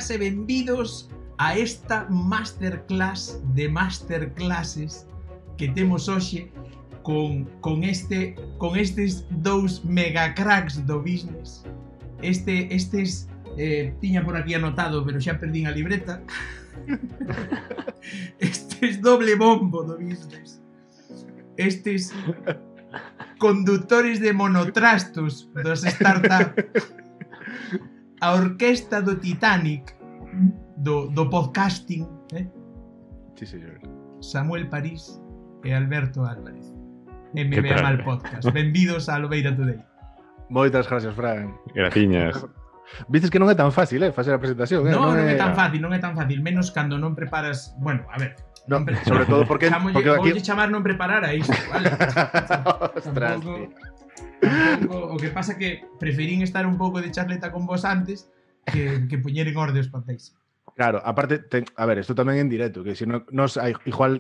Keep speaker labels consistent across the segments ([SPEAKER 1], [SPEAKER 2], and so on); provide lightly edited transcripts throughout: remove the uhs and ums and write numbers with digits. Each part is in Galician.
[SPEAKER 1] benvidas e benvidos a esta masterclass de masterclasses que temos hoxe con estes dous megacracks do business. Estes tiña por aquí anotado, pero xa perdín a libreta. Estes doble bombo do business. Estes conductores de monotrastos dos startup. A orquesta do Titanic do podcasting,
[SPEAKER 2] Sí, señor.
[SPEAKER 1] Samuel París e Alberto Álvarez. MMA Mal Podcast. Benvidos a Lobeira Today.
[SPEAKER 2] Moitas gracias, Fran.
[SPEAKER 3] Graciñas.
[SPEAKER 2] Vistes que non é tan fácil, facer a presentación,
[SPEAKER 1] non é tan fácil, menos cando non preparas, bueno, a ver,
[SPEAKER 2] no, sobre todo porque
[SPEAKER 1] voulle chamar non preparar a isto, vale?
[SPEAKER 2] Ostras,
[SPEAKER 1] tampouco, o que pasa que preferín estar un pouco de charleta con vos antes que poñer en orde os papéis.
[SPEAKER 2] Claro, aparte, a ver, isto tamén en directo, que se nos hai, igual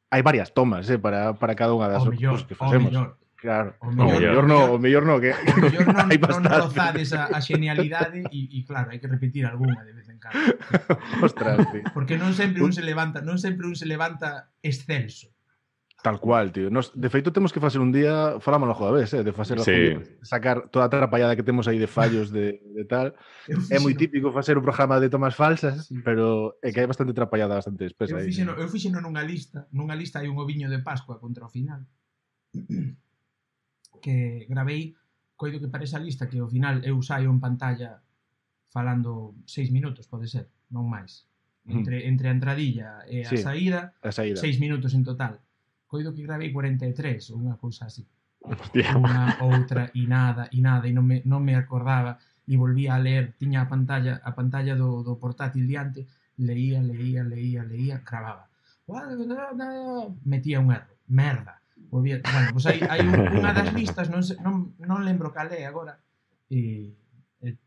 [SPEAKER 2] hai varias tomas para cada unha das
[SPEAKER 1] cousas
[SPEAKER 2] que facemos. Claro, o mellor non, que
[SPEAKER 1] non rozades a xenialidade e claro, hai que repetir algunha de vez en cando.
[SPEAKER 2] Ostras, tío.
[SPEAKER 1] Porque non sempre un se levanta excelso.
[SPEAKER 2] Tal cual, tío. De feito, temos que facer un día, falamos logo da vez, de facer sacar toda a trapallada que temos aí de fallos de tal. É moi típico facer un programa de tomas falsas, pero é que hai bastante trapallada, bastante espesa aí.
[SPEAKER 1] Eu fixeno nunha lista hai un oviño de Pascua contra o final. Que gravei, coido que para esa lista que ao final eu saio en pantalla falando 6 minutos, pode ser, non máis. Entre a entradilla e a saída, 6 minutos en total. Coido que gravei 43 ou unha cousa así.
[SPEAKER 3] Hostia.
[SPEAKER 1] Unha, outra, e nada, e non me acordaba, e volvía a ler, tiña a pantalla do portátil diante, leía, gravaba. Metía un erro, merda. Bueno, pois hai unha das listas, non lembro cal é agora, e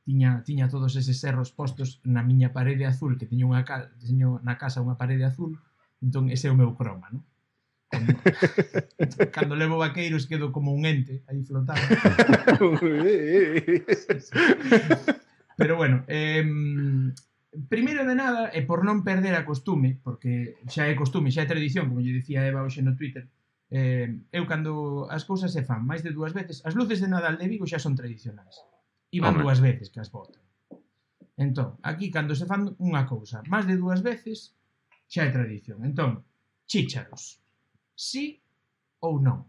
[SPEAKER 1] tiña todos eses erros postos na miña parede azul, que teño na casa unha parede azul, entón ese é o meu croma, non? Cando levo vaqueiros quedo como un ente aí flotando. Pero bueno, primeiro de nada, e por non perder a costume, porque xa é costume, xa é tradición, como lle dicía Eva hoxe no Twitter, eu cando as cousas se fan máis de 2 veces, as luces de Nadal de Vigo xa son tradicionais e van 2 veces que as botan. Entón, aquí cando se fan unha cousa máis de 2 veces xa é tradición. Entón, chícharos, sí ou non?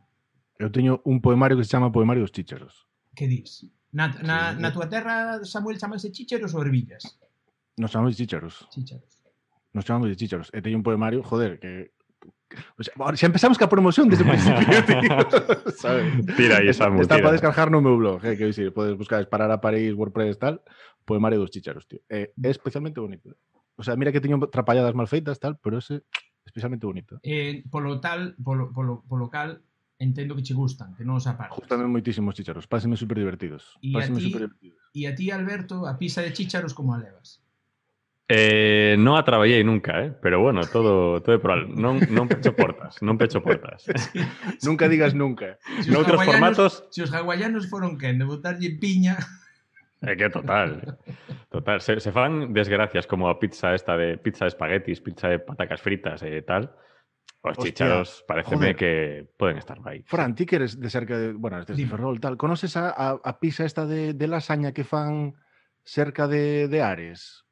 [SPEAKER 2] Eu teño un poemario que se chama Poemario dos Chícharos.
[SPEAKER 1] Que dis? Na túa terra, Samuel, chamanse chícharos ou ervillas?
[SPEAKER 2] Nos chamamos de chícharos. Nos chamamos de chícharos. E teño un poemario, joder, que... O sea, xa empezamos ca promoción desde o principio, tío. ¿Sabes?
[SPEAKER 3] Tira aí, Samu,
[SPEAKER 2] está
[SPEAKER 3] tira.
[SPEAKER 2] para descargar no meu blog, que dicir, podes buscar Disparar a París, WordPress, tal, Poemario dos Chícharos, tío. É especialmente bonito. O sea, mira que teño trapalladas mal feitas, tal, pero ese especialmente bonito.
[SPEAKER 1] Polo cal, entendo que che gustan, que non os apartas.
[SPEAKER 2] Gústame moitísimos chícharos, pásenme super divertidos.
[SPEAKER 1] E a ti, Alberto, a pizza de chícharos como a levas?
[SPEAKER 3] Non a traballei nunca, pero bueno, todo é probable. Non pecho portas.
[SPEAKER 1] Sí.
[SPEAKER 2] Nunca digas nunca.
[SPEAKER 3] Noutros formatos...
[SPEAKER 1] Se os hawaianos foron quen de botarlle piña...
[SPEAKER 3] É que total. Se fan desgracias como a pizza esta de pizza de espaguetis, pizza de patacas fritas e tal. Os chícharos pareceme que poden estar aí.
[SPEAKER 2] Fran, ti que eres de cerca de... Bueno, desde Ferrol, tal. Conoces a pizza esta de lasaña que fan cerca de Ares?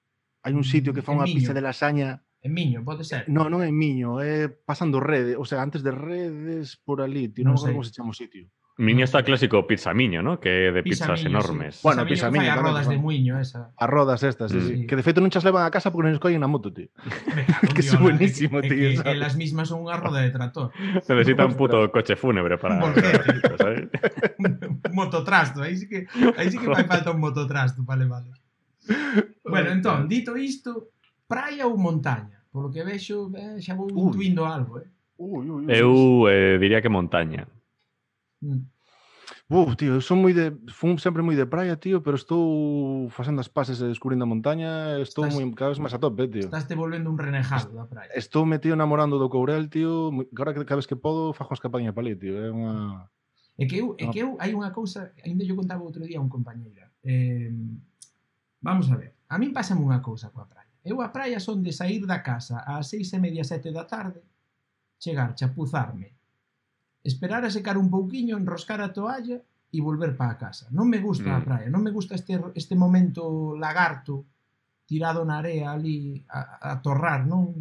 [SPEAKER 2] Hai un sitio que fan unha pizza de lasaña...
[SPEAKER 1] En Miño, pode ser?
[SPEAKER 2] Non é en Miño, é pasando Redes, o sea, antes de Redes por ali, tío, non sei como se chama o sitio.
[SPEAKER 3] Miño está clásico Pizza Miño, ¿no? Que é de pizzas enormes.
[SPEAKER 1] Sí. Bueno, Pizza Miño fai a rodas de Muiño, esa.
[SPEAKER 2] A rodas estas, sí. Que de feito non chas levan a casa porque non nos collen na moto, tío. Que é buenísimo, tío.
[SPEAKER 1] Que elas mismas son unha roda de tractor.
[SPEAKER 3] Necesita un puto coche fúnebre para...
[SPEAKER 1] ¿sabes? Un mototrasto, aí sí que fai falta un mototrasto para levarlos. Bueno, entón, dito isto, praia ou montaña? Polo que vexo, xa vou intuindo algo,
[SPEAKER 3] Eu diría que montaña.
[SPEAKER 2] Tío, eu son sempre moi de praia, tío, pero estou facendo as pases e descubrindo a montaña, estou cada vez máis a tope, tío.
[SPEAKER 1] Estás te volvendo un renegado da praia.
[SPEAKER 2] Estou metido namorando do Courel, tío, agora que cada vez que podo fajo as escapadinha para ali, tío, é unha...
[SPEAKER 1] É que eu hai unha cousa, ainda yo contaba outro día a un compañeira. Vamos a ver. a min pásame unha cousa coa praia. Eu a praia son de sair da casa ás 6:30, 7 da tarde, chegar, chapuzarme, esperar a secar un pouquiño, enroscar a toalla e volver para a casa. Non me gusta a praia, non me gusta este momento lagarto tirado na area ali a torrar, non?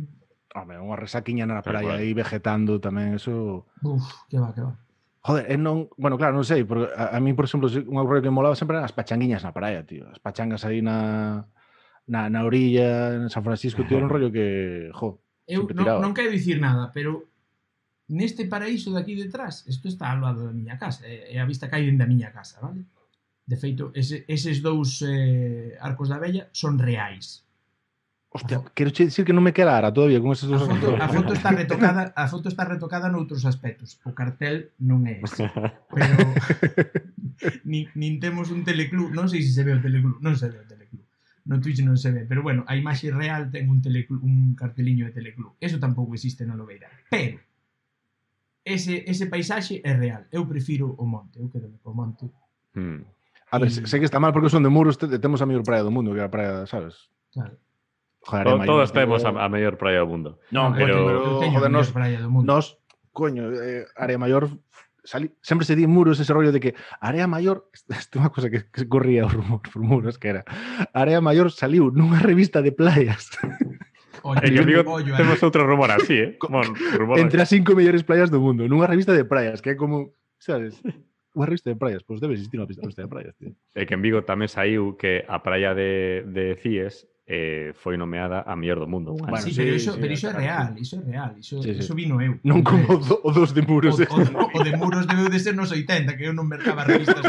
[SPEAKER 2] Home, unha resaquiña na praia aí vegetando tamén, eso...
[SPEAKER 1] Uf, que va.
[SPEAKER 2] Joder, non... Bueno, claro, non sei, porque a mí, por exemplo, un rollo que me molaba sempre eran as pachanguiñas na praia, tío. As pachangas aí na orilla, en San Francisco, tío, era un rollo que,
[SPEAKER 1] eu non quero dicir nada, pero neste paraíso de aquí detrás, isto está ao lado da miña casa, é a vista que hai dentro da miña casa, vale? De feito, eses dous arcos da vella son reais.
[SPEAKER 2] Hostia, quero dicir que non me quedara todavía con esos dos.
[SPEAKER 1] A foto está retocada noutros aspectos. O cartel non é ese. Pero nin temos un teleclub, non sei se se ve o teleclub, non se ve o teleclub. No Twitch non se ve, pero bueno, a imaxe real ten un carteliño de teleclub. Eso tampouco existe na Lobeira. Pero ese paisaxe é real. Eu prefiro o monte, eu quedo co monte.
[SPEAKER 2] A ver, sei que está mal porque son de Muros, temos a mellor praia do mundo, que é a praia, sabes?
[SPEAKER 1] Claro.
[SPEAKER 3] Joder, todos temos a mellor praia do mundo.
[SPEAKER 2] Non, pero joder, nos, coño, Área Maior sempre se di en Muros ese rollo de que Área Maior, isto é unha cosa que corría o rumor por Muros, que era Área Maior saliu nunha revista de playas.
[SPEAKER 3] Temos outro rumor así,
[SPEAKER 2] entre as 5 mellores playas do mundo, nunha revista de playas, que é como, sabes, unha revista de praias, pois debe existir unha revista de praias, tío.
[SPEAKER 3] E que en Vigo tamén saiu que a praia de Cíes foi nomeada a mellor do mundo.
[SPEAKER 1] Bueno, sí, pero iso é real, iso vino eu.
[SPEAKER 2] Non como o dos de Muros.
[SPEAKER 1] O de Muros debeu de ser nos 80, que eu non mercaba revistas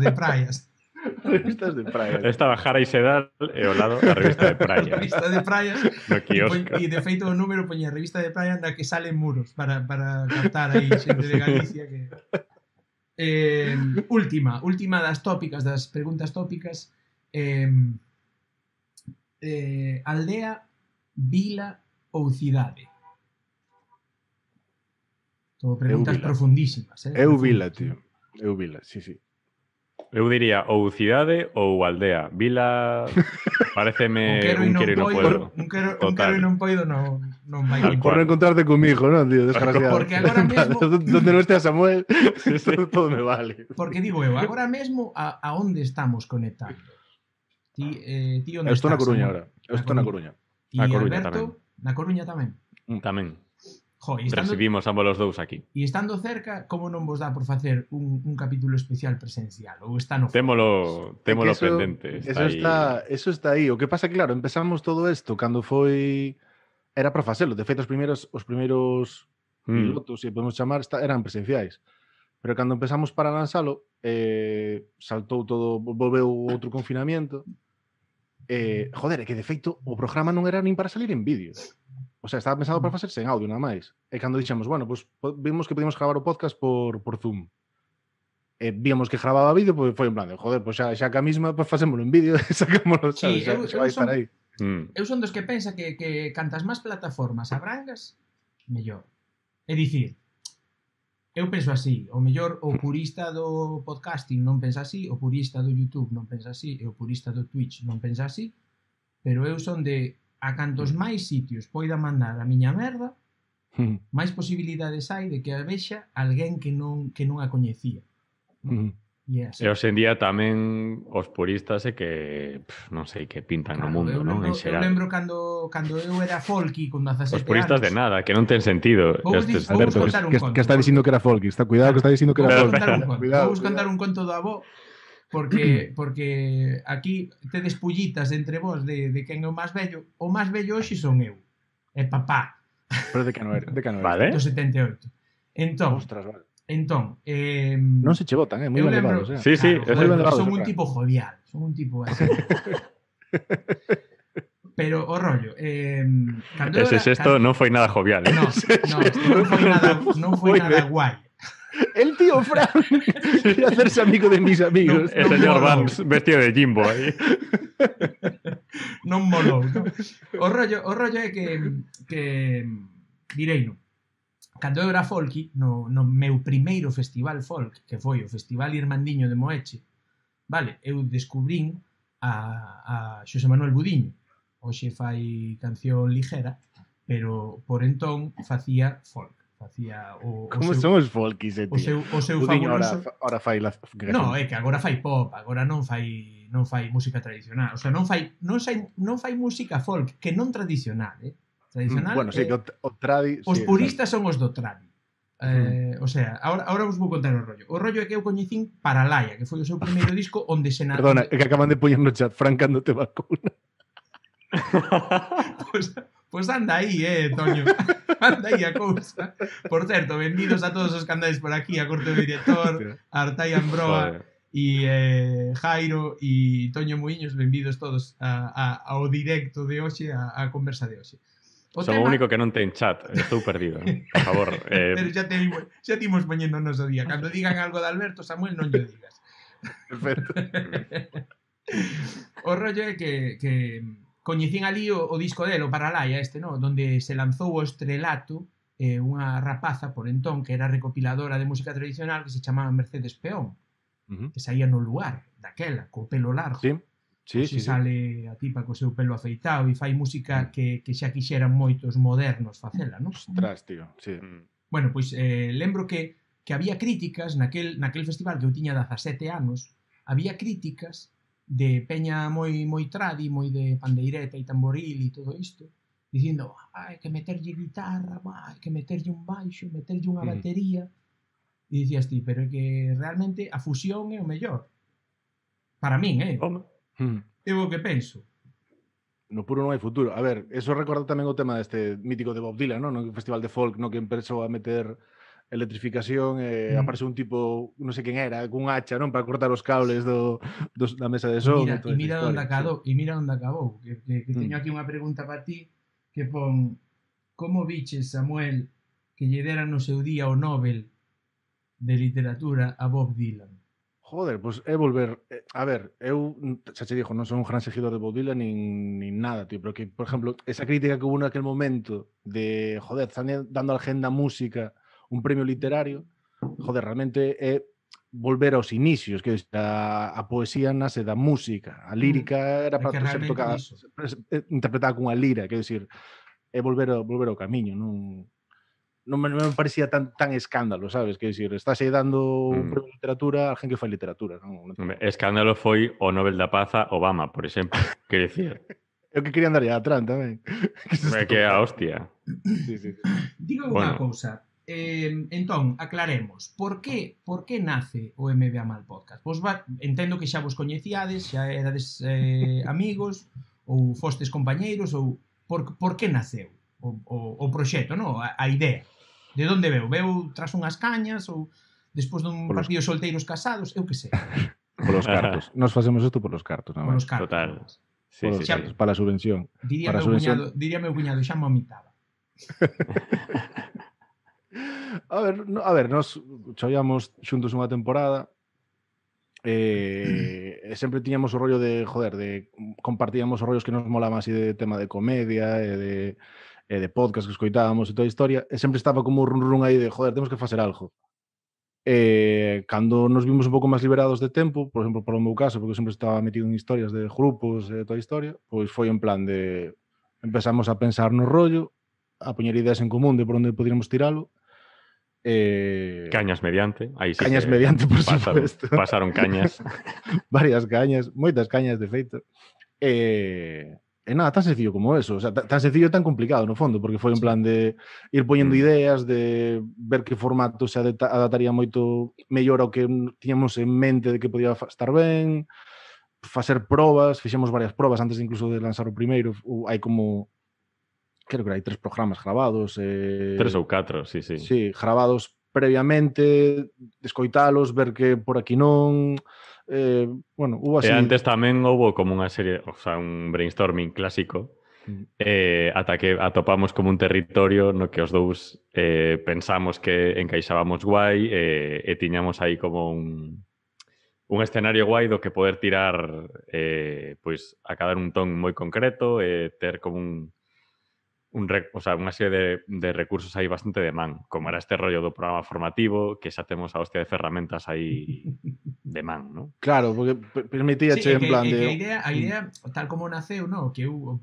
[SPEAKER 1] de praias.
[SPEAKER 2] Revistas de praias.
[SPEAKER 3] Estaba Jara e Sedal e ao lado a revista de praias.
[SPEAKER 1] Revista de praias.
[SPEAKER 3] No quiosco.
[SPEAKER 1] E de feito o número poñía revista de praias na que sale Muros para captar aí xente de Galicia que... última das tópicas, das preguntas tópicas, aldea, vila ou cidade? Todo preguntas profundísimas.
[SPEAKER 2] Eu vila, tío. Eu vila, sí.
[SPEAKER 3] Eu diría ou cidade ou aldea. Vila pareceme un quero e non poido.
[SPEAKER 1] Un quero e non poido non vai
[SPEAKER 2] a por non encontrarte comigo, non, tío, desgraciado.
[SPEAKER 1] Porque agora mesmo
[SPEAKER 2] donde non estea Samuel, todo me vale.
[SPEAKER 1] Porque digo eu, agora mesmo a onde estamos conectando? Ti onde estás?
[SPEAKER 2] Eu estou na Coruña agora. Eu estou na Coruña.
[SPEAKER 1] E Alberto, na Coruña tamén.
[SPEAKER 3] Tamén.
[SPEAKER 1] Recibimos
[SPEAKER 3] ambos os dous aquí.
[SPEAKER 1] E estando cerca, como non vos dá por facer un capítulo especial presencial? Ou está no
[SPEAKER 3] Témolo pendente.
[SPEAKER 2] Eso está aí. O que pasa que, claro, empezamos todo isto cando foi... Era para facelo. De feito, os primeiros pilotos, se podemos chamar, eran presenciais. Pero cando empezamos para lanzalo, saltou todo, volveu outro confinamiento. Joder, é que de feito o programa non era nin para salir en vídeo. O sea, estaba pensado para facerse en audio, nada máis. E cando dixemos, bueno, pues vimos que podíamos gravar o podcast por Zoom. Víamos que grababa vídeo, pues foi en plan de, joder, pues xa que a mesma, pues facémolo en vídeo e sacámoslo,
[SPEAKER 1] sí,
[SPEAKER 2] xa vai estar aí.
[SPEAKER 1] Eu son dos que pensa que cantas máis plataformas abrangas, mellor. É dicir, eu penso así, o mellor o purista do podcasting non pensa así, o purista do YouTube non pensa así, e o purista do Twitch non pensa así, pero eu son de a cantos máis sitios poida mandar a miña merda, máis posibilidades hai de que a vexa alguén que non a coñecía.
[SPEAKER 3] E hoxe en día tamén os puristas é que non sei, que pintan no mundo, non? En xeral.
[SPEAKER 1] Eu lembro cando eu era folky con 17 anos.
[SPEAKER 3] Os puristas de nada, que non ten sentido.
[SPEAKER 2] Alberto, que está dicindo que era folky. Está cuidado que está dicindo que era folky.
[SPEAKER 1] Vou contar un conto do avó. Porque aquí tedes pullitas entre vos de quen é o máis vello. O máis vello hoxe son eu. É papá.
[SPEAKER 2] Pero de que non era?
[SPEAKER 3] Vale.
[SPEAKER 1] Do 78. Entón,
[SPEAKER 2] ostras, vale.
[SPEAKER 1] Non
[SPEAKER 2] se che botan, moi ben levados.
[SPEAKER 3] Sí,
[SPEAKER 1] claro, son un tipo jovial. Son un tipo así. Pero o rollo,
[SPEAKER 3] ese xesto non foi nada jovial, eh?
[SPEAKER 1] Non foi nada guai.
[SPEAKER 2] El tío Fran quiere hacerse amigo de mis amigos.
[SPEAKER 3] El señor Vance vestido de Jimbo aí.
[SPEAKER 1] Non molou, non? O rollo é que direino. Cando eu era folky, no meu primeiro festival folk, que foi o Festival Irmandiño de Moeche, vale, eu descubrín a Xosé Manuel Budiño. Hoxe fai canción ligera, pero por entón facía folk. Facía
[SPEAKER 2] Como son os folkis, tío?
[SPEAKER 1] O seu
[SPEAKER 2] Budiño
[SPEAKER 1] fabuloso...
[SPEAKER 2] ahora fai la...
[SPEAKER 1] No, é que agora fai pop, agora non fai música tradicional. O sea, non fai música folk, que non tradicional, Tradicional.
[SPEAKER 2] Bueno, sí, que o tradi...
[SPEAKER 1] Os
[SPEAKER 2] sí,
[SPEAKER 1] puristas son os do tradi. O sea, ahora vos vou contar o rollo. O rollo é que eu coñecín Paralaia, que foi o seu primeiro disco onde se...
[SPEAKER 2] Perdona, é que acaban de poñer no chat Fran cando te vacuna.
[SPEAKER 1] Pues anda aí, Toño. Anda aí a cousa. Por certo, benvidos a todos os que andades por aquí, a Corte do Director, a Artai Ambroa e Jairo e Toño Muiños, benvidos todos ao directo de hoxe, a conversa de hoxe.
[SPEAKER 3] Son o único que non ten chat, estou perdido. Por favor.
[SPEAKER 1] Pero xa timos poñendo o noso día. Cando digan algo de Alberto, Samuel, non lle digas.
[SPEAKER 2] Perfecto.
[SPEAKER 1] O rollo é que coñecín ali o disco dele, o Paralaia no? Donde se lanzou o Estrelato, unha rapaza por entón que era recopiladora de música tradicional que se chamaba Mercedes Peón, que saía no Luar, daquela, co pelo largo.
[SPEAKER 2] Sí,
[SPEAKER 1] sale a tipa co seu pelo afeitado e fai música que xa quixeran moitos modernos facela, non?
[SPEAKER 2] Ostras, tío, sí.
[SPEAKER 1] Bueno, pois lembro que había críticas naquel festival que eu tiña 17 anos, había críticas de peña moi tradi, moi de pandeireta e tamboril e todo isto, dicindo, hai que meterlle guitarra, hai que meterlle un baixo, meterlle unha batería. E dicías ti, pero é que realmente a fusión é o mellor. Para min, Eu o que penso.
[SPEAKER 2] No puro non hai futuro. A ver, eso recorda tamén o tema deste mítico de Bob Dylan, non? No festival de folk, no, que empezou a meter electrificación e apareceu un tipo, non sei quen era, cun hacha, non, para cortar os cables da mesa de son.
[SPEAKER 1] E mira onde acabou. Que teño aquí unha pregunta para ti que pon: como viches, Samuel, que lle deran no seu día o Nobel de literatura a Bob Dylan?
[SPEAKER 2] Joder, pois é volver... A ver, eu, xa che dixo, non son un gran seguidor de Bob Dylan nin nada, tío, pero que, por exemplo, esa crítica que hubo naquel momento de, joder, están dando a Agenda Música un premio literario, joder, realmente é volver aos inicios, que a poesía nace da música, a lírica era para ser tocada, interpretada cunha lira, quero dicir, é volver ao camiño, non me parecía tan escándalo, sabes? Quero dicir, estás aí dando un premio de literatura a alguén que fai literatura.
[SPEAKER 3] Escándalo foi o Nobel da Paz a Obama, por exemplo. Quero dicir.
[SPEAKER 2] Eu que quería andar a Trump tamén.
[SPEAKER 3] Que é a hostia.
[SPEAKER 2] Sí.
[SPEAKER 1] Digo unha cousa. Entón, aclaremos. Por que nace o MBA Mal Podcast? Entendo que xa vos coñecíades, xa erades amigos, ou fostes compañeiros, ou por que naceu o proxecto, non? A idea. De onde veu? Veu tras unhas cañas ou despois dun partido de solteiros casados? Eu que sei.
[SPEAKER 2] Polos cartos. Nos facemos isto polos cartos.
[SPEAKER 1] Polos cartos.
[SPEAKER 3] Total.
[SPEAKER 2] Sí, cartos, para a subvención.
[SPEAKER 1] Diría meu cuñado, xa me omitaba.
[SPEAKER 2] A ver, nos chollamos xuntos unha temporada e sempre tiñamos o rollo de, joder, compartíamos os rollos que nos molaban así de tema de comedia e de podcast que escoitábamos e toda a historia, e sempre estaba como un run aí de, joder, temos que facer algo. Cando nos vimos un pouco máis liberados de tempo, por exemplo, polo meu caso, porque eu sempre estaba metido en historias de grupos e toda a historia, pois foi en plan de empezamos a pensar no rollo, a poñer ideas en común de por onde poderíamos tiralo.
[SPEAKER 3] Cañas mediante. Aí sí,
[SPEAKER 2] cañas mediante, por supuesto.
[SPEAKER 3] Pasaron cañas.
[SPEAKER 2] Varias cañas, moitas cañas, de feito. E nada, tan sencillo como eso, o sea, tan sencillo e tan complicado no fondo, porque foi en plan de ir poñendo ideas, de ver que formato se adaptaría moito mellor ao que tiñamos en mente de que podía estar ben, facer probas, fixemos varias probas antes incluso de lanzar o primeiro, hai como, creo que hai 3 programas gravados.
[SPEAKER 3] 3 ou 4, sí.
[SPEAKER 2] Sí, gravados previamente, escoitalos, ver que por aquí non... bueno, hubo así...
[SPEAKER 3] E antes tamén houve como unha serie, o sea, un brainstorming clásico, ata que atopamos como un territorio no que os dous pensamos que encaixábamos guai e tiñamos aí como un escenario guai do que poder tirar pois a cada un ton moi concreto e ter como unha serie de recursos aí bastante de man, como era este rollo do programa formativo, que xa temos a hostia de ferramentas aí de man, non?
[SPEAKER 2] Claro, porque permitía
[SPEAKER 1] Sí,
[SPEAKER 2] en plan
[SPEAKER 1] que
[SPEAKER 2] de...
[SPEAKER 1] a idea, tal como naceu, no, que eu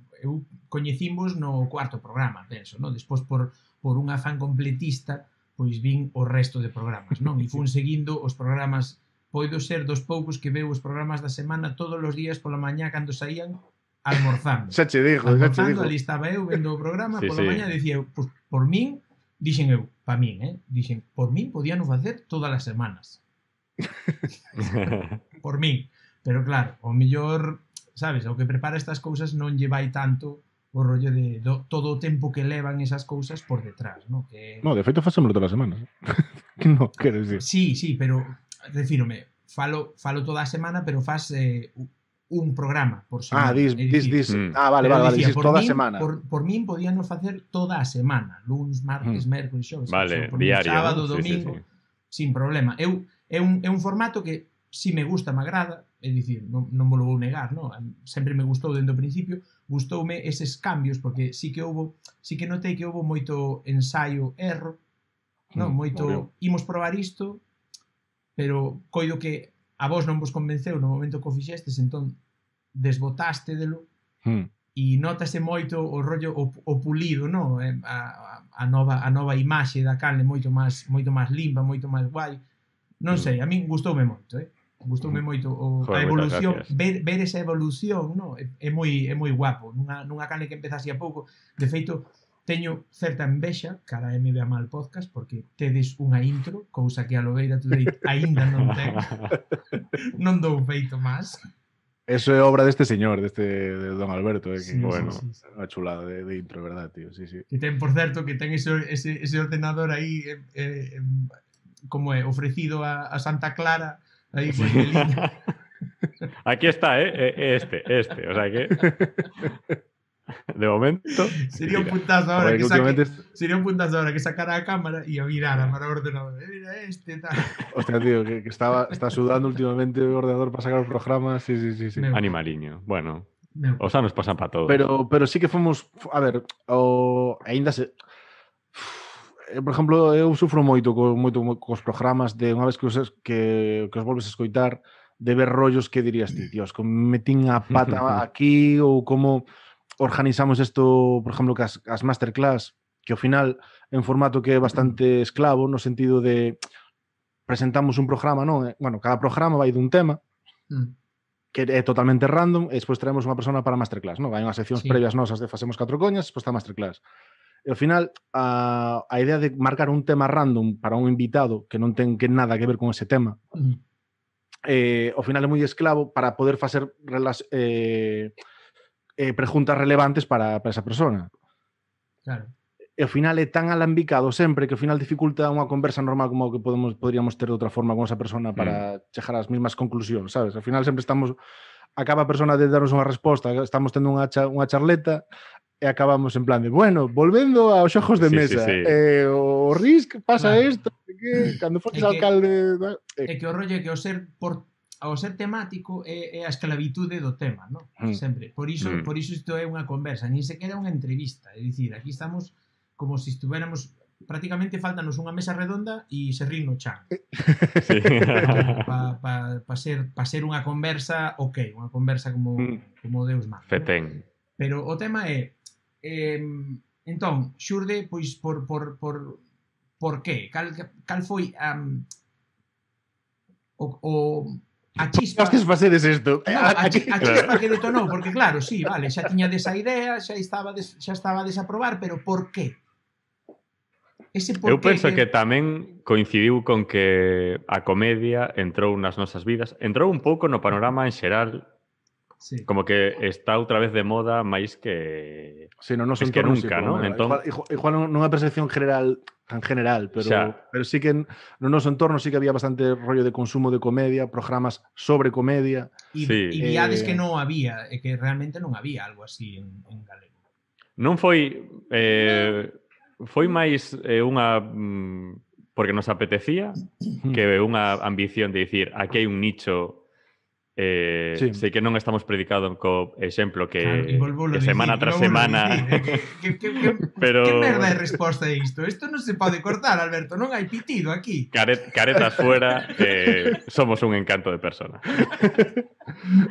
[SPEAKER 1] coñecimos no cuarto programa, penso, no? Despois por un afán completista, pois vin o resto de programas, non? E fun seguindo os programas, poido ser dos poucos que veu os programas da semana todos os días pola mañá cando saían almorzando.
[SPEAKER 2] Xa che digo.
[SPEAKER 1] Almorzando, ali estaba eu vendo o programa, pola mañá dicía eu, pois, por min, dixen eu, pa min, dixen, por min podían facer todas as semanas. Por min. Pero claro, o mellor, sabes, o que prepara estas cousas non lle vai tanto o rollo de todo o tempo que levan esas cousas por detrás, ¿no? Que...
[SPEAKER 2] No, de feito facémoslo todas as semanas. No, quero dicir.
[SPEAKER 1] Sí, pero refírome, falo toda a semana, pero fas un programa por semana.
[SPEAKER 2] Vale,
[SPEAKER 1] dicía,
[SPEAKER 2] dices toda a semana.
[SPEAKER 1] Por min podíanos facer toda a semana, luns, martes, mércoles, xoves,
[SPEAKER 3] vale,
[SPEAKER 1] por
[SPEAKER 3] diario,
[SPEAKER 1] sábado,
[SPEAKER 3] ¿no?
[SPEAKER 1] domingo,
[SPEAKER 3] Sí.
[SPEAKER 1] Sin problema. É un formato que si me gusta, me agrada, é dicir, non me lo vou negar, non? Sempre me gustou dende o principio, gustoume eses cambios, porque sí que notei que houve moito ensaio, erro, non? Moito, imos probar isto, pero coido que a vos non vos convenceu no momento que o fixestes, entón desbotaste delo, e notase moito o rollo, o pulido, non? A nova imaxe da canle moito máis limpa, moito máis guai. Non sei, a min gustoume moito, Gustoume moito a evolución, ver esa evolución, non? É moi guapo. Nunha canle que empezase a pouco, de feito, teño certa envexa cara a MBA Mal Podcast, porque tedes unha intro, cousa que a Lobeira Today aínda non ten. Non dou feito máis.
[SPEAKER 2] Eso é obra deste señor, de Don Alberto, que,
[SPEAKER 1] sí,
[SPEAKER 2] bueno,
[SPEAKER 1] sí.
[SPEAKER 2] Unha chulada de intro, verdad, tío, sí.
[SPEAKER 1] Que ten, por certo, que ten ese ordenador aí, como é, ofrecido a Santa Clara, aí con Angelina.
[SPEAKER 3] Aquí está, este, o sea que... De momento...
[SPEAKER 1] Sería un puntazo ahora que sacara a cámara e a virara para o ordenador. Mira tal.
[SPEAKER 2] Hostia, tío, que está sudando últimamente o ordenador para sacar os programas. Sí.
[SPEAKER 3] Animaliño. Bueno, os anos pasan para todos.
[SPEAKER 2] Pero sí que fomos... A ver, aínda se... Por exemplo, eu sufro moito cos programas de unha vez que os volves a escoitar, de ver rollos que dirías ti, Dios, como metín a pata aquí ou como organizamos isto, por exemplo, que as masterclass, que ao final é un formato que é bastante esclavo no sentido de presentamos un programa, non? Bueno, cada programa vai dun tema que é totalmente random e despois traemos unha persona para a masterclass, non? Hai unhas seccións previas nosas de facemos 4 coñas, despois está a masterclass. E ao final, a idea de marcar un tema random para un invitado que non ten nada que ver con ese tema, ao final é moi esclavo para poder facer preguntas relevantes para esa persona.
[SPEAKER 1] Claro.
[SPEAKER 2] E ao final é tan alambicado sempre que ao final dificulta unha conversa normal como que poderíamos ter de outra forma con esa persona para chegar ás mesmas conclusións, sabes? Ao final sempre acaba a persona de darnos unha resposta, estamos tendo unha charleta e acabamos en plan de, bueno, volvendo aos xogos de mesa, o Risk pasa isto, que cando foques alcalde...
[SPEAKER 1] É que o rollo é que ao ser temático é a esclavitude do tema, non? Sempre. Por iso isto é unha conversa, nin sequera unha entrevista. É dicir, aquí estamos como se estuviéramos... Prácticamente faltanos unha mesa redonda e se rin no chan. Para ser unha conversa, unha conversa como Deus manda.
[SPEAKER 3] Fetén.
[SPEAKER 1] Pero o tema é... entón, xurde, pois, por que? Cal foi a chispa...
[SPEAKER 2] Hostes facedes isto.
[SPEAKER 1] A chispa que detonou, porque claro, sí, vale, xa tiña desa idea, xa estaba a desaprobar, pero por qué?
[SPEAKER 3] Eu penso que tamén coincidiu con que a comedia entrou nas nosas vidas, entrou un pouco no panorama en xeral. Sí. Como que está outra vez de moda máis que
[SPEAKER 2] sí, no noso
[SPEAKER 3] que nunca, ¿no?
[SPEAKER 2] Entón... Igual non é percepción tan general, pero sí que no noso entorno sí que había bastante rollo de consumo de comedia, programas sobre comedia.
[SPEAKER 1] E viades que non había, e que realmente non había algo así en galego.
[SPEAKER 3] Non foi... foi máis unha... porque nos apetecía que unha ambición de dicir aquí hai un nicho sei que non estamos predicando co exemplo que,
[SPEAKER 1] claro,
[SPEAKER 3] semana tras semana
[SPEAKER 1] pero... que merda de resposta é isto? Isto non se pode cortar, Alberto, non hai pitido aquí.
[SPEAKER 3] Caretas fuera, somos un encanto de persona.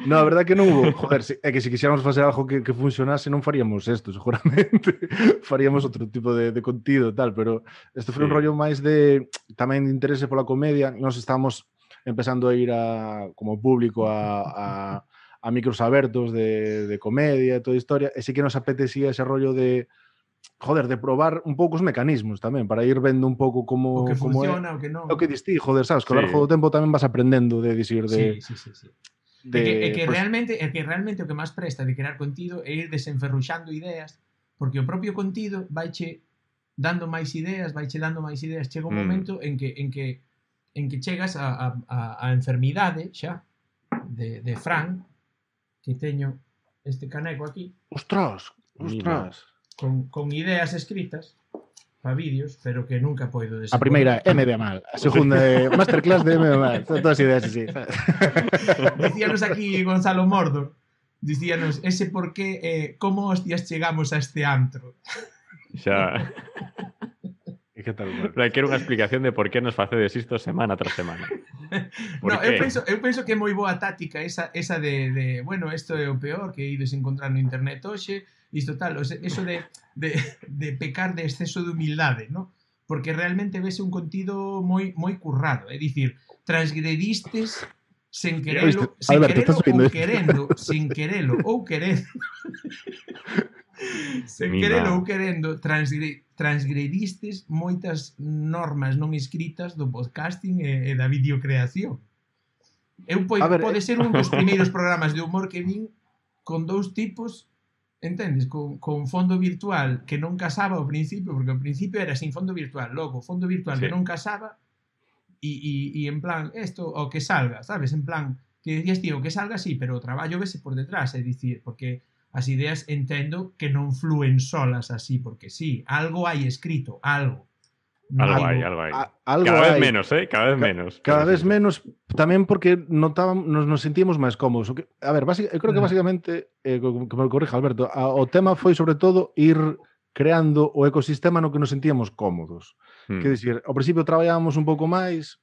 [SPEAKER 2] No, a verdade que non hubo. Joder, é que se quixéramos facer algo que funcionase non faríamos isto, seguramente. Faríamos outro tipo de contido e tal, pero isto foi un rollo máis de tamén de interese pola comedia. Nós estamos empezando a ir como público a micros abertos de comedia e toda a historia, e sí que nos apetecía ese rollo de joder, de probar un pouco os mecanismos tamén, para ir vendo un pouco como
[SPEAKER 1] o que funciona,
[SPEAKER 2] é,
[SPEAKER 1] o que non.
[SPEAKER 2] O que distí, joder, sabes, que ao largo do tempo tamén vas aprendendo de dicir de...
[SPEAKER 1] Sí.
[SPEAKER 2] De,
[SPEAKER 1] que realmente o que máis presta de crear contido é ir desenferruxando ideas, porque o propio contido vaiche dando máis ideas, chega un momento en que chegas a enfermidade xa de Fran, que teño este caneco aquí.
[SPEAKER 2] Ostras.
[SPEAKER 1] Con ideas escritas para vídeos, pero que nunca poido desenvolver.
[SPEAKER 2] A primeira, MB mal. A segunda, masterclass de MB mal. Son todas ideas así.
[SPEAKER 1] Dicíanos aquí Gonzalo Mordor, dicíanos ese por qué, como hostias chegamos a este antro.
[SPEAKER 3] Xa...
[SPEAKER 2] E que tal?
[SPEAKER 3] Pero quero unha explicación de por que nos facedes isto semana tras semana.
[SPEAKER 1] No, eu penso que é moi boa táctica esa de bueno, isto é o peor que ides encontrar no internet hoxe, isto tal, eso de pecar de exceso de humildade, ¿no? Porque realmente vese un contido moi currado, é dicir, transgredistes sen querelo ou querendo transgredistes moitas normas non escritas do podcasting e da videocreación. Pode ser un dos primeiros programas de humor que vin con dous tipos, entendes? Con fondo virtual que non casaba ao principio, porque ao principio era sin fondo virtual, logo fondo virtual que non casaba e en plan, isto o que salga, sabes? En plan, que decías, tío, o que salga sí, pero o traballo vese por detrás, é dicir, porque as ideas entendo que non flúen solas así, porque sí, algo hai escrito, algo.
[SPEAKER 3] Algo hai. Cada vez menos, cada vez menos.
[SPEAKER 2] Cada vez menos, tamén porque nos sentíamos máis cómodos. A ver, eu creo que basicamente, que me corrija Alberto, o tema foi sobre todo ir creando o ecosistema no que nos sentíamos cómodos. Que dicir, ao principio traballábamos un pouco máis,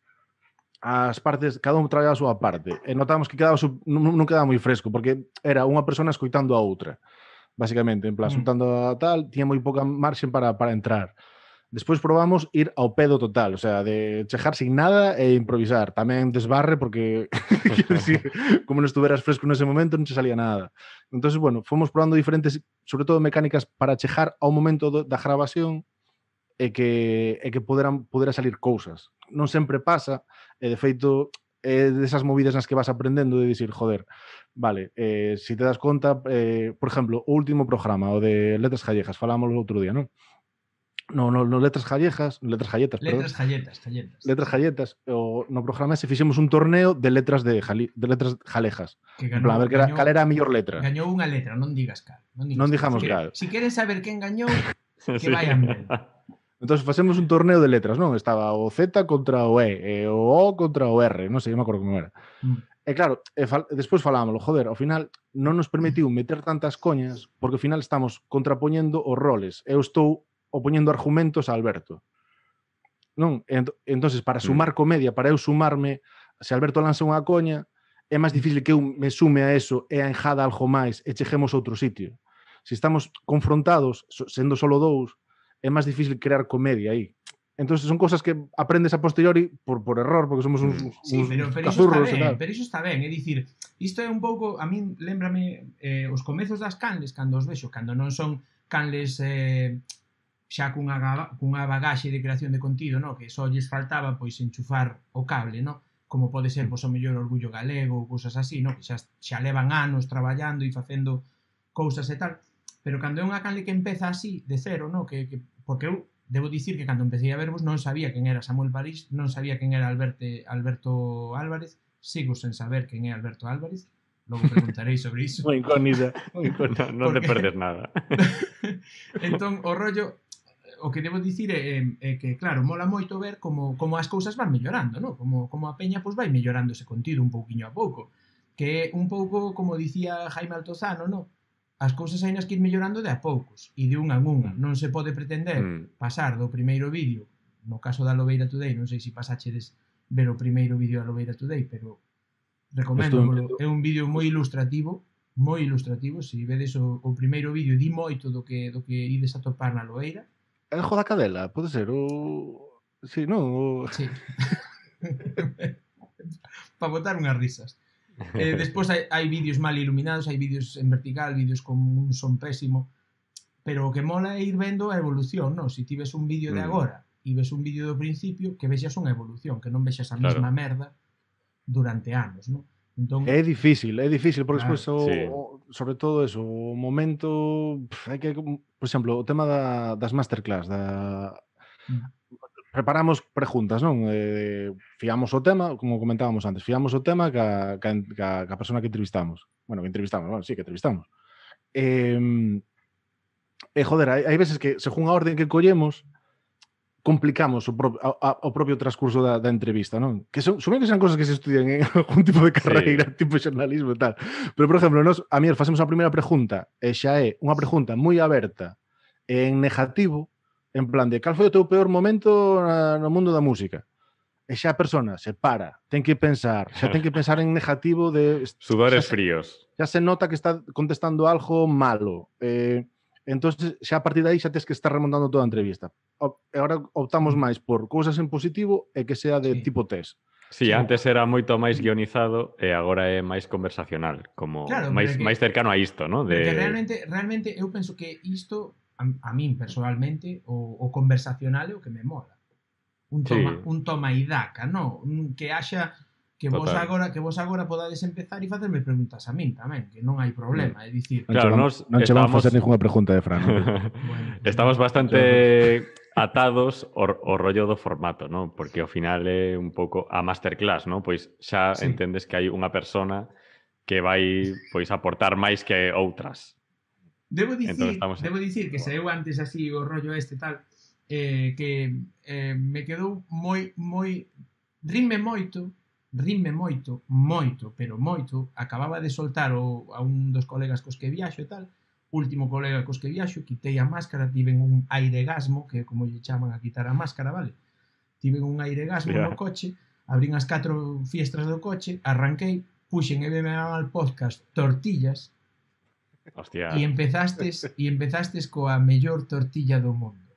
[SPEAKER 2] as partes, cada un traballaba a súa parte, e notamos que non quedaba moi fresco, porque era unha persona escoitando a outra, basicamente, en plan, soltando a tal, tiña moi pouca marxen para entrar. Despois probamos ir ao pedo total, o sea, de chejar sin nada e improvisar. Tamén desbarre, porque, quero dicir, como non estuveras fresco nese momento, non che salía nada. Entón, bueno, fomos probando diferentes, sobre todo mecánicas, para chejar ao momento da grabación e que pudera salir cousas. Non sempre pasa, e de feito desas movidas nas que vas aprendendo de dicir, joder, vale, se te das conta, por exemplo, o último programa, o de Letras Gallegas, falámoslo outro día, non? No Letras Gallegas, no Letras Galletas, no programa se fixemos un torneo de letras de letras galegas. En plan, a ver cal era a mellor letra.
[SPEAKER 1] Gañou unha letra, non digas cal.
[SPEAKER 2] Non dixamos cal.
[SPEAKER 1] Si queren saber quen gañou, que vayan ben.
[SPEAKER 2] Entón, facemos un torneo de letras, non? Estaba o Z contra o E, o O contra o R, non sei, non me acordo como era. E claro, despois falámoslo, joder, ao final non nos permitiu meter tantas coñas, porque ao final estamos contrapoñendo os roles. Eu estou opoñendo argumentos a Alberto. Non? Entonces, para sumar comedia, para eu sumarme, se Alberto lanza unha coña, é máis difícil que eu me sume a eso e a enjada algo máis e chejemos a outro sitio. Se estamos confrontados, sendo solo dous, é máis difícil crear comedia aí. Entón, son cosas que aprendes a posteriori por error, porque somos uns cazurros e tal.
[SPEAKER 1] Pero iso está ben, é dicir, isto é un pouco, a min lembrame os comezos das canles, cando os vexo, cando non son canles xa cunha bagaxe de creación de contido, no? Que só lles faltaba pois enchufar o cable, no? Como pode ser pois, o mellor Orgullo Galego ou cousas así, no? Que xa levan anos traballando e facendo cousas e tal, pero cando é unha canle que empeza así, de cero, no? Porque eu debo dicir que cando empecé a vervos non sabía quen era Samuel París, non sabía quen era Alberto Álvarez, sigo sen saber quen é Alberto Álvarez, logo preguntarei sobre iso.
[SPEAKER 2] Moi incógnita.
[SPEAKER 3] Non te perdes nada.
[SPEAKER 1] Entón, o rollo, o que debo dicir é que, claro, mola moito ver como as cousas van mellorando, no? Como a peña pois vai mellorando ese contido un pouquiño a pouco. que é un pouco, como dicía Jaime Altozano, no? As cousas hai nas que ir mellorando de a poucos, e de unha en unha. Non se pode pretender pasar do primeiro vídeo, no caso da Lobeira Today, non sei se pasachedes ver o primeiro vídeo da Lobeira Today, pero recomendo, é un vídeo moi ilustrativo, se vedes o primeiro vídeo, di moito do que ides a topar na Loeira.
[SPEAKER 2] É o da cadela, pode ser, o... Sí, non?
[SPEAKER 1] Sí. Para botar unhas risas. Despois hai vídeos mal iluminados, hai vídeos en vertical, vídeos con un son pésimo, pero o que mola é ir vendo a evolución, non? Se ti ves un vídeo de agora e ves un vídeo do principio, que vexas unha evolución, que non vexas a mesma merda durante anos, non? Entón,
[SPEAKER 2] é difícil, porque despois sobre todo eso, o momento hai que, por exemplo, o tema das masterclass, preparamos preguntas, non? Fiamos o tema, como comentábamos antes, fiamos o tema ca persona que entrevistamos. Bueno, que entrevistamos. Joder, hai veces que, según a orden que collemos, complicamos o propio transcurso da entrevista, non? Que son que sean cosas que se estudian en algún tipo de carreira, tipo xornalismo e tal. Pero, por exemplo, a mí facemos a primeira pregunta e xa é unha pregunta moi aberta en negativo, en plan de cal foi o teu peor momento no mundo da música? E xa a persona se para, ten que pensar en negativo de...
[SPEAKER 3] Sudores fríos.
[SPEAKER 2] Xa se nota que está contestando algo malo. Entón, xa a partir de aí xa tens que estar remontando toda a entrevista. E agora optamos máis por cousas en positivo e que sea de tipo test.
[SPEAKER 3] Sí, antes era moito máis guionizado e agora é máis conversacional, como máis cercano a isto, ¿no?
[SPEAKER 1] Porque realmente eu penso que isto, a min personalmente, o conversacional é o que me mola. Un toma e daca, non? Que haxa que vos agora podades empezar e facerme preguntas a min tamén, que non hai problema, é dicir...
[SPEAKER 2] Claro, non che vamos a facer ninguna pregunta de Fran.
[SPEAKER 3] Bueno, estamos bastante atados ao rollo do formato, ¿no? Porque ao final é un pouco a masterclass, ¿no? Pois xa entendes que hai unha persona que vai pois aportar máis que outras.
[SPEAKER 1] Debo dicir que se eu antes así o rollo este tal, que me quedou moi rime moito, pero moito. Acababa de soltar a un dos colegas cos que viaxo e tal, último colega cos que viaxo, quitei a máscara, tiven un airegasmo, que como lle chaman a quitar a máscara, vale? Tiven un airegasmo no coche, abrín as 4 fiestras do coche, arranquei, puxen e beben al podcast Tortillas.
[SPEAKER 3] Hostia.
[SPEAKER 1] E empezastes coa mellor tortilla do mundo.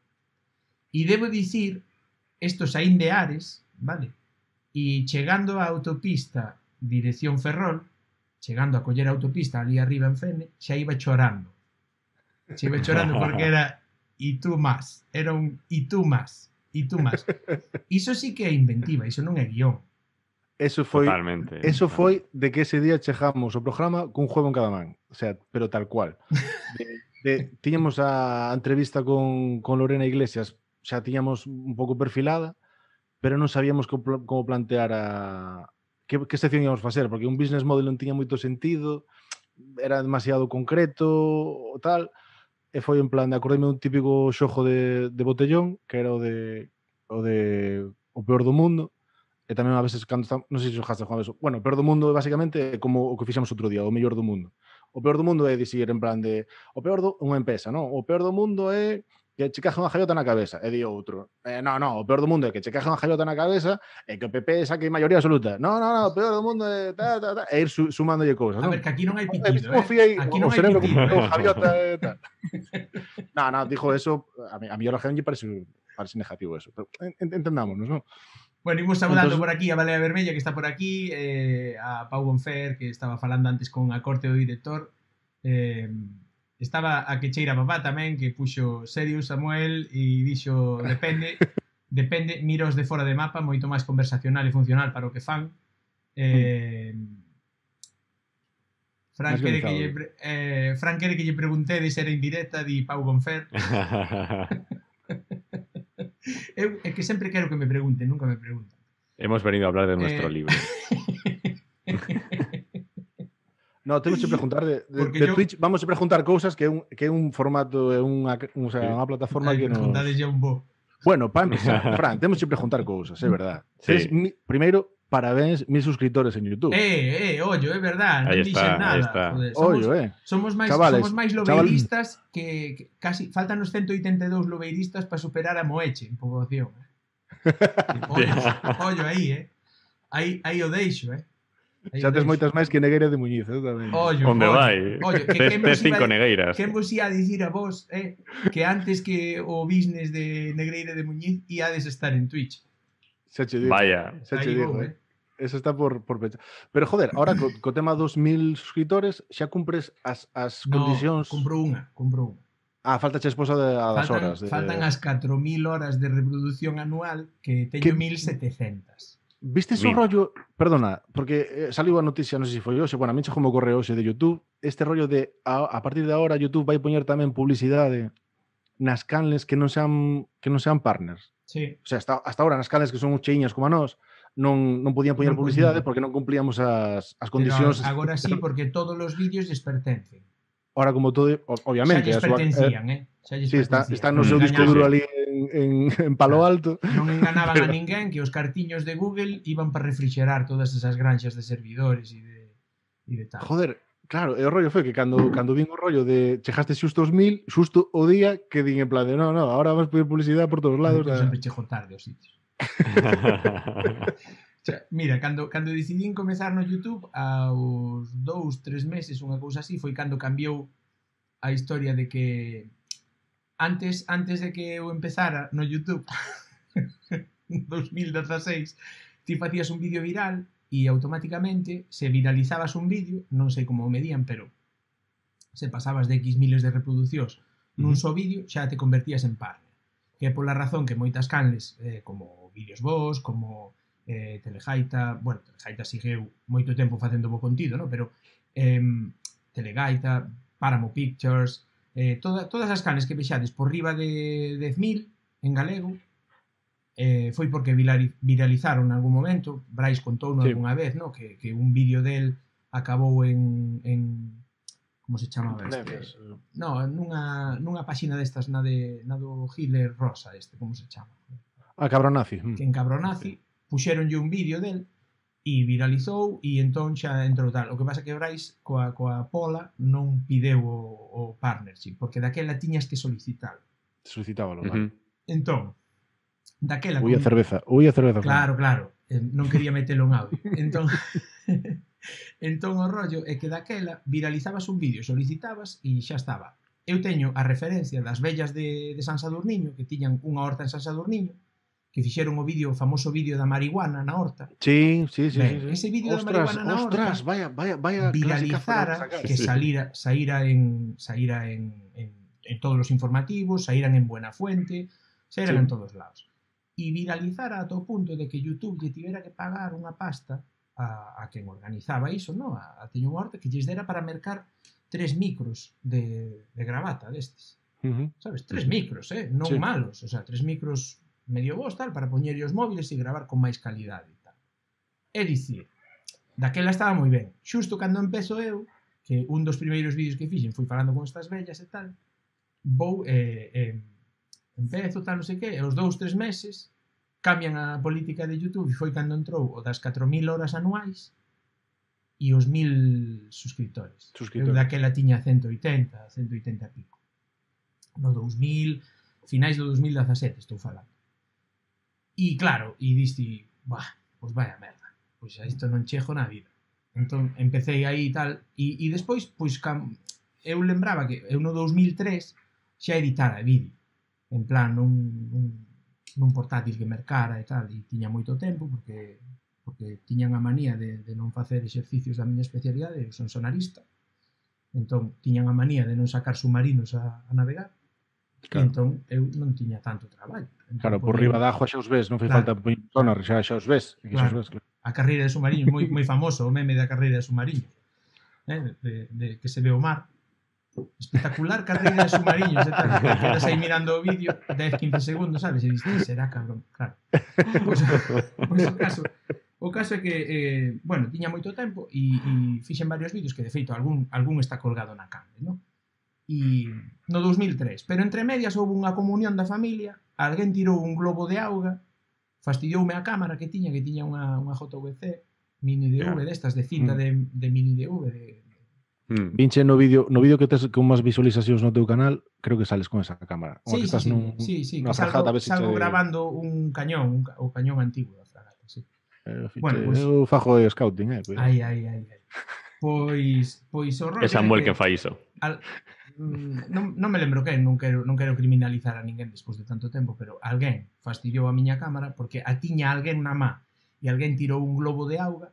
[SPEAKER 1] E debo dicir, estos saín de Ares, vale? E chegando á autopista dirección Ferrol, chegando a coller a autopista ali arriba en Fene, xa iba chorando. Porque era e tú más. Era un e tú más. Iso sí que é inventiva, iso non é guión.
[SPEAKER 2] Eso foi
[SPEAKER 3] Totalmente.
[SPEAKER 2] Eso foi de que ese día chegamos ao programa cun juego en cada man. O sea, pero tal cual. Tiñamos a entrevista con Lorena Iglesias, xa tiñamos un pouco perfilada, pero non sabíamos como plantear que sección íamos facer, porque un business model non tiña moito sentido, era demasiado concreto o tal, e foi en plan de acordeme un típico xojo de botellón, que era o peor do mundo. E tamén a veces cando estamos, non sei se xojaste Juan Beso. Bueno, o peor do mundo basicamente é como o que fixemos outro día, o mellor do mundo. O peor do mundo é dicir en plan de o peor do unha empresa, non? O peor do mundo é que che caje unha jaiota na cabeza. E di outro. No, o peor do mundo é que che caje unha jaiota na cabeza e que o PP saque maioría absoluta. No, o peor do mundo é e ir sumándolle cousas, non?
[SPEAKER 1] A ver, que aquí non hai pitido,
[SPEAKER 2] Aquí non hai pitido. O jaiota e tal. No, dijo eso, a mí a la gente parece negativo eso. Pero entendámonos, non?
[SPEAKER 1] Bueno, imos saudando por aquí a Balea Vermella, que está por aquí, a Pau Bonfer, que estaba falando antes con a corte do director, estaba a Quecheira Papá tamén, que puxo serio Samuel e dixo, depende, miros de fora de mapa, moito máis conversacional e funcional para o que fan. Fran quere que lle preguntedes se era indirecta, di Pau Bonfer. É que sempre quero que me pregunten, nunca me preguntan.
[SPEAKER 3] Hemos venido a hablar de nuestro libro.
[SPEAKER 2] No, temos que preguntar de Twitch, vamos a preguntar cousas que é un formato, é unha plataforma que
[SPEAKER 1] preguntades ya un bo.
[SPEAKER 2] Bueno, para empezar, Fran, temos que preguntar cousas, é verdad.
[SPEAKER 3] Sí.
[SPEAKER 2] Primeiro, parabéns, 1000 suscriptores en YouTube.
[SPEAKER 1] Ollo, é verdad, non dixen nada. Joder,
[SPEAKER 2] ollo,
[SPEAKER 1] somos máis lobeiristas que casi faltan os 182 lobeiristas para superar a Moeche en poboación. Ollo aí, aí o deixo,
[SPEAKER 2] Xa tes moitas máis que Negueira de Muñiz, tamén.
[SPEAKER 3] Onde vai? Tes 5 negueiras.
[SPEAKER 1] Quen vos ia dicir a vos, que antes que o business de Negreira de Muñiz iades estar en Twitch.
[SPEAKER 2] Xa che digo.
[SPEAKER 3] Vaya.
[SPEAKER 2] Xa che digo, Eso está por pensar. Pero, joder, ahora co tema dos 1000 suscriptores xa cumpres as condicións...
[SPEAKER 1] No, compro unha.
[SPEAKER 2] Falta che esposa das horas.
[SPEAKER 1] Faltan as 4000 horas de reproducción anual que teño 1700.
[SPEAKER 2] Viste ese rollo, perdona, porque saliu a noticia, non sei se foi hoxe, bueno, a mí chegou o correo hoxe de YouTube, este rollo de a partir de agora YouTube vai poñer tamén publicidade nas canles que non sean partners.
[SPEAKER 1] Sí.
[SPEAKER 2] O sea, hasta ahora nas canles que son cheiñas como a nós, non podían poñer publicidade porque non cumplíamos as condicións.
[SPEAKER 1] Pero agora sí, porque todos os vídeos lles pertencen.
[SPEAKER 2] Ahora, como todo, obviamente...
[SPEAKER 1] Xa lles pertencían,
[SPEAKER 2] Sí, está no seu disco duro ali en Palo Alto.
[SPEAKER 1] Non enganaban a ninguén que os cartiños de Google iban para refrigerar todas esas granxas de servidores e de tal.
[SPEAKER 2] Joder, claro, e o rollo foi que cando vin o rollo de chegaste xusto os 1000, xusto o día que din en plan de no, ahora vas a poder publicidade por todos lados.
[SPEAKER 1] Eu sempre chego tarde aos sitios. Mira, cando decidín comezar no YouTube aos 2-3 meses, unha cousa así, foi cando cambiou a historia de que antes de que eu empezara no YouTube en 2016, ti facías un vídeo viral e automáticamente se viralizabas un vídeo, non sei como o medían, pero se pasabas de X miles de reproduccións nun só vídeo, xa te convertías en partner. Que é pola razón que moitas canles, como Vídeos Vos, como Telegaita, bueno, Telegaita sigueu moito tempo facendo bo contido, ¿no? Pero Telegaita, Páramo Pictures, todas as canles que vexades por riba de 10.000 en galego, foi porque viralizaron en algún momento. Brais contou algunha vez, ¿no? Que un vídeo del acabou en como se chamaba este? No, nunha páxina destas na do Hitler Rosa, como se chama?
[SPEAKER 2] Cabronazi.
[SPEAKER 1] Que en Cabronazi puxéronlle un vídeo del e viralizou e entón xa entrou tal. O que pasa que Brais coa Pola non pideu o partnership, porque daquela tiñas que solicitar.
[SPEAKER 2] Solicitábalo, vale.
[SPEAKER 1] Entón, daquela...
[SPEAKER 2] Ui a cerveza.
[SPEAKER 1] Claro, non quería metelo en audio. Entón o rollo é que daquela viralizabas un vídeo, solicitabas e xa estaba. Eu teño a referencia das vellas de San Sadurniño, que tiñan unha horta en San Sadurniño, que fixeron o famoso vídeo da marihuana na horta.
[SPEAKER 2] Sí.
[SPEAKER 1] Ese vídeo da marihuana na horta,
[SPEAKER 2] vaya
[SPEAKER 1] viralizara, que saíra en todos os informativos, saíran en Buenafuente, saíran en todos lados. E viralizara ata o punto de que YouTube lle tivera que pagar unha pasta a quen organizaba iso, ¿no? A teño unha horta que lles dera para mercar 3 micros de gravata destes. Sabes? 3 micros, non malos. O sea, 3 micros medio vos, tal, para poñerlle os móviles e gravar con máis calidade e tal. É dicir, daquela estaba moi ben. Xusto cando empezo eu, que un dos primeiros vídeos que fixen foi falando con estas vellas e tal, vou, empezo, tal, non sei que, e aos 2-3 meses cambian a política de YouTube e foi cando entrou o das 4000 horas anuais e os 1000 suscriptores. Eu daquela tiña 180 e pico. No 2000, finais do 2017 estou falando. E claro, e diste, pois vaya merda, pois a isto non chego na vida. Entón, empecé aí e tal, e despois, pois, eu lembraba que eu no 2003 xa editara vídeo, en plan, nun portátil que mercara e tal, e tiña moito tempo, porque tiñan a manía de non facer exercicios da miña especialidade, eu son sonarista, entón, tiñan a manía de non sacar submarinos a navegar, claro. Entón, eu non tiña tanto traballo. Entón,
[SPEAKER 2] claro, por riba da agua xa os ves, non fai falta poñer sonar, xa os ves.
[SPEAKER 1] Claro. A carreira de submarinos, moi famoso o meme da carreira de submarinos, de que se ve o mar. Espectacular carreira de submarinos, e tal. Quedas aí mirando o vídeo 10-15 segundos, sabes? E dices, será cabrón, claro. Pois o caso é que, bueno, tiña moito tempo e fixen varios vídeos que, de feito, algún está colgado na canle, non? E no 2003, pero entre medias houve unha comunión da familia, alguén tirou un globo de auga, Fastidioume a cámara que tiña unha JVC mini DV destas de cinta de mini DV
[SPEAKER 2] Vinche no vídeo que tes con máis visualizacións no teu canal, creo que sales con esa cámara.
[SPEAKER 1] Sí, que salgo grabando un cañón, o cañón antigo da fragata, sí.
[SPEAKER 2] Bueno, pues, eu fajo de scouting,
[SPEAKER 1] Ai. Pois o rollo
[SPEAKER 3] é Samuel que fai iso.
[SPEAKER 1] Non me lembro quen, non quero criminalizar a ninguén despois de tanto tempo, pero alguén fastidiou a miña cámara porque a tiña alguén na má e alguén tirou un globo de auga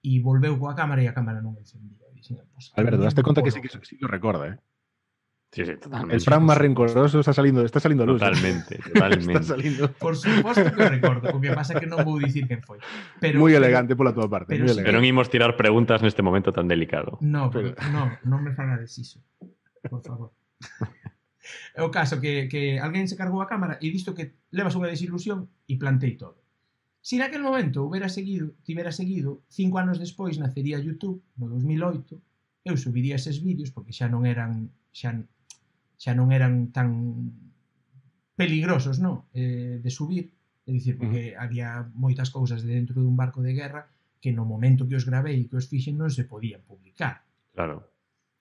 [SPEAKER 1] e volveu coa cámara e a cámara non encendía. Pues,
[SPEAKER 2] Alberto, daste conta que sí lo recorda,
[SPEAKER 3] Sí, totalmente.
[SPEAKER 2] El Fran más rencoroso está saliendo luz.
[SPEAKER 3] Totalmente.
[SPEAKER 2] Está salindo.
[SPEAKER 1] Por suposto que o recordo, o que pasa que non vou dicir quen foi.
[SPEAKER 2] Moi elegante pola tua parte.
[SPEAKER 3] Pero non imos tirar preguntas neste momento tan delicado.
[SPEAKER 1] Non me fagades iso. Por favor. É o caso que alguén se cargou a cámara e visto que levas unha desilusión e plantei todo. Si naquel momento tivera seguido, 5 anos despois nacería YouTube, no 2008, eu subiría eses vídeos porque xa non eran tan peligrosos, no? De subir, é dicir, porque había moitas cousas dentro dun barco de guerra que no momento que os gravei e que os fixen non se podían publicar.
[SPEAKER 3] Claro.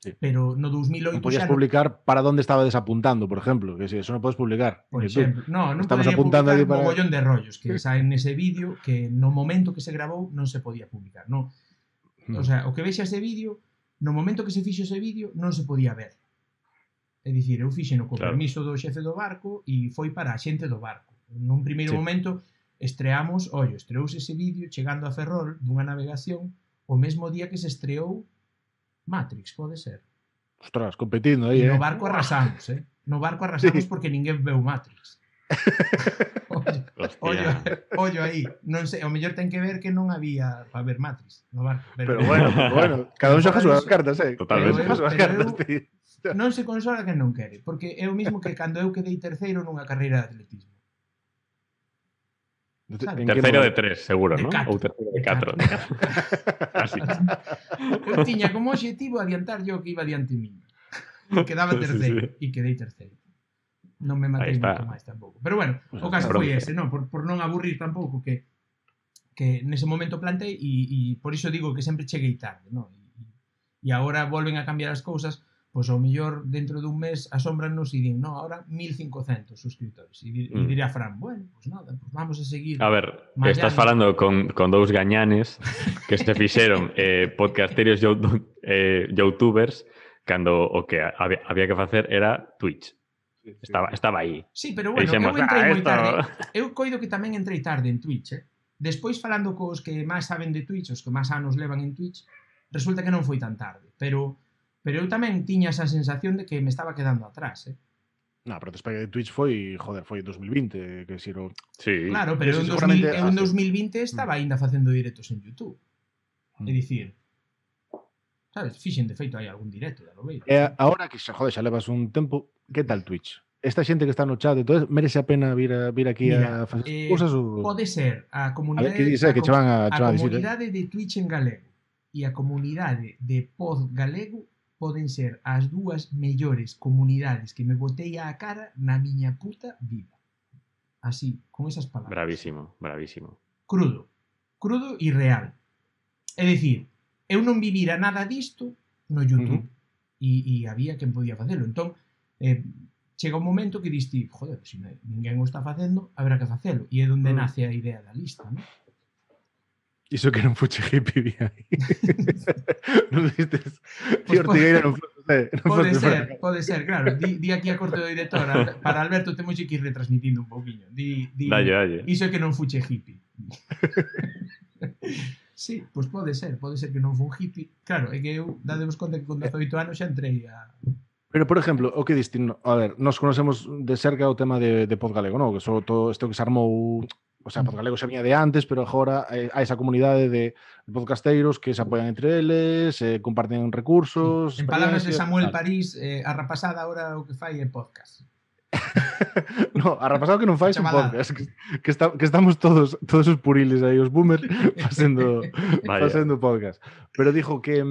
[SPEAKER 2] Sí.
[SPEAKER 1] Pero no 2008
[SPEAKER 2] non podías publicar para onde estaba desapuntando, por exemplo, que si eso non podes publicar.
[SPEAKER 1] Por exemplo, non
[SPEAKER 2] estamos
[SPEAKER 1] podía
[SPEAKER 2] apuntando
[SPEAKER 1] publicar
[SPEAKER 2] para...
[SPEAKER 1] un mogollón de rollos que saen nese vídeo que no momento que se grabou non se podía publicar, non? O sea, o que vexa ese vídeo, no momento que se fixo ese vídeo non se podía ver. É dicir, eu fixeno co permiso do xefe do barco e foi para a xente do barco. Nun primeiro momento estreouse ese vídeo chegando a Ferrol dunha navegación o mesmo día que se estreou Matrix, pode ser.
[SPEAKER 2] Ostras, competindo aí,
[SPEAKER 1] no barco arrasamos, No barco arrasamos porque ninguén veu Matrix. Ollo aí. Non sei, o mellor ten que ver que non había para ver Matrix no barco.
[SPEAKER 2] Pero bueno, cada un xoga as súas cartas,
[SPEAKER 3] Totalmente.
[SPEAKER 1] Non se consola que non quere, porque é o mismo que cando eu quedei terceiro nunha carreira de atletismo.
[SPEAKER 3] Terceiro de 3, seguro, non? Ou terceiro de 4.
[SPEAKER 1] Así. Eu tiña como objetivo adiantar yo que iba diante miño. E quedaba terceiro. E quedei terceiro. Non me matei moito máis tampouco. Pero bueno, o caso foi ese, non? Por non aburrir tampouco que nese momento plantei e por iso digo que sempre cheguei tarde, non? E agora volven a cambiar as cousas, pois ao mellor dentro dun mes asómbranos e din, no, ahora 1500 suscriptores. E dirá Fran, bueno, pois nada, pois vamos a seguir.
[SPEAKER 3] A ver, estás falando con dous gañanes que se fixeron podcasterios youtubers cando o que había que facer era Twitch. Estaba aí.
[SPEAKER 1] Sí, pero bueno, eu entrei moi tarde. Eu coido que tamén entrei tarde en Twitch, Despois falando cos que máis saben de Twitch, os que máis anos levan en Twitch, resulta que non foi tan tarde, pero eu tamén tiña esa sensación de que me estaba quedando atrás,
[SPEAKER 2] No, pero despegue de Twitch foi 2020, que xiro...
[SPEAKER 3] Sí.
[SPEAKER 1] Claro, pero eu en 2020 estaba aínda facendo directos en YouTube. É dicir, sabes, fixen de feito hai algún directo, lo veis.
[SPEAKER 2] Agora que xa levas un tempo, que tal Twitch? Esta xente que está no chat, entonces merece a pena vir aquí a facer cousas ou...
[SPEAKER 1] Pode ser a comunidade...
[SPEAKER 2] A ver, que dice que che van a
[SPEAKER 1] comunidade de Twitch en galego e a comunidade de Pod galego poden ser as dúas mellores comunidades que me botei á cara na miña puta vida. Así, con esas palabras.
[SPEAKER 3] Bravísimo.
[SPEAKER 1] Crudo e real. É dicir, eu non vivira nada disto no YouTube e había quen podía facelo. Entón, chega un momento que diste, joder, se ninguén o está facendo, habrá que facelo. E é onde nace a idea da lista, non?
[SPEAKER 2] Iso que non fuche hippie vi aí. Non vistes? Tío Ortigueira non fuche.
[SPEAKER 1] Pode ser, claro. Di aquí a corte do director. Para Alberto temos que ir retransmitindo un poquinho.
[SPEAKER 3] Dalle.
[SPEAKER 1] Iso que non fuche hippie. Sí, pois pode ser que non fun hippie. Claro, é que eu, dadevos conta que con 18 anos xa entrei a...
[SPEAKER 2] Pero, por exemplo, o que diste, a ver, nos conocemos de cerca o tema de Pod Galego, non? Que só todo isto que se armou, o sea, Pod Galego xa vinha de antes, pero agora hai esa comunidade de podcasteiros que se apoian entre eles, comparten recursos...
[SPEAKER 1] Sí. En palabras de Samuel París, a rapasada agora o que fai é podcast.
[SPEAKER 2] No, a rapasada que non fai un podcast, que estamos todos os puriles aí, os boomers, facendo podcast. Pero dijo que...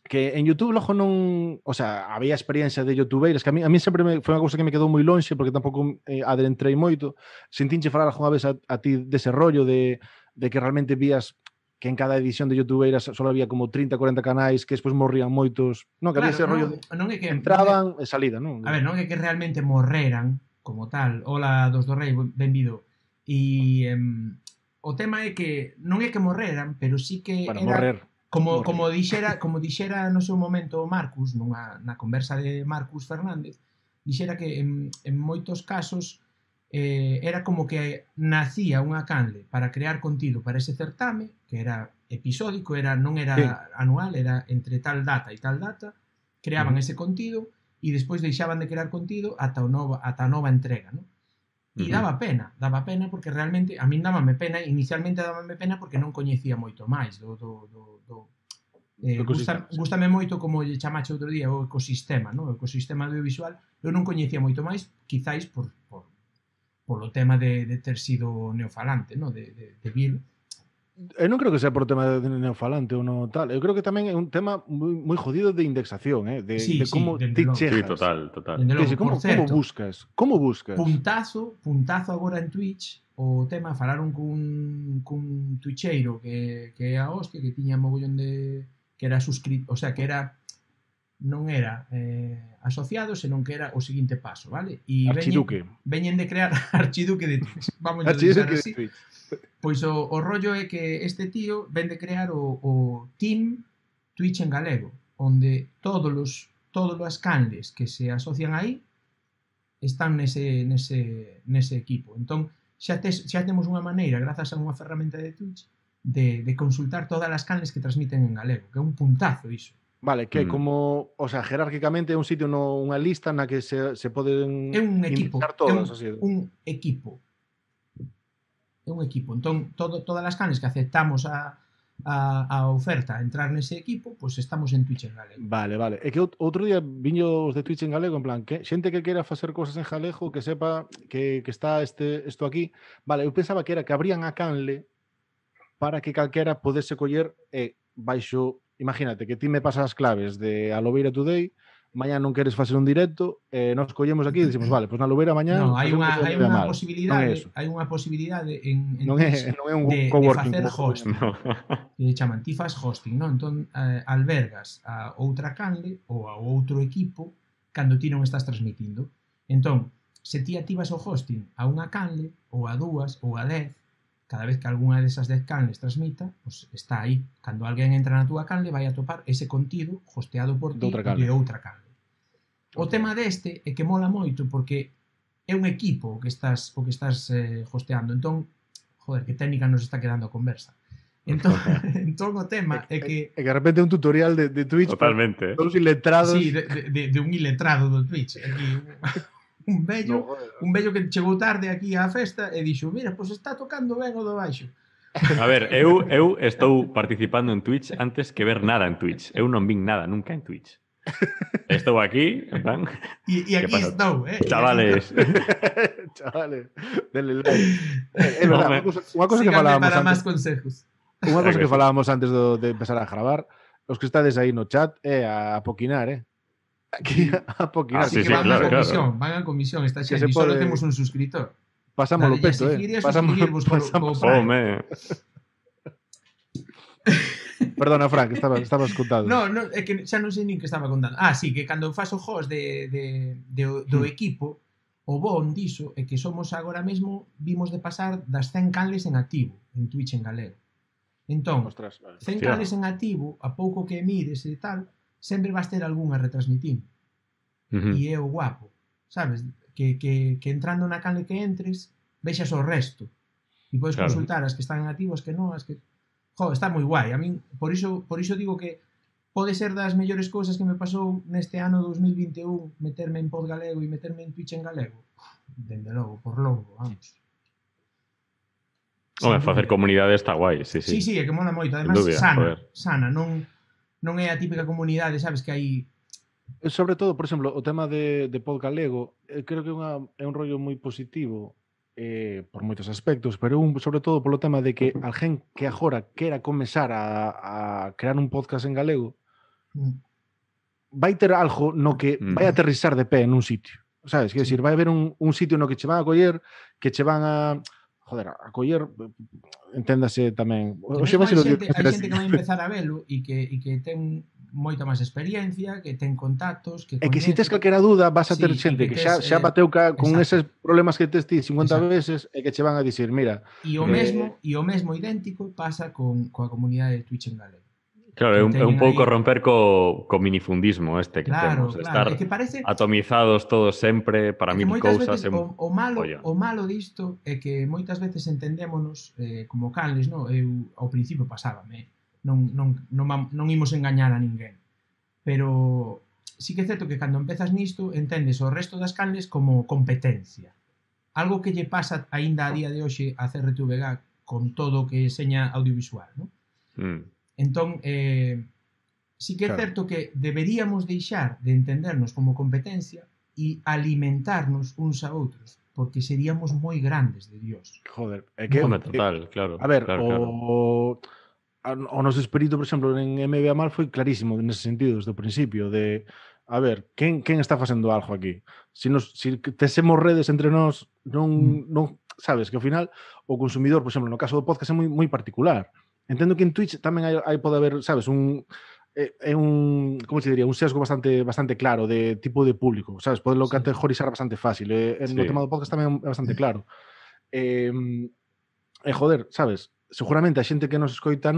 [SPEAKER 2] que en YouTube logo non, o sea, había experiencia de youtubeiras que a mí sempre foi unha cousa que me quedou moi lonxe porque tampouco adentrei moito. Sentinche falar algunha vez a ti dese rollo de que realmente vías que en cada edición de youtubeiras só había como 30, 40 canais que despois morrían moitos, non, que había ese rollo de entraban e salida, non?
[SPEAKER 1] A ver, non é que realmente morreran como tal. Hola, dos do Rei, benvido. E o tema é que non é que morreran, pero sí que
[SPEAKER 2] para
[SPEAKER 1] era
[SPEAKER 2] morrer.
[SPEAKER 1] Como dixera no seu momento Marcus, na conversa de Marcus Fernández, dixera que en moitos casos era como que nacía unha canle para crear contido para ese certame, que era episódico, non era anual, era entre tal data e tal data, creaban ese contido e despois deixaban de crear contido ata a nova entrega, non? E daba pena porque realmente a min dábame pena, inicialmente dábame pena porque non coñecía moito máis gústame moito como lle chamache outro día o ecosistema, non? O ecosistema audiovisual, eu non coñecía moito máis, quizáis polo tema de ter sido neofalante, non? De vir.
[SPEAKER 2] Eu non creo que sea por tema de neofalante ou non tal. Eu creo que tamén é un tema moi jodido de indexación, de como te chegas.
[SPEAKER 3] Sí, total.
[SPEAKER 2] Como buscas? Como buscas?
[SPEAKER 1] Puntazo agora en Twitch, o tema falaron cun twitcheiro que é a hostia, que tiña mogollón de que era suscrito, o sea, que era non era asociado, senón que era o seguinte paso, vale? E veñen de crear archiduque de Twitch. Vamos a deixar así. Pois o rollo é que este tío ven de crear o Team Twitch en galego, onde todas as canles que se asocian aí están nese equipo. Entón, xa temos unha maneira, grazas a unha ferramenta de Twitch, de consultar todas as canles que transmiten en galego, que é un puntazo iso.
[SPEAKER 2] Vale, que como, o sea, jerárquicamente é un sitio, unha lista na que se poden
[SPEAKER 1] indexar
[SPEAKER 2] todas,
[SPEAKER 1] un equipo. É un equipo. Entón, todas as canles que aceptamos a oferta a entrar nese equipo, pois estamos en Twitch en galego.
[SPEAKER 2] Vale. É que outro día viño os de Twitch en galego, en plan, que xente que queira facer cosas en galego, que sepa que está isto aquí. Vale, eu pensaba que era que abrían a canle para que calquera podese coller baixo, imagínate, que ti me pasas as claves de a Lobeira Today, mañá non queres facer un directo, nos collemos aquí e dicimos, vale, pois na Lobeira mañá...
[SPEAKER 1] Non, hai unha posibilidade en Twitch de facer hosting. Que chaman, ti faz hosting, non? Entón, albergas a outra canle ou a outro equipo cando ti non estás transmitindo. Entón, se ti activas o hosting a unha canle, ou a dúas, ou a 10, cada vez que algunha desas 10 canles transmita, pues está aí. Cando alguén entra na túa canle, vai a topar ese contido hosteado por ti de outra canle. O tema deste é que mola moito porque é un equipo o que estás hosteando. Entón, joder, que técnica nos está quedando a conversa. Entón o tema é que...
[SPEAKER 2] É que de repente é un tutorial de Twitch.
[SPEAKER 3] Totalmente.
[SPEAKER 2] Todos iletrados.
[SPEAKER 1] Sí, de un iletrado do Twitch. Aquí, un vello que chegou tarde aquí á festa e dixo, mira, pois está tocando ben o do baixo.
[SPEAKER 3] A ver, eu estou participando en Twitch antes que ver nada en Twitch. Eu non vin nada nunca en Twitch. Estou aquí, en plan...
[SPEAKER 1] E aquí estou,
[SPEAKER 3] Chavales.
[SPEAKER 2] Chavales, denle like. É verdade, unha cosa que falábamos
[SPEAKER 1] para máis consejos.
[SPEAKER 2] Unha cosa que falábamos antes de empezar a gravar, os que estades aí no chat é a poquinar, Aquí a poquinar.
[SPEAKER 1] Así que van a comisión, está xente, e só temos un suscritor.
[SPEAKER 2] Pasamos o peto,
[SPEAKER 1] Pasamos co Prime.
[SPEAKER 2] Perdona, Frank, estabas contando.
[SPEAKER 1] No, é que xa non sei nin que estaba contando. Sí, que cando faz o host do equipo, o bon diso é que somos agora mesmo, vimos de pasar das 100 canles en activo en Twitch en galego. Entón, 100 canles en activo, a pouco que mires e tal, sempre vas ter algunha retransmitindo. E é o guapo, sabes? Que entrando na canle que entres, vexas o resto. E podes consultar as que están en activo, as que non, as que... Joder, está moi guai. A min, por iso digo que pode ser das mellores cousas que me pasou neste ano 2021 meterme en Pod Galego e meterme en Twitch en galego. Dende logo, por longo, vamos.
[SPEAKER 3] Home, facer comunidade está guai, sí.
[SPEAKER 1] Sí, é que mola moito. Además, sana. Non é a típica comunidade, sabes, que hai...
[SPEAKER 2] Sobre todo, por exemplo, o tema de Pod Galego, creo que é un rollo moi positivo por moitos aspectos, pero sobre todo polo tema de que alguén que agora quera comezar a crear un podcast en galego, vai ter algo no que vai aterrizar de pé en un sitio, sabes? Quer decir, vai haber un sitio no que che van a coller, que che van a coller, enténdase tamén.
[SPEAKER 1] Hai xente que vai empezar a velo e que ten moita máis experiencia, que ten contactos, que
[SPEAKER 2] coñece. E que se tes calquera dúda, vas a ter xente que xa bateu con eses problemas que tes ti 50 veces e que che van a dicir, mira...
[SPEAKER 1] E o mesmo idéntico pasa coa comunidade de Twitch en galego.
[SPEAKER 3] Claro, é un pouco romper co minifundismo que temos,
[SPEAKER 1] estar
[SPEAKER 3] atomizados todos sempre para mil cousas.
[SPEAKER 1] O malo disto é que moitas veces entendémonos como canles, non? Eu ao principio pasábame, non imos engañar a ninguén, pero sí que é certo que cando empezas nisto entendes o resto das canles como competencia, algo que lle pasa aínda a día de hoxe a CRTVG con todo o que seña audiovisual, non? Entón, sí que é certo que deberíamos deixar de entendernos como competencia e alimentarnos uns a outros, porque seríamos moi grandes de Dios.
[SPEAKER 2] Joder, é que...
[SPEAKER 3] total, claro.
[SPEAKER 2] A ver, o noso espírito, por exemplo, en MBA Mal foi clarísimo nese sentido, desde o principio, de... A ver, quen está facendo algo aquí? Se tesemos redes entre nós, non sabes, que ao final o consumidor, por exemplo, no caso do podcast é moi particular. Entendo que en Twitch tamén hai pode haber, sabes, como se diría, un sesgo bastante claro de tipo de público, sabes, poderlo categorizar bastante fácil. No tema do podcast tamén é bastante claro. Joder, sabes, seguramente a xente que nos escoita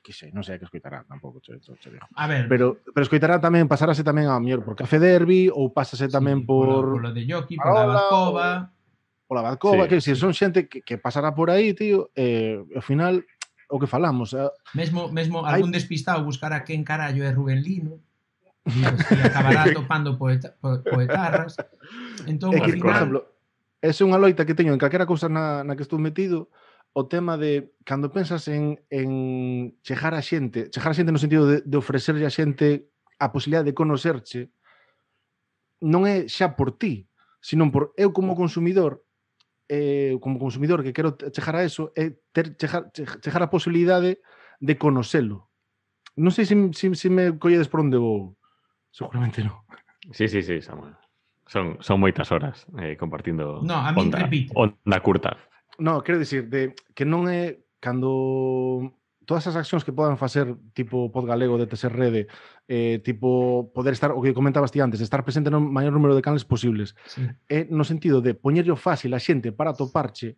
[SPEAKER 2] que sei, non sei a que escoitará tampouco, che digo.
[SPEAKER 1] A ver,
[SPEAKER 2] pero escoitará tamén, pasarase tamén a mellor por Café Derby ou pásase tamén por
[SPEAKER 1] lo de Yoki, por la Bazcova,
[SPEAKER 2] pola Badcova, que si son xente que pasará por aí, tío, ao final o que falamos.
[SPEAKER 1] Mesmo algún despistado buscará quen carallo é Rubén Lino e acabará topando poetarras. Entón,
[SPEAKER 2] por exemplo, esa é unha loita que teño en calquera cousa na que estou metido, o tema de cando pensas en chegar a xente no sentido de ofrecerlle a xente a posibilidade de conocerche, non é xa por ti, sino por eu como consumidor que quero chegar a eso, é chegar a posibilidade de conocelo. Non sei se me colledes por onde vou. Seguramente non.
[SPEAKER 3] Sí, Samuel. Son moitas horas compartindo
[SPEAKER 1] onda
[SPEAKER 3] curta.
[SPEAKER 2] No, quero dicir, que non é cando todas as accións que podan facer tipo Podgalego de TS Rede, tipo poder estar, o que comentabas ti antes, de estar presente no maior número de canales posibles, no sentido de poñerlo fácil a xente para toparche,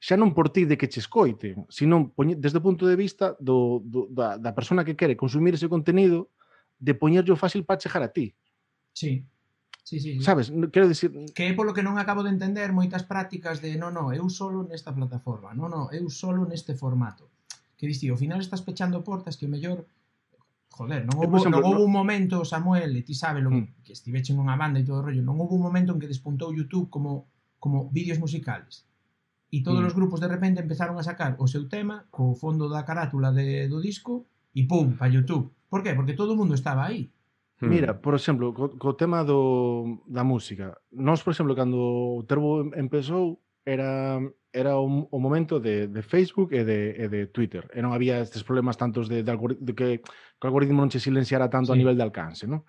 [SPEAKER 2] xa non por ti de que che escoite, sino desde o punto de vista da persona que quere consumir ese contenido, de poñerlo fácil para chegar a ti.
[SPEAKER 1] Sí.
[SPEAKER 2] Sabes, quero dicir...
[SPEAKER 1] Que é polo que non acabo de entender moitas prácticas de eu solo nesta plataforma, eu solo neste formato. Que diste, ao final estás pechando portas que o mellor... Joder, non houve un momento, Samuel, e ti sabes que estivechen nunha banda e todo o rollo, non houve un momento en que despuntou YouTube como vídeos musicales. E todos os grupos de repente empezaron a sacar o seu tema co fondo da carátula do disco e pum, pa YouTube. Por qué? Porque todo o mundo estaba aí.
[SPEAKER 2] Mira, por exemplo, co tema da música. Nós, por exemplo, cando o Terbo empezou, era o momento de Facebook e de Twitter. E non había estes problemas tantos de que o algoritmo non che silenciara tanto a nivel de alcance, non?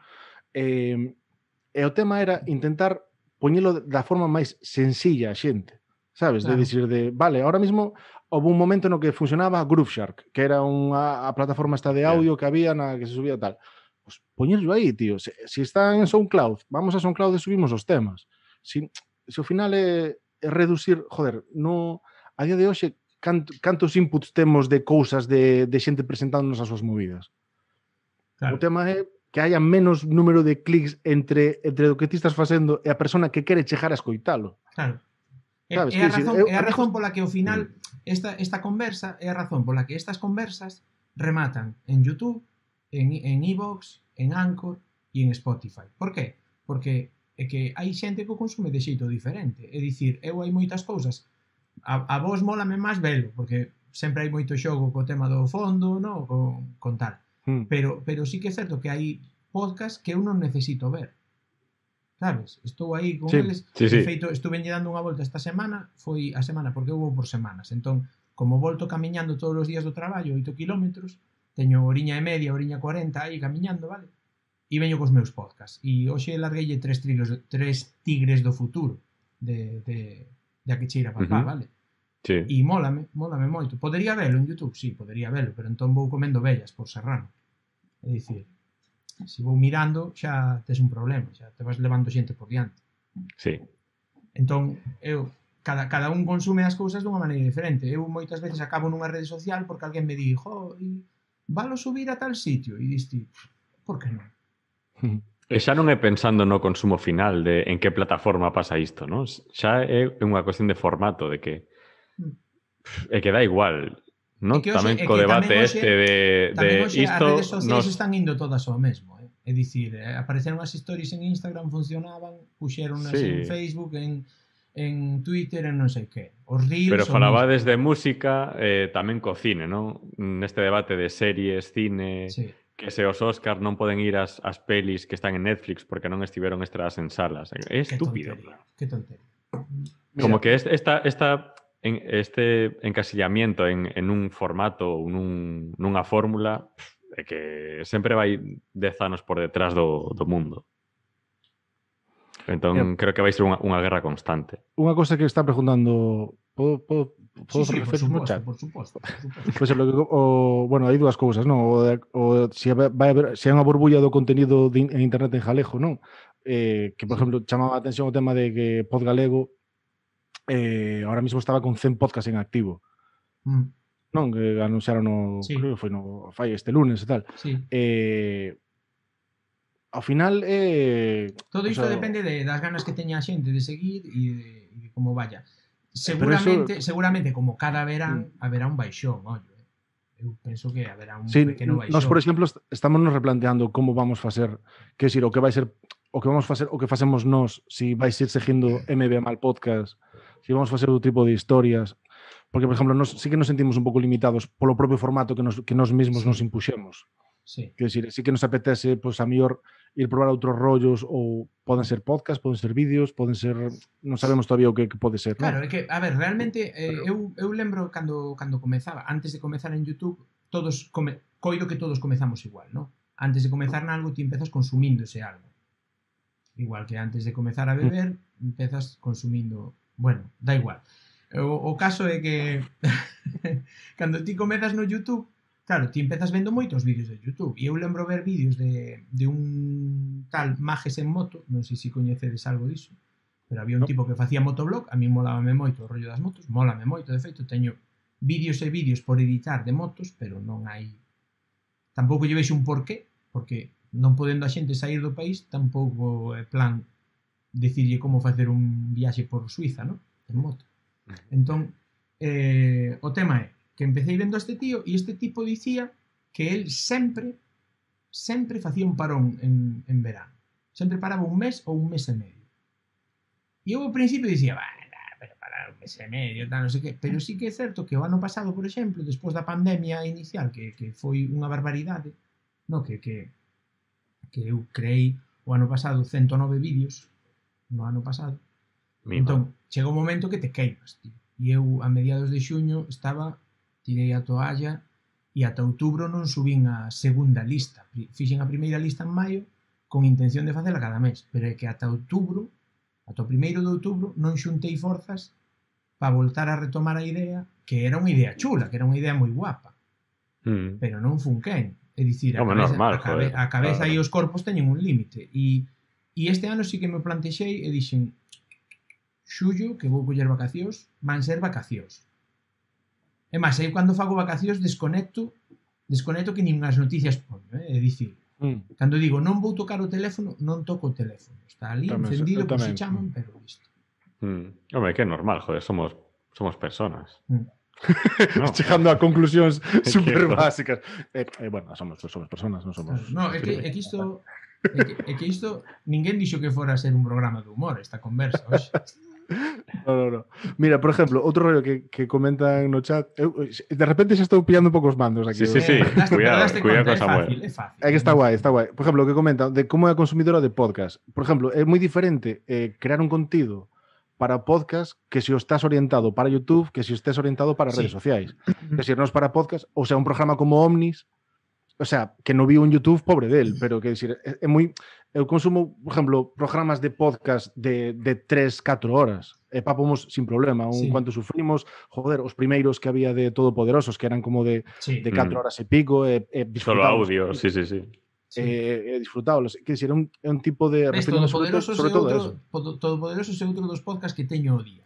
[SPEAKER 2] E o tema era intentar poñelo da forma máis sencilla a xente, sabes? Claro. De dicir vale, ahora mismo houve un momento no que funcionaba Grooveshark, que era a plataforma esta de audio que había na que se subía tal. Pues poñerlo aí, tío. Se está en SoundCloud, vamos a SoundCloud e subimos os temas. Se ao final é reducir, joder, a día de hoxe cantos inputs temos de cousas de xente presentándonos as súas movidas. Claro. O tema é que haya menos número de clics entre o que ti estás facendo e a persona que quere chegar a escoitalo.
[SPEAKER 1] Claro. É a razón pola que ao final esta conversa é a razón pola que estas conversas rematan en YouTube, en iVoox, en Anchor e en Spotify. Por qué? Porque é que hai xente que o consume de xeito diferente. É dicir, hai moitas cousas. A vos mólame máis velo, porque sempre hai moito xogo co tema do fondo, no? con tal. Pero sí que é certo que hai podcast que eu non necesito ver. Sabes? Estou aí con eles. De feito, estuve dando unha volta esta semana, foi a semana, porque eu vou por semanas. Entón, como volto camiñando todos os días do traballo, 8 kilómetros, teño horiña e media, horiña 40 aí camiñando, vale? E veño cos meus podcasts. E hoxe largueille tres tigres do futuro de a que cheira papá, vale?
[SPEAKER 3] Sí.
[SPEAKER 1] E mólame moito. Podería velo en YouTube? Sí, podería velo, pero entón vou comendo vellas por Serrano. É dicir, se vou mirando xa tes un problema, xa te vas levando xente por diante.
[SPEAKER 3] Sí.
[SPEAKER 1] Entón, cada un consume as cousas dunha maneira diferente. Eu moitas veces acabo nunha rede social porque alguén me dixo, valo subir a tal sitio, e diste, por que non?
[SPEAKER 3] E xa non é pensando no consumo final de en que plataforma pasa isto, non? Xa é unha cuestión de formato, de que é que dá igual, non? Tamén co debate de
[SPEAKER 1] isto as redes sociais
[SPEAKER 3] nos...
[SPEAKER 1] están indo todas ao mesmo, é dicir, apareceron as stories en Instagram, funcionaban, puxeronas en Facebook, en Twitter, en non sei que. Os reels.
[SPEAKER 3] Pero falabades de música, tamén co cine, non? Neste debate de series, cine, que se os Óscar non poden ir ás pelis que están en Netflix porque non estiveron estreadas en salas. É estúpido.
[SPEAKER 1] Que tontería.
[SPEAKER 3] Como que este encasillamiento en un formato ou nunha fórmula é que sempre vai 10 anos por detrás do mundo. Entón, creo que vai ser unha guerra constante.
[SPEAKER 2] Unha cosa que está preguntando... Podo referir no chat?
[SPEAKER 1] Por suposto.
[SPEAKER 2] Pois bueno, hai dúas cousas, non? Se hai unha burbulla do conteúdo en internet en galego, non? Que, por exemplo, chamaba a atención o tema de que Pod Galego ahora mismo estaba con 100 podcasts en activo. Non? Que anunciaron creo que foi fai este lunes e tal. Ao final
[SPEAKER 1] todo isto depende das ganas que teña a xente de seguir e de como vaya. Seguramente como cada verán haberá un baixón, ollo. Eu penso que haberá un pequeno baixón.
[SPEAKER 2] Nós, por exemplo, estamos nos replanteando como vamos facer, que decir, o que vai ser o que vamos facer, o que facemos nós, si vais ir seguindo MB Mal Podcast, si vamos facer outro tipo de historias, porque, por exemplo, nós sí que nos sentimos un pouco limitados polo propio formato que nós mesmos nos impuxemos. Quer decir, sí que nos apetece, pois, a mellor ir probar outros rollos, ou poden ser podcast, poden ser vídeos, poden ser... Non sabemos todavía o que pode ser.
[SPEAKER 1] Claro, é que, a ver, realmente, eu lembro cando comezaba, antes de comezar en YouTube, coido que todos comezamos igual, non? Antes de comezar nalgo, ti empezas consumindo ese algo. Igual que antes de comezar a beber, empezas consumindo... Bueno, da igual. O caso é que cando ti comezas no YouTube, claro, ti empezas vendo moitos vídeos de YouTube. E eu lembro ver vídeos de un tal Majes en moto, non sei se coñecedes algo diso, pero había un tipo que facía motoblog, a mí molábame moito o rollo das motos, mólame moito, de feito, teño vídeos e vídeos por editar de motos, pero non hai... Tampouco lle vexo un porqué, porque non podendo a xente sair do país, tampouco é plan decirlle como facer un viaxe por Suiza, non? En moto. Entón, o tema é que empecé vendo a este tío e este tipo dicía que él sempre facía un parón en verano. Sempre paraba un mes ou un mes e medio. E eu ao principio dicía, pero parar un mes e medio, tal, non sei que. Pero sí que é certo que o ano pasado, por exemplo, despois da pandemia inicial, que foi unha barbaridade, no, que eu creei o ano pasado 109 vídeos, no ano pasado. Entón, chega un momento que te queimas, tío. E eu, a mediados de xuño, tirei a toalla e ata outubro non subín a segunda lista. Fixen a primeira lista en maio con intención de facela cada mes, pero é que ata outubro, ata o 1º de outubro, non xuntei forzas para voltar a retomar a idea, que era unha idea chula, que era unha idea moi guapa, pero non funquén. É dicir, a cabeza e os corpos teñen un límite. E este ano sí que me plantexei e dixen, xullo, que vou coller vacacións, van ser vacacións. É máis, eu cando fago vacacións desconecto que nin as noticias poño, é dicir, cando digo non vou tocar o teléfono, non toco o teléfono. Está ali encendido, por se chaman, pero listo.
[SPEAKER 3] Hombre, que é normal, joder, somos personas.
[SPEAKER 2] Chegando a conclusións super básicas. Bueno, somos personas, non somos...
[SPEAKER 1] No, é que isto ninguén dixo que fora a ser un programa de humor esta conversa, hoxe.
[SPEAKER 2] No. Mira, por exemplo, outro rollo que comentan no chat, de repente xa estou pillando un pouco os mandos aquí.
[SPEAKER 3] Sí. Cuidado con Samuel.
[SPEAKER 1] É fácil.
[SPEAKER 2] É que está guai. Por exemplo, o que comentan de como é a consumidora de podcast. Por exemplo, é moi diferente crear un contido para podcast que se o estás orientado para YouTube, que se o estés orientado para redes sociais. Que se non para podcast, ou sea, un programa como Omnis, o sea, que non viu en YouTube, pobre del, pero que decir, é moi... Eu consumo, por exemplo, programas de podcast de 3-4 horas e papamos sin problema, un cuanto sufrimos, joder, os primeiros que había de Todopoderosos, que eran como de 4 horas e pico,
[SPEAKER 3] solo audio, sí.
[SPEAKER 2] Disfrutábalos. Quer dizer, é un tipo de...
[SPEAKER 1] Todopoderosos é outro dos podcasts que teño o día.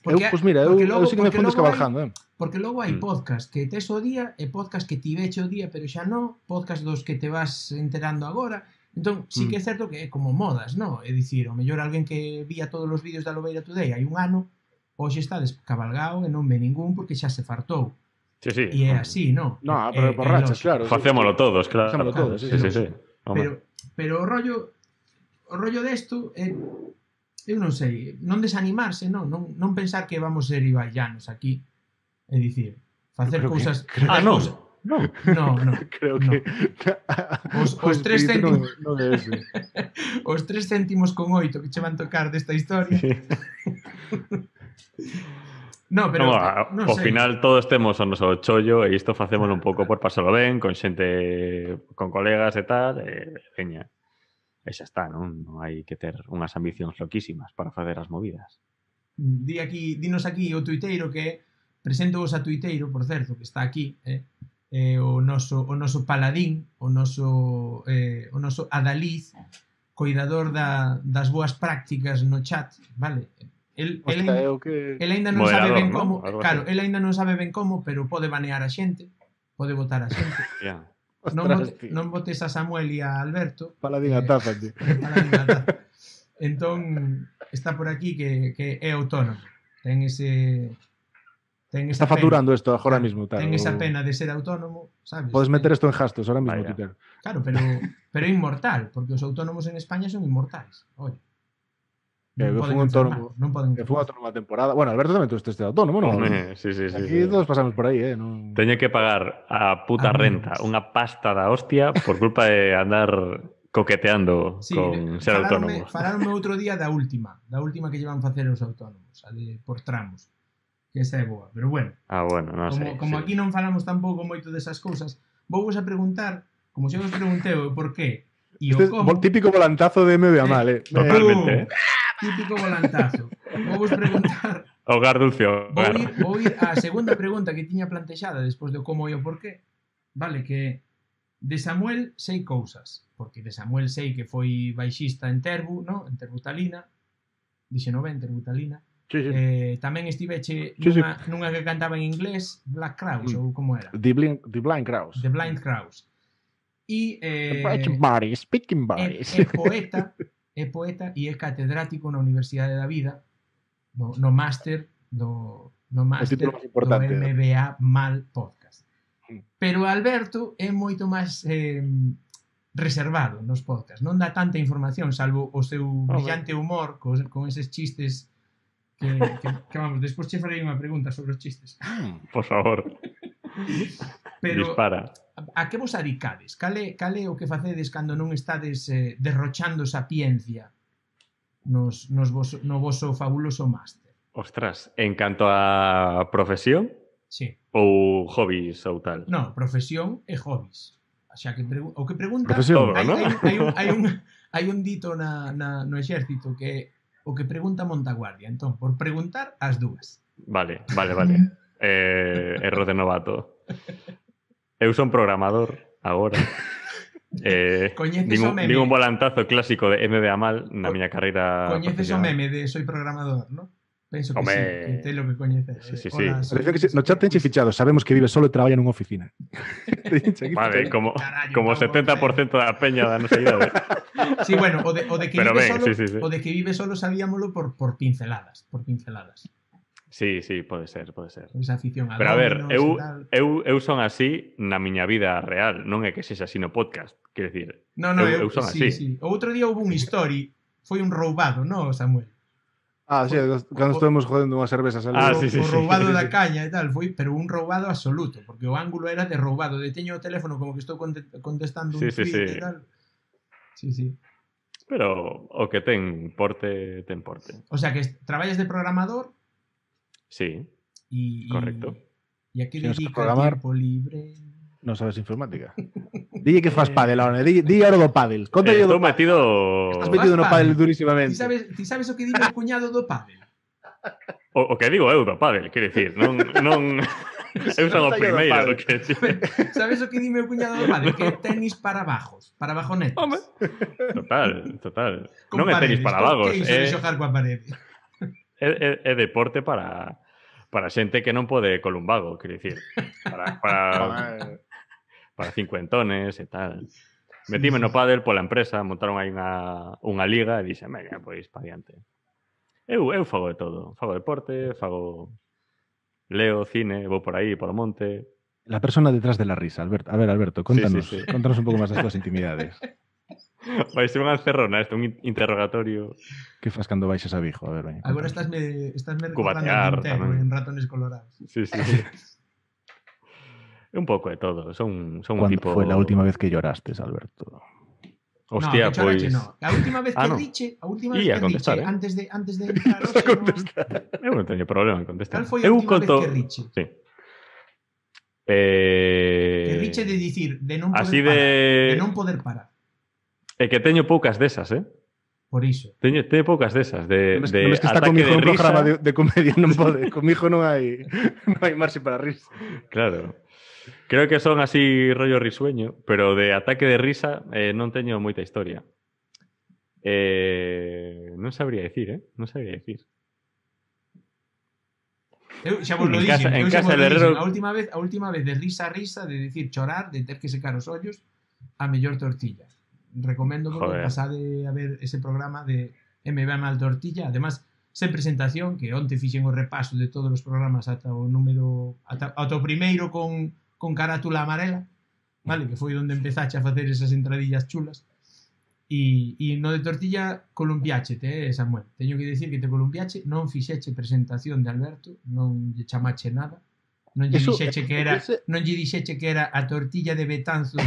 [SPEAKER 2] Pois mira, eu sí que me fui descabalgando.
[SPEAKER 1] Porque logo hai podcast que tes o día e podcast que ti veche o día, pero xa non, podcast dos que te vas enterando agora. Entón, sí que é certo que é como modas, non? É dicir, o mellor alguén que vía todos os vídeos da Lobeira Today hai un ano, hoxe está descabalgado e non ve ningún porque xa se fartou.
[SPEAKER 3] Sí.
[SPEAKER 1] E é así, non?
[SPEAKER 2] Non, pero por rachas, claro.
[SPEAKER 3] Facémolo todos, claro.
[SPEAKER 2] Facémolo todos, sí.
[SPEAKER 1] Pero o rollo desto é... Eu non sei, non desanimarse, non pensar que vamos ser Ibai Llanos aquí, é dicir, facer cousas...
[SPEAKER 3] Non.
[SPEAKER 2] Creo que...
[SPEAKER 1] Os 3 céntimos... Os 3 céntimos con 8 que che van tocar desta historia... No, pero non
[SPEAKER 3] ao
[SPEAKER 1] sei.
[SPEAKER 3] final todos temos o noso chollo e isto facémolo un pouco por pasalo ben, con xente, con colegas e tal, e veña. E xa está, non hai que ter unhas ambicións loquísimas para facer as movidas.
[SPEAKER 1] Dinos aquí o tuiteiro que presento vos a tuiteiro, por certo, que está aquí, o noso paladín, o noso adaliz, coidador das boas prácticas no chat, vale? El aínda non sabe ben como, claro, el aínda non sabe ben como, pero pode banear a xente, pode votar a xente. Non votes a Samuel e a Alberto.
[SPEAKER 2] Paladín a taza, tío.
[SPEAKER 1] Entón, está por aquí que é autónomo. Ten
[SPEAKER 2] está facturando isto agora mismo.
[SPEAKER 1] Ten esa pena de ser autónomo, sabes?
[SPEAKER 2] Podes meter isto en gastos ahora mismo, Twitter.
[SPEAKER 1] Claro, pero é inmortal, porque os autónomos en España son inmortais. Oye.
[SPEAKER 2] Fue un autónomo a temporada. Bueno, Alberto tamén este autónomo, non?
[SPEAKER 3] Sí.
[SPEAKER 2] Aquí todos pasamos por aí, non?
[SPEAKER 3] Teño que pagar a puta renta unha pasta da hostia por culpa de andar coqueteando con ser autónomo.
[SPEAKER 1] Falaronme outro día da última que llevan facer os autónomos, a de por tramos, que esa é boa, pero bueno.
[SPEAKER 3] Bueno, non sei.
[SPEAKER 1] Como aquí non falamos tampouco moito desas cousas, vou vos a preguntar, como xa vos preguntei o por qué e o como.
[SPEAKER 2] Típico volantazo de MBA mal,
[SPEAKER 3] Totalmente,
[SPEAKER 1] Típico volantazo. Vou vos preguntar...
[SPEAKER 3] Hogar dulce.
[SPEAKER 1] Vou ir á segunda pregunta que tiña plantexada despois do como e o porqué. Vale, que de Samuel sei cousas. Porque de Samuel sei que foi baixista en Terbu, ¿no? En Terbutalina. Dixeno ben, Terbutalina.
[SPEAKER 2] Sí.
[SPEAKER 1] Tamén estiveche nunha que cantaba en inglés, Black Crowes, ou como era?
[SPEAKER 2] The Blind Crowes.
[SPEAKER 1] The Blind Crowes. E
[SPEAKER 2] Speaking bodies.
[SPEAKER 1] É poeta e é catedrático na Universidade da Vida, no máster do MBA Mal Podcast. Pero Alberto é moito máis reservado nos podcasts, non dá tanta información, salvo o seu brillante humor con eses chistes que vamos, despois che farei unha pregunta sobre os chistes.
[SPEAKER 3] Por favor.
[SPEAKER 1] Pero,
[SPEAKER 3] dispara.
[SPEAKER 1] A que vos adicades? Cal é o que facedes cando non estades derrochando sapiencia no voso fabuloso máster?
[SPEAKER 3] Ostras, en canto a profesión?
[SPEAKER 1] Sí.
[SPEAKER 3] Ou hobbies ou tal?
[SPEAKER 1] No, profesión e hobbies. Xa que o que pregunta...
[SPEAKER 2] Profesión,
[SPEAKER 1] hai un dito no exército que o que pregunta Montaguardia. Entón, por preguntar, as dúas.
[SPEAKER 3] Vale. Erro de novato. Eu son programador agora. Nin un volantazo clásico de MBA mal na miña carreira.
[SPEAKER 1] Coñeces o meme de soy programador, ¿no? Penso que sí, que te lo que coñeces.
[SPEAKER 3] Sí.
[SPEAKER 2] No chat tenche fichado, sabemos que vive solo e traballa nunha oficina.
[SPEAKER 3] Vale, como 70% da peña da nosa idade.
[SPEAKER 1] Sí, bueno, o de que vive solo sabíamolo por pinceladas,
[SPEAKER 3] Sí, pode ser.
[SPEAKER 1] Esa afición a
[SPEAKER 3] pero a ver, eu son así na miña vida real, non é que sexa así no podcast, quero dicir. Eu son así.
[SPEAKER 1] Sí. O outro día houve un story, foi un roubado, non, Samuel?
[SPEAKER 2] Sí, cando estuvemos jodendo unhas cervezas ali.
[SPEAKER 1] O roubado da caña e tal, foi, pero un roubado absoluto, porque o ángulo era de roubado, de teño o teléfono como que estou contestando un tweet e tal. Sí.
[SPEAKER 3] Pero o que ten porte.
[SPEAKER 1] O sea, que traballas de programador.
[SPEAKER 3] Sí, correcto.
[SPEAKER 1] ¿Y a qué dedica el tiempo libre?
[SPEAKER 2] Non sabes informática. Dille que fas pádel, ahora. Dille ahora do pádel. Conta
[SPEAKER 3] Estou
[SPEAKER 2] do pádel.
[SPEAKER 3] metido...
[SPEAKER 2] Estás metido no pádel durísimamente.
[SPEAKER 1] Ti sabes o que di meu cuñado do pádel?
[SPEAKER 3] O que digo eu do pádel, quero dicir, non eu son o primeiro que
[SPEAKER 1] sabes o que di meu cuñado do pádel? Que é tenis para bajos, para bajonetes.
[SPEAKER 3] Home. Total.
[SPEAKER 1] Con
[SPEAKER 3] Non é tenis
[SPEAKER 1] paredes,
[SPEAKER 3] para vagos,
[SPEAKER 1] que iso de xogar coa parede.
[SPEAKER 3] É deporte para xente que non pode columbago, quero dicir, para cincuentones e tal. Metime no pádel pola empresa, montaron aí unha liga e dixen, venga, pois, pa diante. Eu fago de todo. Fago deporte, leo, cine, vou por aí, por o monte. La
[SPEAKER 2] persona detrás de la risa, Alberto. A ver, Alberto, contanos,
[SPEAKER 3] sí.
[SPEAKER 2] Contanos un pouco máis das túas intimidades.
[SPEAKER 3] Vai ser unha encerrona, un interrogatorio.
[SPEAKER 2] Que fas cando baixas a Vigo? A ver, veña.
[SPEAKER 1] Agora estásme recordando
[SPEAKER 3] Cubatear,
[SPEAKER 1] Quintero en Ratones Colorados.
[SPEAKER 3] Sí. Un pouco de todo. Son un tipo...
[SPEAKER 2] ¿Cuándo fue la última vez que llorastes, Alberto?
[SPEAKER 3] Hostia,
[SPEAKER 1] no,
[SPEAKER 3] pois...
[SPEAKER 1] No. A última vez que riche, antes de entrar
[SPEAKER 3] Eu non teño problema en contestar.
[SPEAKER 1] Cal foi a última vez que riche?
[SPEAKER 3] Sí.
[SPEAKER 1] Que riche de dicir, de non poder parar.
[SPEAKER 3] É que teño poucas desas,
[SPEAKER 1] Por iso.
[SPEAKER 3] Teño poucas desas de
[SPEAKER 2] non es que está comigo un programa de comedia, non pode. Comigo non hai marxe para risa.
[SPEAKER 3] Claro. Creo que son así rollo risueño, pero de ataque de risa non teño moita historia. Non sabría dicir, Non sabría dicir.
[SPEAKER 1] Eu xa vos lo dixen. A última vez de risa a risa, de dicir chorar, de ter que secar os ollos, a mellor tortilla. Recomendo que pasade a ver ese programa de MB Mal Tortilla. Además, sen presentación, que onte fixen o repaso de todos os programas ata o primeiro con carátula amarela, vale, que foi onde empezache a facer esas entradillas chulas. E no de tortilla columpiáchete, Samuel. Teño que dicir que te columpiache, non fixeche presentación de Alberto, non lle chamache nada. Non lle dixeche que era a tortilla de Betanzos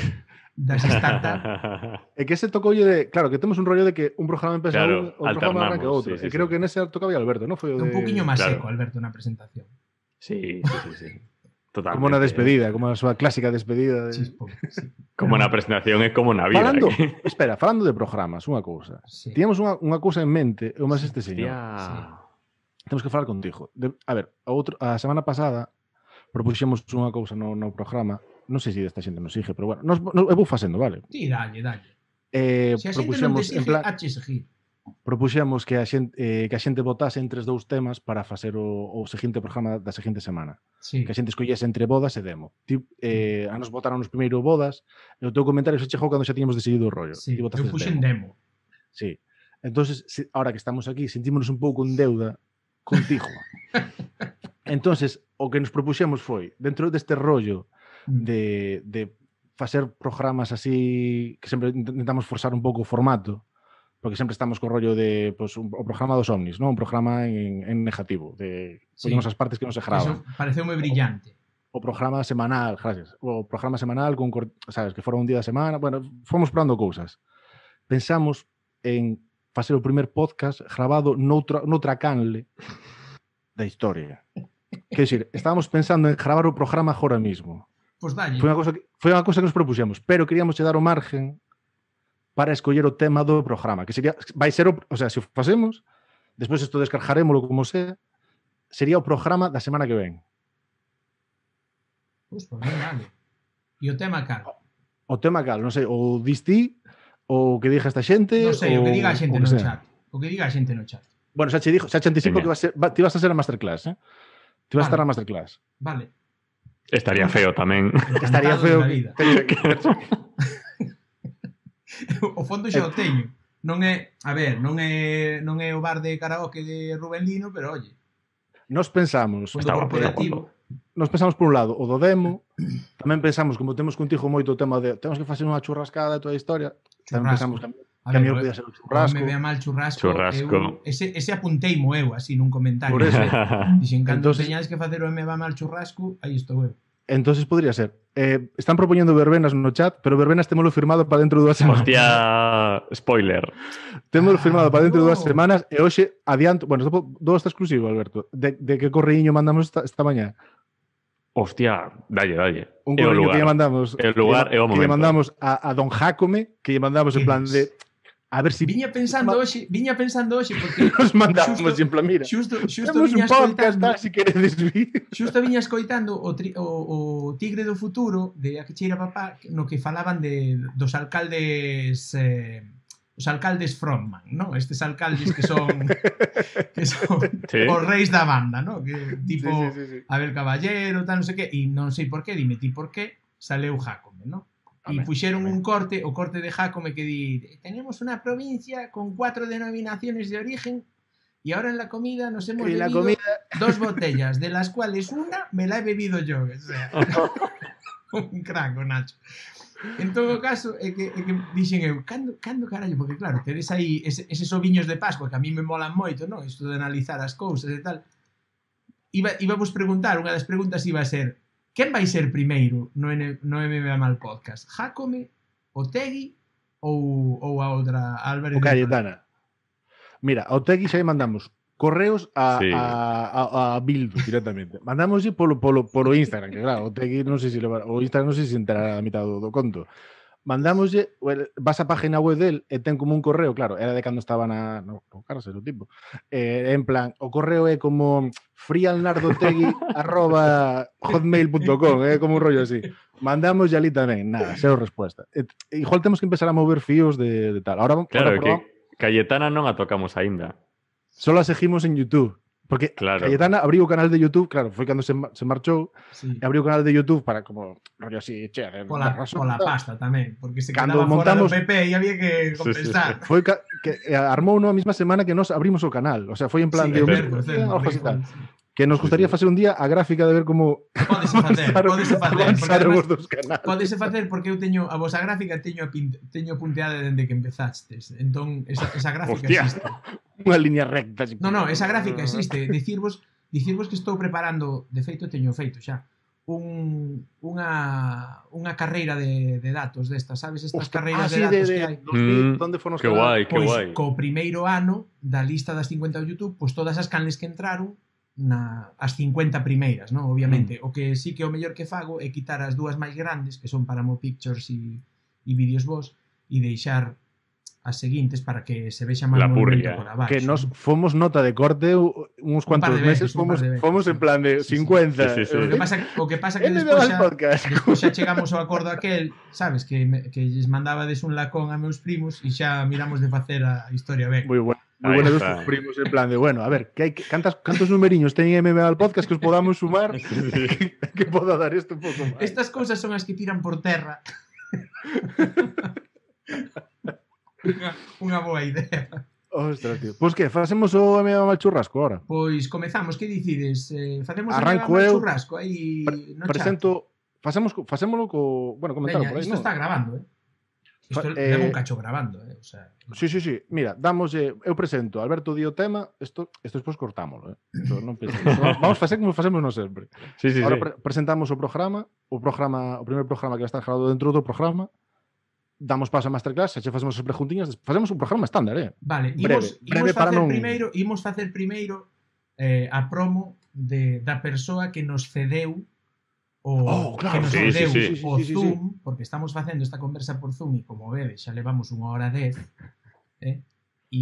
[SPEAKER 1] das startups.
[SPEAKER 2] É que ese tocoulle de... Claro, que temos un rollo de que un programa empeza o programa arranca outro.
[SPEAKER 3] Sí,
[SPEAKER 2] e creo que nese tocaba Alberto, non? Foi o de...
[SPEAKER 1] Un poquinho máis seco, Alberto, na presentación.
[SPEAKER 3] Sí. Totalmente.
[SPEAKER 2] Como na despedida, como a súa clásica despedida.
[SPEAKER 3] Como na presentación é como na vida.
[SPEAKER 2] Falando de programas, unha cousa.
[SPEAKER 1] Sí.
[SPEAKER 2] Tíamos unha cousa en mente, e máis este señor.
[SPEAKER 3] Sí.
[SPEAKER 2] Temos que falar contigo. A ver, a semana pasada propuxemos unha cousa no programa. Non sei se esta xente nos sigue, pero bueno, eu vou facendo, vale?
[SPEAKER 1] Sí, dalle. Se a xente non te sigue, hache seguir.
[SPEAKER 2] Propuxemos que a xente votase entre os dous temas para facer o seguinte programa da seguinte semana.
[SPEAKER 1] Sí.
[SPEAKER 2] Que a xente escollese entre bodas e demo. A nos votaron os primeiro bodas e o teu comentario se chegou cando xa tiñamos decidido o rollo.
[SPEAKER 1] Sí, eu puxen demo.
[SPEAKER 2] Sí. Entonces, ahora que estamos aquí, sentímonos un pouco en deuda contigo. Entonces, o que nos propuxemos foi, dentro deste rollo de facer programas así, que sempre intentamos forzar un pouco o formato, porque sempre estamos co rollo de o programa dos ovnis, non? Un programa en negativo, de poñemos as partes que non se gravan.
[SPEAKER 1] Eso pareceu moi brillante.
[SPEAKER 2] O programa semanal, gracias. O programa semanal con, sabes, que fora un día da semana, bueno, fomos probando cousas. Pensamos en facer o primer podcast grabado noutra canle da historia. Quer dizer, estábamos pensando en gravar o programa agora mismo.
[SPEAKER 1] Pois dalle.
[SPEAKER 2] Foi unha cousa que nos propuxemos, pero queríamos dar o margen para escoller o tema do programa, que sería, vai ser, o sea, se o facemos, despois isto descargarémoslo como sea, sería o programa da semana que ven.
[SPEAKER 1] Pois, por ben, dale. E o tema cal?
[SPEAKER 2] O tema cal, non sei, o distí, o que diga esta xente...
[SPEAKER 1] Non sei, o que diga a xente no chat. O que diga a xente no chat.
[SPEAKER 2] Bueno, xa te anticipo que ti vas a ser a masterclass, Ti vas a estar na masterclass.
[SPEAKER 1] Vale.
[SPEAKER 3] Estaría feo tamén.
[SPEAKER 2] Estaría feo.
[SPEAKER 1] O fondo xa o teño. Non é o bar de karaoke de Rubén Lino, pero oye.
[SPEAKER 2] Nos pensamos
[SPEAKER 1] corporativo.
[SPEAKER 2] Nos pensamos por un lado o do demo, tamén pensamos, como temos contigo moito o tema de temos que facer unha churrascada de toda a historia, tamén pensamos que a mí podía ser o churrasco.
[SPEAKER 1] Me vea mal churrasco. Ese apunteimo eu, así, nun comentario.
[SPEAKER 2] Por eso.
[SPEAKER 1] Dixen, cando teñades que facer o me va mal churrasco, aí estou eu.
[SPEAKER 2] Entonces podría ser. Están propoñendo verbenas no chat, pero verbenas témolo firmado para dentro de 2 semanas.
[SPEAKER 3] Hostia, spoiler.
[SPEAKER 2] Témolo firmado para dentro de 2 semanas e hoxe adianto, bueno, dou esta exclusivo, Alberto, de que correiño mandamos esta mañá.
[SPEAKER 3] Hostia, dalle.
[SPEAKER 2] Un correo que lle mandamos,
[SPEAKER 3] o lugar e o momento.
[SPEAKER 2] Que lle mandamos a Don Jácome, que lle mandamos en plan de a ver si
[SPEAKER 1] viña pensando hoxe porque
[SPEAKER 2] nos mandamos xusto, en plan, mira.
[SPEAKER 1] Xusto
[SPEAKER 2] temos un podcast, si queredes vir.
[SPEAKER 1] Xusto viña escoitando o Tigre do Futuro de A que cheira papá, no que falaban dos alcaldes os alcaldes frontman, ¿no? Estes alcaldes que son ¿sí? Os reis da banda, ¿no? Que tipo sí. Abel Caballero, tal, non sei que, e non sei por qué, dime ti por qué, saleu Jácome, ¿no? E puxeron un corte, o corte de Jácome que di, tenemos una provincia con 4 denominaciones de origen y ahora en la comida nos hemos bebido 2 botellas, de las cuales una me la he bebido yo. O sea, un crack, Nacho. En todo caso, é que dixen eu, cando carallo, porque claro, tedes aí eses oviños de Pascua que a mí me molan moito, non? Isto de analizar as cousas e tal. Iba vos preguntar, unha das preguntas iba a ser, quen vai ser primeiro no MMA Mal Podcast? Jácome, Otegui ou a outra Álvarez?
[SPEAKER 2] O Cayetana. Mira, a Otegui xa mandamos correos a Bildu directamente. Mandámoslle polo Instagram, que claro, Otegui non sei se o Instagram non sei se enterará a mitad do conto. Mandámoslle, vas a página web del e ten como un correo, claro, era de cando estaba no cárcel o tipo. En plan, o correo é como frialnardotegui@hotmail.com, como un rollo así. Mandamos ali tamén, nada, cero respuesta. Igual temos que empezar a mover fíos de tal. Ahora
[SPEAKER 3] claro, que Cayetana non a tocamos aínda.
[SPEAKER 2] Solo a seguimos en YouTube. Porque claro. Cayetana abriu o canal de YouTube, claro, foi cando se marchou, e abriu o canal de YouTube para como rollo así,
[SPEAKER 1] pola pasta tamén, porque se quedaba fora do PP e había que compensar.
[SPEAKER 2] Foi que armou a mesma semana que nos abrimos o canal, o sea, foi en plan de que nos gustaría facer un día a gráfica de ver como
[SPEAKER 1] Pódese facer porque eu teño a vosa gráfica teño punteada dende que empezastes. Entón esa gráfica existe.
[SPEAKER 2] Unha línea recta.
[SPEAKER 1] No, esa gráfica existe. Dicirvos que estou preparando, de feito teño feito xa unha carreira de datos destas, sabes? Estas carreiras de datos que hai.
[SPEAKER 2] Donde fonos
[SPEAKER 3] que guai.
[SPEAKER 1] Co primeiro ano da lista das 50 do YouTube, pois todas as canles que entraron as 50 primeiras, non? Obviamente, o que sí que o mellor que fago é quitar as dúas máis grandes, que son Paramo Pictures e Vídeos Vos, e deixar as seguintes para que se vexa máis movimento por abaixo.
[SPEAKER 2] Que nos fomos nota de corte uns cuantos meses, fomos en plan de 50.
[SPEAKER 1] Sí. O que pasa que despois xa chegamos ao acordo aquel, sabes, que lles mandabades un lacón a meus primos e xa miramos de facer a historia ben.
[SPEAKER 2] Moi bueno. Moi bueno dos primos en plan de, bueno, a ver, cantos numeriños teñen MMA al podcast que os podamos sumar que poda dar isto un pouco máis.
[SPEAKER 1] Estas cousas son as que tiran por terra. Unha boa idea.
[SPEAKER 2] Ostras, tío. Pois que, facemos o MMA mal churrasco ahora?
[SPEAKER 1] Pois comezamos, que dicides? Facemos o MMA mal churrasco aí no
[SPEAKER 2] presento, facémolo co, bueno, comentarlo por aí,
[SPEAKER 1] isto está grabando, Isto leva un cacho grabando, o sea.
[SPEAKER 2] Sí. Mira, eu presento, Alberto di o tema, isto despois cortámoslo, Non vamos facer como facemos non sempre.
[SPEAKER 3] Sí.
[SPEAKER 2] Ahora presentamos o primeiro programa que vai estar grabado dentro do programa. Damos paso a masterclass, xa facemos as preguntiñas, facemos un programa estándar,
[SPEAKER 1] Vale, imos facer primeiro a promo da persoa que nos cedeu o Zoom, porque estamos facendo esta conversa por Zoom e como vedes xa levamos 1h10 e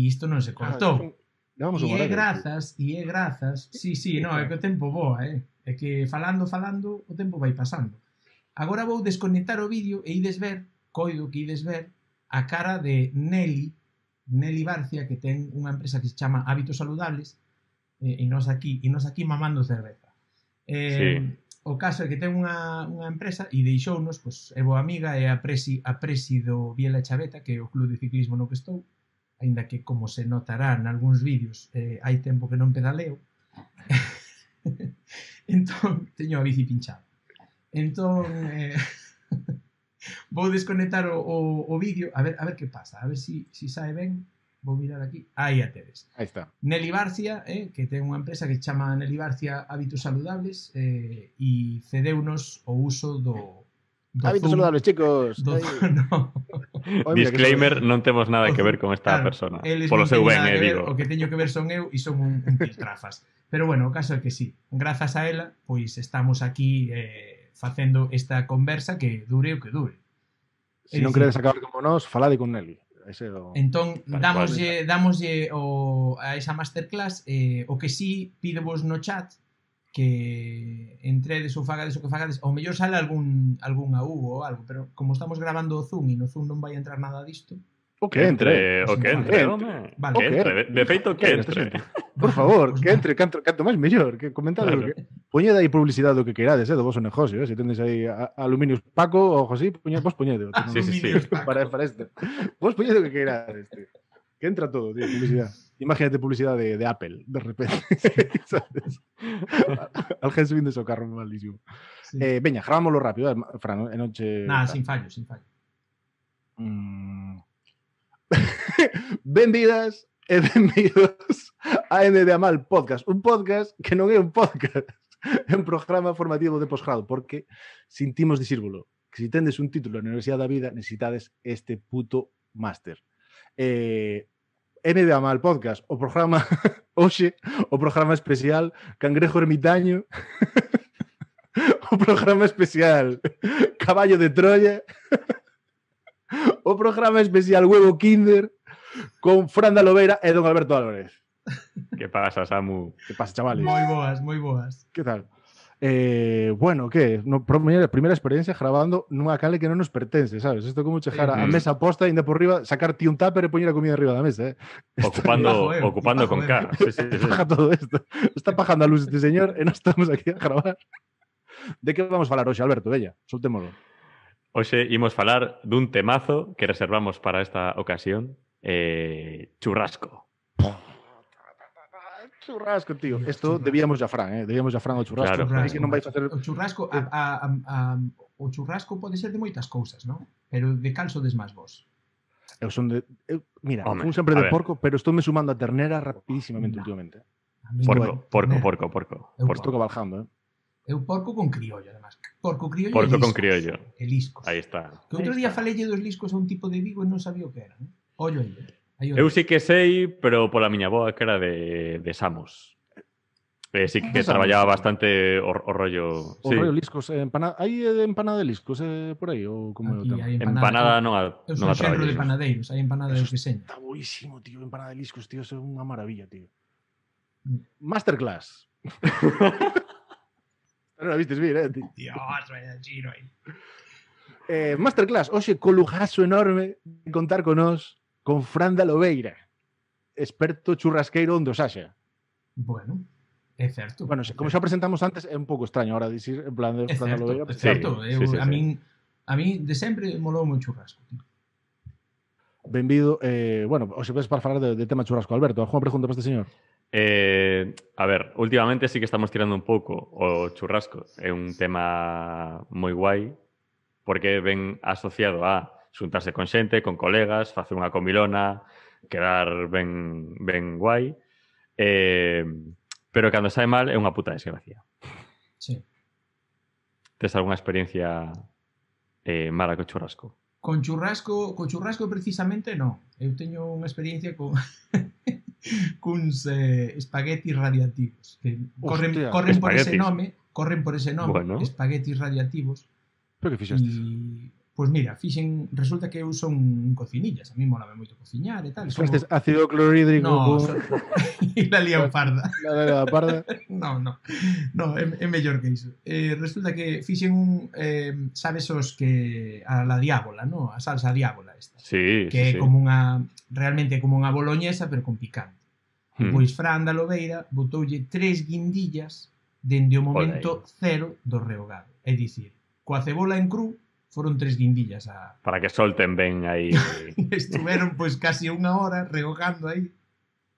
[SPEAKER 1] isto non se cortou e é grazas no, é que o tempo voa é que falando o tempo vai pasando. Agora vou desconectar o vídeo e coido que ides ver a cara de Nelly Barcia, que ten unha empresa que se chama Hábitos Saludables e nos aquí mamando cerveza. O caso é que ten unha empresa e deixounos, pois, é boa amiga, é a presi do Biela Chaveta, que é o club de ciclismo no que estou, aínda que, como se notará nalgúns vídeos, hai tempo que non pedaleo. Entón, teño a bici pinchada. Entón, vou desconectar o vídeo, a ver que pasa, a ver si sae ben. Vou mirar aquí, aí a tedes.
[SPEAKER 2] Aí está.
[SPEAKER 1] Nelly Barcia, que ten unha empresa que chama Nelly Barcia Hábitos Saludables e cedeunos o uso do
[SPEAKER 2] Hábitos saludables, chicos.
[SPEAKER 1] No.
[SPEAKER 3] Disclaimer, non temos nada que ver con esta persona. Polo seu ben, digo.
[SPEAKER 1] O que teño que ver son eu e son un piltrafas. Pero bueno, o caso é que sí. Grazas a ela, pois estamos aquí facendo esta conversa que dure o que dure.
[SPEAKER 2] Se non queredes acabar como nós, falade con Nelly.
[SPEAKER 1] Entón, damoslle a esa masterclass o que sí pidevos no chat que entredes ou fagades o que fagades, ao mellor sale algún AU ou algo, pero como estamos grabando o Zoom e no Zoom non vai entrar nada disto.
[SPEAKER 2] O que entre,
[SPEAKER 1] home.
[SPEAKER 3] Vale. Que entre, de feito que entre.
[SPEAKER 2] Por favor, que entre, canto máis mellor, que comentade claro. Poñede aí publicidade do que queirades, do vosso negocio, se tendes aí aluminios Paco ou algo así, vos poñede.
[SPEAKER 3] Sí.
[SPEAKER 2] Para isto. Vos poñede o que queirades, tío. Que entra todo, tío, publicidade. Imagínate publicidade de Apple, de repente. ¿Sabes? Alguén subindo o carro malísimo. Sí. Veña, grabámoslo rápido, Fran, en noche...
[SPEAKER 1] Nada, sin fallo.
[SPEAKER 2] Benvidas e benvidos a MD Amal Podcast. Un podcast que non é un podcast, é un programa formativo de posgrado, porque sentimos dicírvolo, que se tendes un título na Universidade da Vida, necesitades este puto máster. MD Amal Podcast, o programa hoxe, o programa especial Cangrejo Ermitaño, o programa especial Caballo de Troya, o programa especial Huevo Kinder con Fran da Lobeira e Don Alberto Álvarez.
[SPEAKER 3] Que pasa, Samu?
[SPEAKER 2] Que pasa, chavales?
[SPEAKER 1] Moi boas.
[SPEAKER 2] Que tal? Bueno, que? Primeira experiencia grabando nunha cale que non nos pertence, sabes? Isto como chegar a mesa posta, ainda por riba, sacar ti un tupper e poñer a comida arriba da mesa,
[SPEAKER 3] Ocupando con K. Sí.
[SPEAKER 2] Paja todo isto. Está pajando a luz este señor e non estamos aquí a gravar. De que vamos falar hoxe, Alberto? Bella, soltémoslo.
[SPEAKER 3] Hoxe imos falar dun temazo que reservamos para esta ocasión, churrasco.
[SPEAKER 2] Churrasco, tío. Esto debíamos a Fran, debíamos a Fran o churrasco.
[SPEAKER 1] Claro,
[SPEAKER 2] que non vai facer...
[SPEAKER 1] O churrasco, o churrasco pode ser de moitas cousas, non? Pero de cal sodes máis vos?
[SPEAKER 2] Mira, fun sempre de porco, pero estou me sumando a ternera rapidísimamente últimamente.
[SPEAKER 3] Porco.
[SPEAKER 2] Estou cabalgando,
[SPEAKER 1] Eu porco con criollo, además. Porco criollo
[SPEAKER 3] con criollo.
[SPEAKER 1] E liscos.
[SPEAKER 3] Aí está.
[SPEAKER 1] Que outro día falelle dos liscos a un tipo de Vigo e non sabía o que era, non? Ollo aí.
[SPEAKER 3] Eu sí que sei, pero pola miña boa que era de Samos. Sí que traballaba bastante o rollo...
[SPEAKER 2] O rollo liscos. Hai empanada de liscos por aí? Ou como
[SPEAKER 3] empanada non a
[SPEAKER 1] traballo. Eu son xenro de panadeiros. Hai empanada de deseño.
[SPEAKER 2] Está boísimo, tío. Empanada de liscos, tío. É unha maravilla, tío. Masterclass. Non a vistes vir, tío.
[SPEAKER 1] Dios, vaya giro aí.
[SPEAKER 2] Masterclass, hoxe co lujazo enorme de contar con nós con Fran da Lobeira, experto churrasqueiro onde os haxa.
[SPEAKER 1] Bueno, é certo.
[SPEAKER 2] Bueno, como xa presentamos antes, é un pouco extraño ahora dicir en plan de Fran da Lobeira.
[SPEAKER 1] É certo, a min de sempre molou o churrasco, tío.
[SPEAKER 2] Benvido. Bueno, hoxe ves para falar de tema churrasco. Alberto, alguna pregunta para este señor?
[SPEAKER 3] A ver, últimamente sí que estamos tirando un pouco o churrasco. É un tema moi guai porque ven asociado a xuntarse con xente, con colegas, facer unha comilona, quedar ben guai. Pero cando sae mal é unha puta desgracia.
[SPEAKER 1] Sí.
[SPEAKER 3] Tes algunha experiencia mala co churrasco?
[SPEAKER 1] Con churrasco precisamente non. Eu teño unha experiencia con cuns espaguetis radiactivos que corren por ese nome, bueno. Espaguetis radiactivos.
[SPEAKER 2] Pero que fixastes?
[SPEAKER 1] Pois mira, resulta que eu son cocinillas, a mí molame moito cociñar e tal.
[SPEAKER 2] Fixastes ácido clorhídrico?
[SPEAKER 1] No, e la lian parda.
[SPEAKER 2] La parda?
[SPEAKER 1] No, é mellor que iso. Resulta que fixen sabes os que a la diábola, no? A salsa diábola esta.
[SPEAKER 3] Sí,
[SPEAKER 1] que é como realmente como unha boloñesa, pero con picante. Pois Fran da Lobeira botoulle 3 guindillas dende o momento cero do rehogado. É dicir, coa cebola en cru foron 3 guindillas
[SPEAKER 3] para que solten ben aí.
[SPEAKER 1] Estuveron pois casi unha hora rehogando aí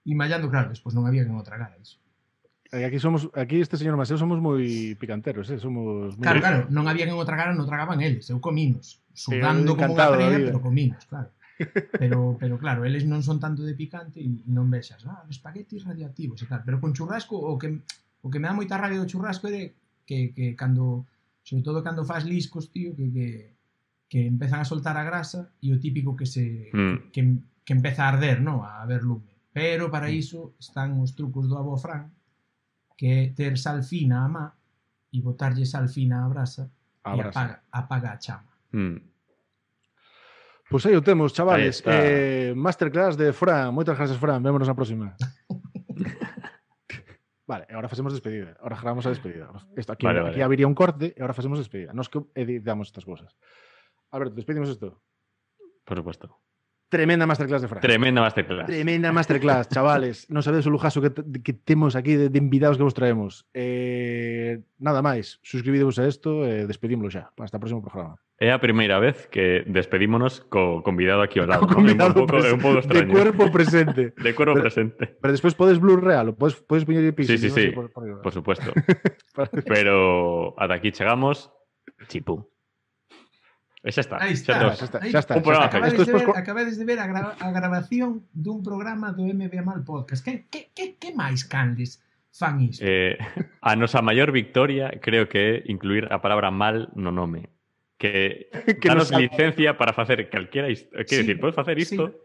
[SPEAKER 1] e mallando, claro, despois non había que non tragar iso.
[SPEAKER 2] Aquí este señor Maseo somos moi picanteros, somos moi...
[SPEAKER 1] Claro, non había que non tragar, non tragaban eles, eu cominos, sudando como unha frea, pero cominos, claro. Pero claro, eles non son tanto de picante e non vexas, espaguetis radiactivos e tal, pero con churrasco o que me dá moita rabia do churrasco é que cando Sobre todo cando faz liscos, tío, que empezan a soltar a grasa e o típico que empeza a arder, no? A ver lume. Pero para iso están os trucos do avó Fran, que é ter sal fina a má e botarlle sal fina á brasa e apaga a chama.
[SPEAKER 2] Pois aí o temos, chavales. Masterclass de Fran. Moitas gracias, Fran. Vémonos na próxima. Vale, agora facemos despedida. Agora grabamos a despedida. Aquí habería un corte e agora facemos despedida. Nos que editamos estas cosas. Alberto, despedimos isto.
[SPEAKER 3] Por supuesto.
[SPEAKER 2] Tremenda masterclass de Fran.
[SPEAKER 3] Tremenda masterclass.
[SPEAKER 2] Tremenda masterclass, chavales. Non sabedes o lujazo que temos aquí de invitados que vos traemos. Nada máis. Suscribidevos a isto e despedímoslo xa. Hasta o próximo programa.
[SPEAKER 3] É a primeira vez que despedímonos co convidado aquí ao lado. É un pouco extraño.
[SPEAKER 2] De cuerpo presente.
[SPEAKER 3] De cuerpo presente.
[SPEAKER 2] Pero despois podes blurrealo. Podes poñer piso.
[SPEAKER 3] Sí. Por supuesto. Pero ata aquí chegamos. Chipú. Xa está.
[SPEAKER 1] Aí está.
[SPEAKER 2] Xa está.
[SPEAKER 1] Acabades de ver a grabación dun programa do MBA Mal Podcast. Que máis canles fan isto?
[SPEAKER 3] A nosa maior victoria creo que é incluir a palabra mal no nome. Que danos licencia para facer calquera isto. Quer decir, podes facer isto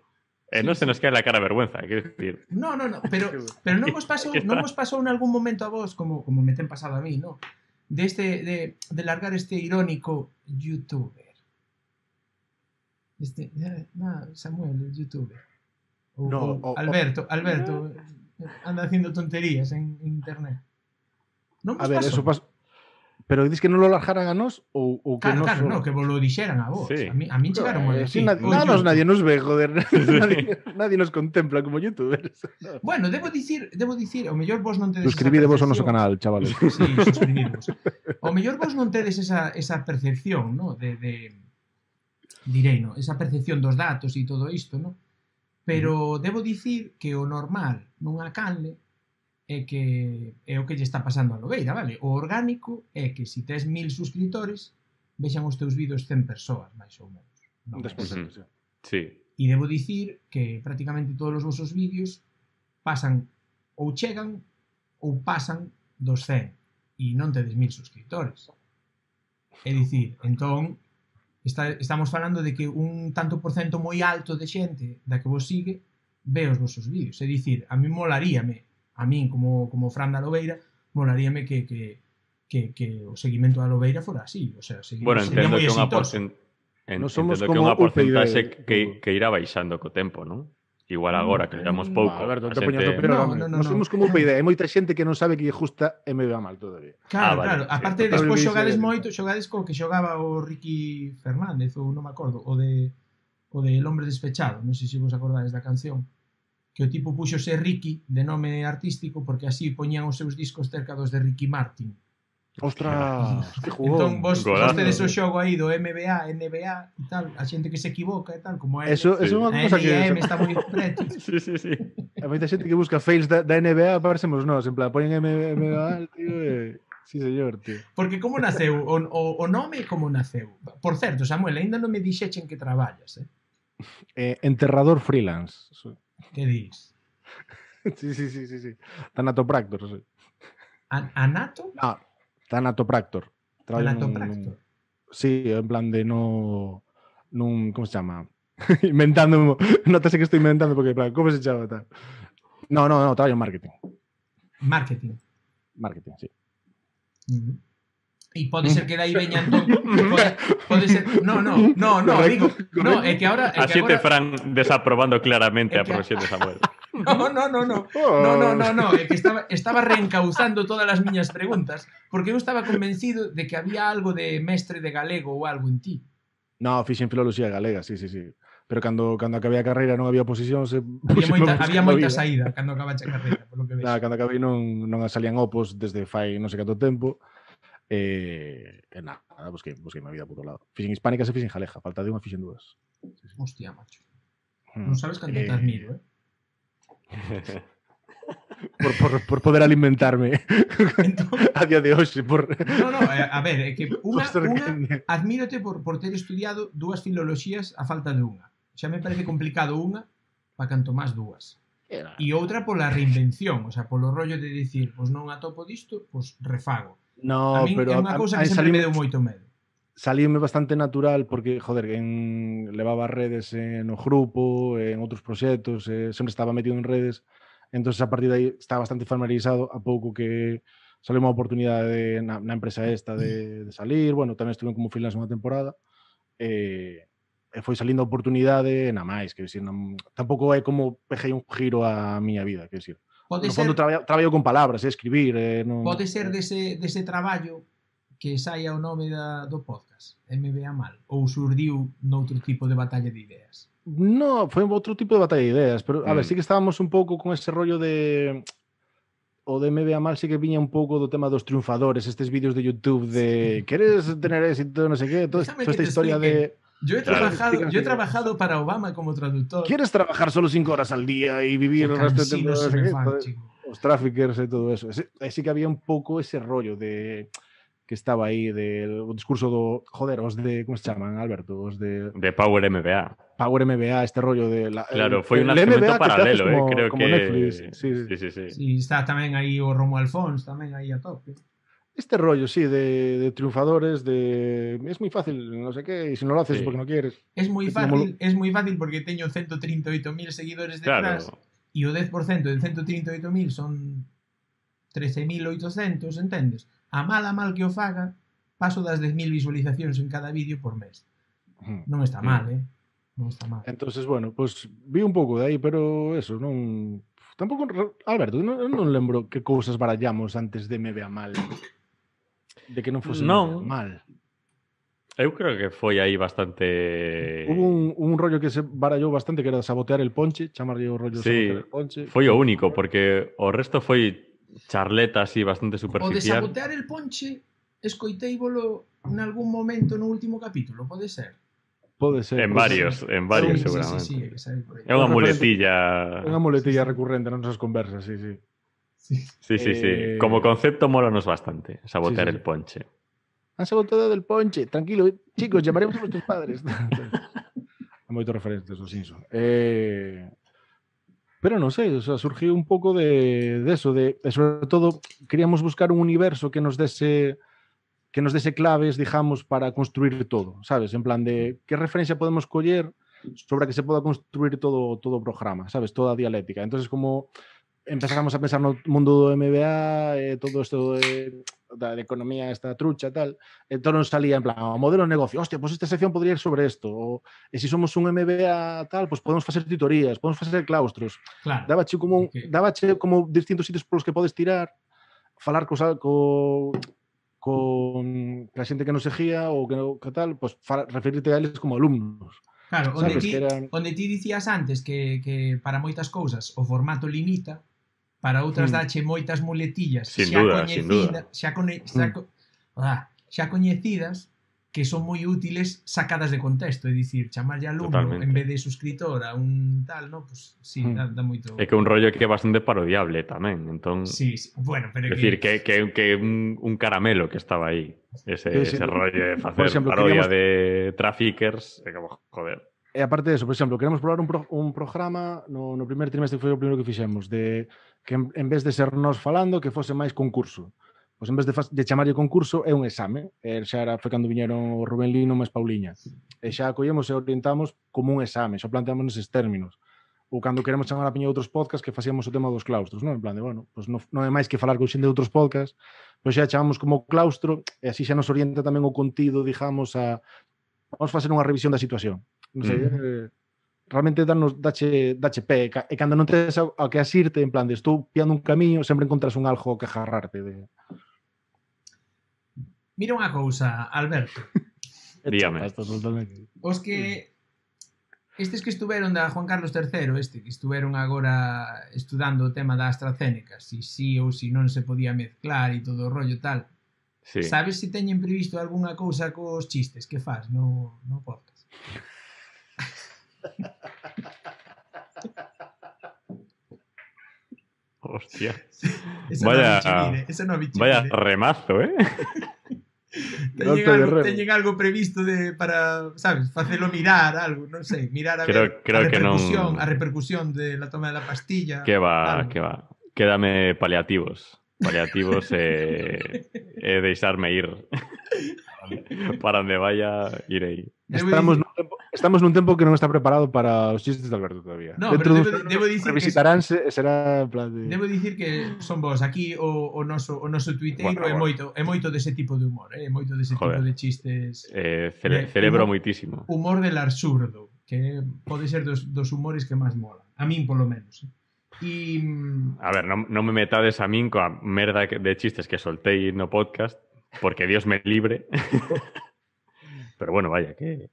[SPEAKER 3] e non se nos cae la cara de vergüenza. Quer decir...
[SPEAKER 1] No, pero non vos pasou en algún momento a vos, como me ten pasado a mí, ¿no? De largar este irónico youtuber. Samuel, el youtuber. Alberto anda haciendo tonterías en internet. Non vos pasou?
[SPEAKER 2] Eso pasou. Pero dis que non lo largaran a nós ou que
[SPEAKER 1] claro, no, que vos lo dixeran a vos. Sí. A mí chegaron a decir.
[SPEAKER 2] Nadie nos ve, joder. Nadie nos contempla como youtubers.
[SPEAKER 1] Bueno, debo dicir, o mellor vos non tedes
[SPEAKER 2] suscribidevos ao noso canal, chavales.
[SPEAKER 1] Sí, suscribidevos. O mellor vos non tedes esa percepción, ¿no? Direi, no? Esa percepción dos datos e todo isto, ¿no? Pero debo dicir que o normal nunha canle é o que lle está pasando a Lobeira, vale? O orgánico é que se tes 1000 suscriptores vexan os teus vídeos 100 persoas, máis ou menos.
[SPEAKER 3] Sí.
[SPEAKER 1] E debo dicir que prácticamente todos os vosos vídeos pasan ou chegan ou pasan dos 100 e non tedes 1000 suscriptores. É dicir, entón estamos falando de que un tanto por cento moi alto de xente da que vos sigue ve os vosos vídeos. É dicir, a mí molaríame, a min como Fran da Lobeira, molaríame que o seguimento da Lobeira fora así. O sea, sería moi exitoso.
[SPEAKER 3] Entendo que é unha porcentaxe que irá baixando co tempo, non? Igual agora, que llegamos pouco.
[SPEAKER 2] Alberto, non somos como UPyD. Hai moita xente que non sabe que lle justa MBA Mal todavía.
[SPEAKER 1] Claro. Aparte, despois xogades moito, xogades co que xogaba o Ricky Fernández, ou non me acordo, o de El Hombre Despechado. Non sei se vos acordades da canción. Que o tipo puxose Ricky de nome artístico porque así poñían os seus discos cerca dos de Ricky Martin.
[SPEAKER 2] Ostras, que jugón.
[SPEAKER 1] Entón vos tedes o xogo aí do NBA, NBA e tal, a xente que se equivoca e tal, como
[SPEAKER 2] eso é unha cousa que
[SPEAKER 1] está moi preto.
[SPEAKER 3] Sí.
[SPEAKER 2] A moita xente que busca fails da NBA parecemos nós, en plan, poñen NBA, tío, sí, señor, tío.
[SPEAKER 1] Porque como naceu o nome, como naceu? Por certo, Samuel, ainda non me dixechen que traballas,
[SPEAKER 2] enterrador freelance.
[SPEAKER 1] Que dis?
[SPEAKER 2] Sí. Tanatopractor, sí.
[SPEAKER 1] Anato?
[SPEAKER 2] No, Tanatopractor.
[SPEAKER 1] Tanatopractor.
[SPEAKER 2] Sí, en plan de no... ¿Cómo se llama? Inventando. Notase que estoy inventando porque, en plan, ¿cómo se llama tal? No, trabajo en marketing.
[SPEAKER 1] Marketing,
[SPEAKER 2] sí.
[SPEAKER 1] E pode ser que dai veña entón pode ser no, digo, no, é que agora
[SPEAKER 3] a xente Fran desaprobando claramente a profesión de Samuel.
[SPEAKER 1] No, é que estaba reencauzando todas as miñas preguntas porque eu estaba convencido de que había algo de mestre de galego ou algo en ti.
[SPEAKER 2] No, fixen filoloxía galega, sí. Pero cando acabei a carreira non había oposicións.
[SPEAKER 1] Había moita saída cando acabaste a carreira, por lo que ves.
[SPEAKER 2] Cando acabei non salían opos desde fai non sei canto tempo. Nada, busquei a vida por outro lado. Fixen hispánicas e fixen jaleja. Falta de unha, fixen dúas.
[SPEAKER 1] Sí. Hostia, macho. Non sabes canto te admiro,
[SPEAKER 2] por poder alimentarme a día de hoxe.
[SPEAKER 1] A ver, é que unha admírote por ter estudiado dúas filoloxías a falta de unha. Xa me parece complicado unha para canto máis dúas. E outra pola reinvención, o sea, polo rollo de dicir, pois non atopo disto, pois refago. A
[SPEAKER 2] No,
[SPEAKER 1] min é
[SPEAKER 2] pero
[SPEAKER 1] unha cousa que sempre me deu moito medo.
[SPEAKER 2] Salíme bastante natural porque, joder, levaba redes no grupo, en outros proxectos, sempre estaba metido en redes, entonces a partir de aí estaba bastante familiarizado, a pouco que saliu unha oportunidade na empresa esta de salir, bueno, tamén estuve como freelance unha temporada, e foi salindo a oportunidade, na máis, que decir, tampouco é como pejei un giro a miña vida, que decir.
[SPEAKER 1] Pode
[SPEAKER 2] No
[SPEAKER 1] ser,
[SPEAKER 2] fondo traballo con palabras, escribir, non...
[SPEAKER 1] pode ser dese traballo que saia o nome do podcast, MBA Mal, ou surdiu noutro tipo de batalla de ideas?
[SPEAKER 2] No, foi outro tipo de batalla de ideas, pero a ver, sí que estábamos un pouco con ese rollo de... O de MBA Mal sí que viña un pouco do tema dos triunfadores, estes vídeos de YouTube de ¿queres tener éxito, no sé qué? Toda esta historia de...
[SPEAKER 1] Yo he trabajado para Obama como traductor.
[SPEAKER 2] ¿Quieres trabajar solo 5 horas al día y vivir el resto de tiempo? No sé qué? Os traffickers e todo eso. Sí que había un pouco ese rollo de... que estaba aí del discurso do, joder, os de, como se chaman, Alberto? Os de
[SPEAKER 3] Power MBA.
[SPEAKER 2] Power MBA, este rollo de...
[SPEAKER 3] Claro, foi un nascimento paralelo, creo
[SPEAKER 2] como
[SPEAKER 3] que...
[SPEAKER 2] Netflix.
[SPEAKER 1] Sí, está tamén aí o Romo Alfons, tamén aí a tope.
[SPEAKER 2] Este rollo, sí, de triunfadores, de... Es muy fácil, no sé qué, y si no lo haces porque no quieres.
[SPEAKER 1] Es moi fácil porque teño 138.000 seguidores detrás, e o 10% de 138.000 son 13.800, entendes? A mal que o faga, paso das 10.000 visualizacións en cada vídeo por mes. Non está mal, Non está mal.
[SPEAKER 2] Entonces, bueno, pues vi un pouco de aí, pero eso, non... Tampouco... Alberto, non lembro que cousas barallamos antes de MBA Mal. De que non fose mal.
[SPEAKER 3] Eu creo que foi aí bastante...
[SPEAKER 2] Hubo un rollo que se barallou bastante, que era sabotear el ponche, chamarlle o rollo sabotear el ponche.
[SPEAKER 3] Foi o único, porque o resto foi charleta así bastante superficial.
[SPEAKER 1] O de sabotear el ponche, escoiteívolo en algún momento no último capítulo, pode ser?
[SPEAKER 2] Pode ser.
[SPEAKER 3] En varios, seguramente.
[SPEAKER 1] Sí,
[SPEAKER 3] é unha muletilla...
[SPEAKER 2] É unha muletilla recurrente nas nosas conversas, sí.
[SPEAKER 3] Sí. Como concepto molanos bastante, sabotear el ponche.
[SPEAKER 2] Han saboteado el ponche. Tranquilo, chicos, llamaremos a nuestros padres. Hai moitos referentes aos Simpson. Pero non sei, o sea, surgiu un pouco de eso, de sobre todo queríamos buscar un universo que nos dese claves, digamos, para construir todo, sabes? En plan de que referencia podemos coller sobre a que se poda construir todo o programa, sabes? Toda a dialéctica. Entonces, como empezamos a pensar no mundo do MBA, todo isto da economía esta trucha tal, entón nos salía en plan, o modelo de negocio, hostia, pues esta sección podría ir sobre esto, e se somos un MBA tal, pues podemos facer tutorías, podemos facer claustros.
[SPEAKER 1] Claro.
[SPEAKER 2] Dábache como distintos sitios polos que podes tirar, falar con a xente que nos seguía ou que tal, pues referirte a eles como alumnos.
[SPEAKER 1] Claro, onde ti dicías antes que para moitas cousas o formato limita, para outras dache moitas muletillas xa coñecidas que son moi útiles sacadas de contexto, é dicir, chamarlle alumno en vez de suscritor a un tal, no? Pues sí, dá moito...
[SPEAKER 3] É que un rollo que é bastante parodiable tamén, entón...
[SPEAKER 1] Sí, bueno, pero...
[SPEAKER 3] É dicir, que un caramelo que estaba aí, ese rollo de facer parodia de traffickers, é como, joder...
[SPEAKER 2] E aparte de eso, por exemplo, queremos probar un programa no primer trimestre, que foi o primeiro que fixemos, de que en vez de ser nós falando, que fose máis concurso. Pois en vez de chamarlle concurso, é un exame. Xa foi cando viñeron o Rubén Lino máis Pauliña. E xa acollemos e orientamos como un exame, xa planteamos neses términos. Ou cando queremos chamar a piña de outros podcasts, que facíamos o tema dos claustros, non? En plan de, bueno, pois non é máis que falar con xente de outros podcasts, pois xa chamamos como claustro, e así xa nos orienta tamén o contido, digamos, vamos facer unha revisión da situación. Non sei, realmente dache pé, e cando non tes ao que asirte, en plan de estou piando un camiño, sempre encontras un algo que agarrarte.
[SPEAKER 1] Mira unha cousa, Alberto.
[SPEAKER 3] Dígame.
[SPEAKER 1] Os que estes que estuveron da Juan Carlos III, que estuveron agora estudando o tema da AstraZeneca, si sí ou si non se podía mezclar e todo o rollo tal, sabes se teñen previsto algunha cousa cos chistes que faz no podcast?
[SPEAKER 3] Hostia.
[SPEAKER 1] Vaya
[SPEAKER 3] remazo,
[SPEAKER 1] Teñen algo previsto para, sabes, facelo mirar algo, non sei, mirar a ver a repercusión de la toma de la pastilla.
[SPEAKER 3] Que va. Quédame paliativos. paliativos e deixarme ir. Para onde vaya, irei.
[SPEAKER 2] Estamos nun tempo que non está preparado para os chistes de Alberto todavía.
[SPEAKER 1] No, pero debo dicir
[SPEAKER 2] revisitaránse e será en plan de...
[SPEAKER 1] Debo dicir que son vos aquí o noso tuiteiro é moito dese tipo de humor, moito dese tipo de chistes.
[SPEAKER 3] Celebro moitísimo.
[SPEAKER 1] Humor del absurdo, que pode ser dos humores que máis mola. A min, polo menos.
[SPEAKER 3] A ver, non me metades a min coa merda de chistes que soltei no podcast, porque Dios me libre. Pero bueno, vaya, que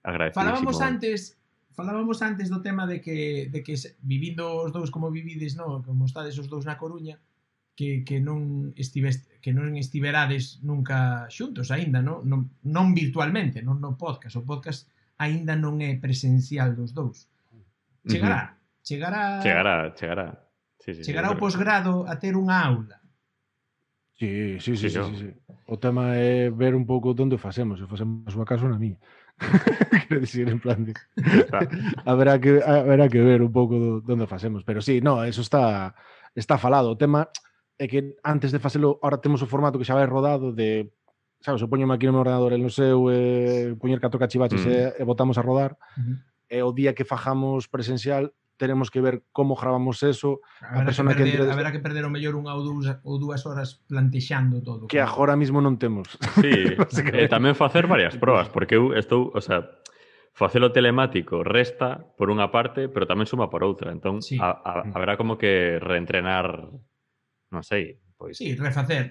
[SPEAKER 3] agradecidísimo.
[SPEAKER 1] Falábamos antes do tema de que vivindo os dous como vivides, no, como estades os dous na Coruña, que non estiverades nunca xuntos aínda, non virtualmente, non no podcast. O podcast aínda non é presencial dos dous. Chegará.
[SPEAKER 3] Sí,
[SPEAKER 1] chegará o posgrado a ter unha aula.
[SPEAKER 2] Sí. O tema é ver un pouco onde o facemos. Se facemos a súa casa na miña. Quero dicir, en plan de... haberá que ver un pouco onde o facemos. Pero sí, no, eso está falado. O tema é que antes de facelo, ahora temos o formato que xa vai rodado de... Sabes, eu poñome aquí no meu ordenador el no seu, poñer 4 cachivaches e botamos a rodar. E o día que fajamos presencial tenemos que ver como gravamos eso.
[SPEAKER 1] Haberá que perder o mellor unha ou dúas horas plantexando todo.
[SPEAKER 2] Que agora mismo non temos.
[SPEAKER 3] Sí, tamén facer varias probas, porque eu estou, o sea, facelo telemático resta por unha parte, pero tamén suma por outra. Entón, haberá como que reentrenar, non sei, pois...
[SPEAKER 1] Sí, refacer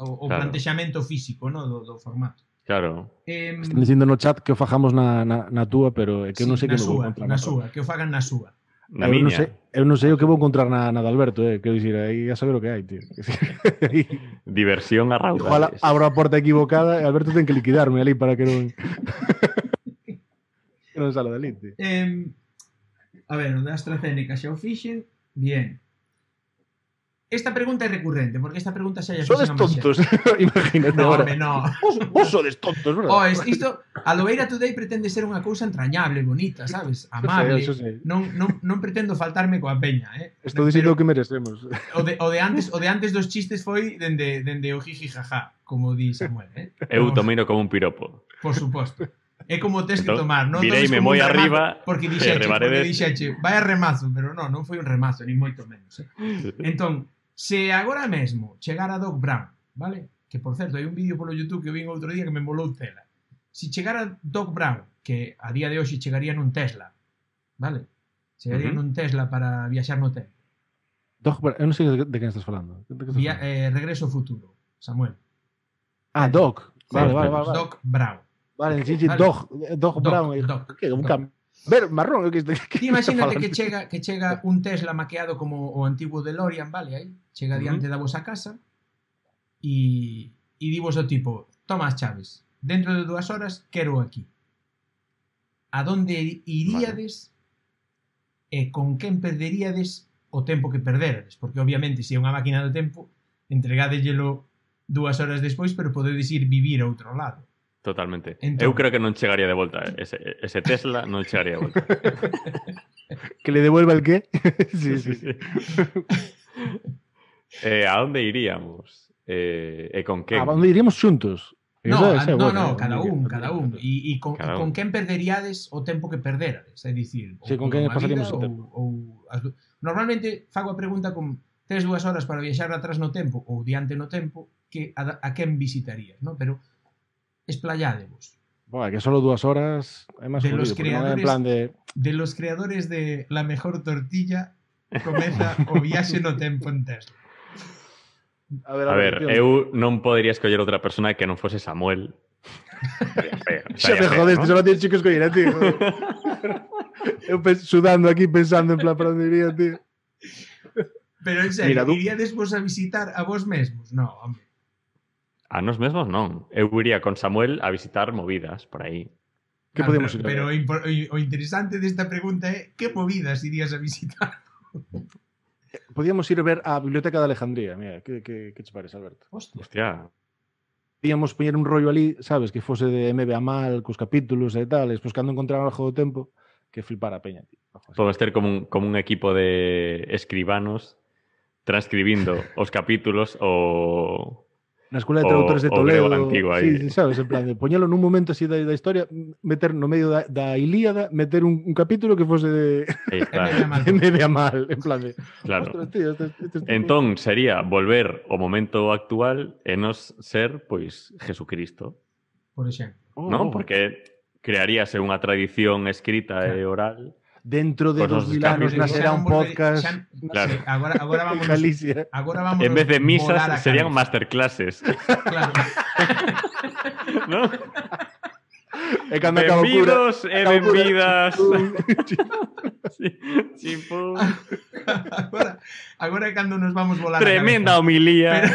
[SPEAKER 1] o plantexamento físico, no, do formato.
[SPEAKER 3] Claro.
[SPEAKER 2] Están dicindo no chat que o fajamos na túa, pero é que eu non sei que vou encontrar.
[SPEAKER 1] Na súa, que o fagan na súa.
[SPEAKER 3] Na miña.
[SPEAKER 2] Eu non sei o que vou encontrar na de Alberto, quero dicir, aí a saber o que hai, tío.
[SPEAKER 3] Diversión a raudales.
[SPEAKER 2] Igual abro a porta equivocada e Alberto ten que liquidarme ali para que non... que non sala dali, tío.
[SPEAKER 1] A ver, o da AstraZeneca xa o fixen, bien. Esta pregunta é recurrente, porque esta pregunta xa
[SPEAKER 2] sodes tontos, imagínate agora.
[SPEAKER 1] No.
[SPEAKER 2] Vos sodes tontos, verdad?
[SPEAKER 1] Isto, a Lobeira Today pretende ser unha cousa entrañable, bonita, sabes? Amable.
[SPEAKER 2] Eso sei.
[SPEAKER 1] Non pretendo faltarme coa peña,
[SPEAKER 2] Estou dicindo o que merecemos.
[SPEAKER 1] O de antes dos chistes foi dende o jiji jaja, como di Samuel,
[SPEAKER 3] Eu tomino como un piropo.
[SPEAKER 1] Por suposto. É como tes que tomar, non?
[SPEAKER 3] Vireime moi arriba,
[SPEAKER 1] porque dixeche, vai a remazo, pero non foi un remazo, ni moito menos. Entón, se agora mesmo chegara Doc Brown, vale? Que, por certo, hai un vídeo polo YouTube que vin outro día que me molou tela. Se chegara Doc Brown, que a día de hoxe chegaría nun Tesla, vale? Chegaría nun Tesla para viaxar no tempo.
[SPEAKER 2] Doc Brown, eu non sei de quen estás falando.
[SPEAKER 1] Regreso ao futuro, Samuel.
[SPEAKER 2] Doc. Vale.
[SPEAKER 1] Doc Brown.
[SPEAKER 2] Vale, Doc Brown. Que un cambio. Ver, marrón,
[SPEAKER 1] imagínate que chega un Tesla maqueado como o antigo DeLorean, vale, aí, chega diante da vosa casa e divos o tipo, toma as chaves, dentro de 2 horas quero aquí. A donde iríades e con quen perderíades o tempo que perderades, porque obviamente se é unha máquina do tempo, entregadellelo 2 horas despois, pero podedes ir vivir a outro lado.
[SPEAKER 3] Totalmente. Entón, eu creo que non chegaría de volta. Ese Tesla non chegaría de volta.
[SPEAKER 2] Que le devuelva el qué? Sí.
[SPEAKER 3] A onde iríamos? E con quen?
[SPEAKER 2] A onde iríamos xuntos?
[SPEAKER 1] No, cada un. E con quen perderíades o tempo que perderades? É dicir,
[SPEAKER 2] con quen pasaríamos o tempo?
[SPEAKER 1] Normalmente fago a pregunta con 3 2 horas para viaxar atrás no tempo ou diante no tempo, que a quen visitarías, ¿no? Pero esplayádevos.
[SPEAKER 2] Bueno, que solo 2 horas é máis
[SPEAKER 1] de los creadores,
[SPEAKER 2] en plan de
[SPEAKER 1] los creadores de La Mejor Tortilla comeza o viaxe no tempo en Tesla.
[SPEAKER 3] A ver, eu non podería escoller outra persona que non fose Samuel.
[SPEAKER 2] Xa te jodeste, só tienes que escoller a ti. Eu sudando aquí pensando en plan para onde iría, tío.
[SPEAKER 1] Pero en serio, iríades vos a visitar a vos mesmos? No, hombre.
[SPEAKER 3] A nos mesmos non. Eu iría con Samuel a visitar movidas por aí.
[SPEAKER 2] Que podemos ir?
[SPEAKER 1] Pero o interesante desta pregunta é que movidas irías a visitar?
[SPEAKER 2] Podíamos ir a ver a Biblioteca de Alejandría. Mira, que che parece, Alberto?
[SPEAKER 3] Hostia.
[SPEAKER 2] Podíamos poñer un rollo ali, sabes, que fose de MBA mal, cos capítulos e tal, despois cando encontraran algo do tempo, que flipara a peña.
[SPEAKER 3] Podemos ter como un equipo de escribanos transcribindo os capítulos
[SPEAKER 2] na Escola de Traductores de Toledo.
[SPEAKER 3] Antigo aí.
[SPEAKER 2] Sí, sabes, en plan, de poñelo nun momento así da historia, meter no medio da Ilíada, meter un capítulo que fose de Mediamal, en plan de...
[SPEAKER 3] Claro.
[SPEAKER 2] Ostras, tío,
[SPEAKER 3] Entón, sería volver ao momento actual e nos ser, pois, Jesucristo.
[SPEAKER 1] Por exemplo.
[SPEAKER 3] Non? Porque crearíase unha tradición escrita e oral.
[SPEAKER 2] Dentro de 2000 anos nacerá un podcast.
[SPEAKER 3] Claro.
[SPEAKER 1] Agora vamos
[SPEAKER 2] Galicia.
[SPEAKER 1] Agora vamos
[SPEAKER 3] en vez de misas serían masterclasses.
[SPEAKER 1] Claro.
[SPEAKER 3] ¿No?
[SPEAKER 2] Benvidos
[SPEAKER 3] e benvidas. Chimpú.
[SPEAKER 1] Agora é cando nos vamos volar
[SPEAKER 3] tremenda homilía.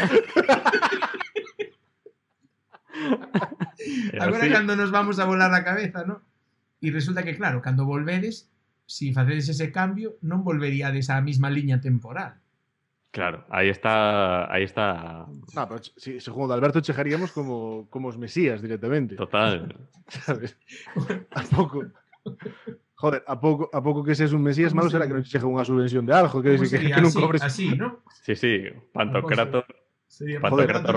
[SPEAKER 1] Agora é cando nos vamos a volar a cabeza, ¿no? E resulta que, claro, cando volvedes, si facedes ese cambio, non volveríades á mesma liña temporal.
[SPEAKER 3] Claro, aí está...
[SPEAKER 2] No, pero segundo Alberto chegaríamos como os mesías directamente.
[SPEAKER 3] Total.
[SPEAKER 2] ¿Sabes? A pouco que seas un mesías, malo será que non chegue unha subvención de algo, que non cobres...
[SPEAKER 1] Así, ¿no?
[SPEAKER 3] Sí, Pantocrator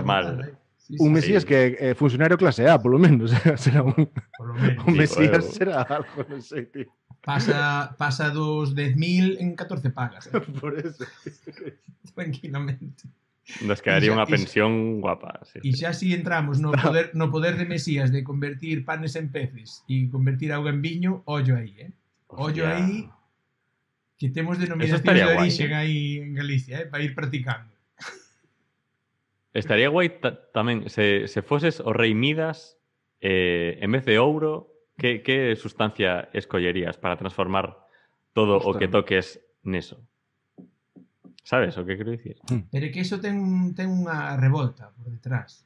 [SPEAKER 3] mal.
[SPEAKER 2] Un mesías que é funcionario clase A, polo menos. Será un mesías, será algo, non sei, tío.
[SPEAKER 1] Pasa dos 10.000 en 14 pagas.
[SPEAKER 2] Por eso.
[SPEAKER 1] Tranquilamente.
[SPEAKER 3] Nos quedaría unha pensión guapa. Sí.
[SPEAKER 1] E xa si entramos no poder de Mesías de convertir panes en peces e convertir auga en viño, ollo aí, Ollo aí que temos denominación de origen aí en Galicia, para ir practicando.
[SPEAKER 3] Estaría guai tamén se foses o rei Midas en vez de ouro, que sustancia escollerías para transformar todo o que toques neso? Sabes o que quero dicir?
[SPEAKER 1] Pero é que iso ten unha revolta por detrás.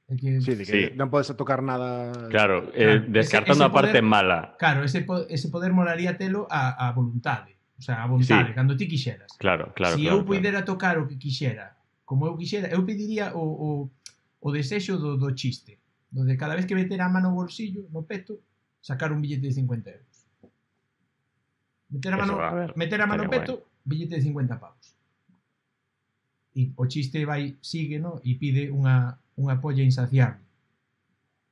[SPEAKER 1] É que...
[SPEAKER 2] Sí, de que non podes tocar nada...
[SPEAKER 3] Claro, descartando a parte mala.
[SPEAKER 1] Claro, ese poder molaría telo a voluntade. O sea, a vontade, cando ti quixeras.
[SPEAKER 3] Claro.
[SPEAKER 1] Se eu puidera tocar o que quixera, como eu quixera, eu pediría o desexo do chiste. Donde cada vez que meter a mano no bolsillo, no peto, sacar un billete de 50 euros. Meter a mano no peto, billete de 50 pavos. E o chiste sigue, ¿no? E pide unha polla insaciable.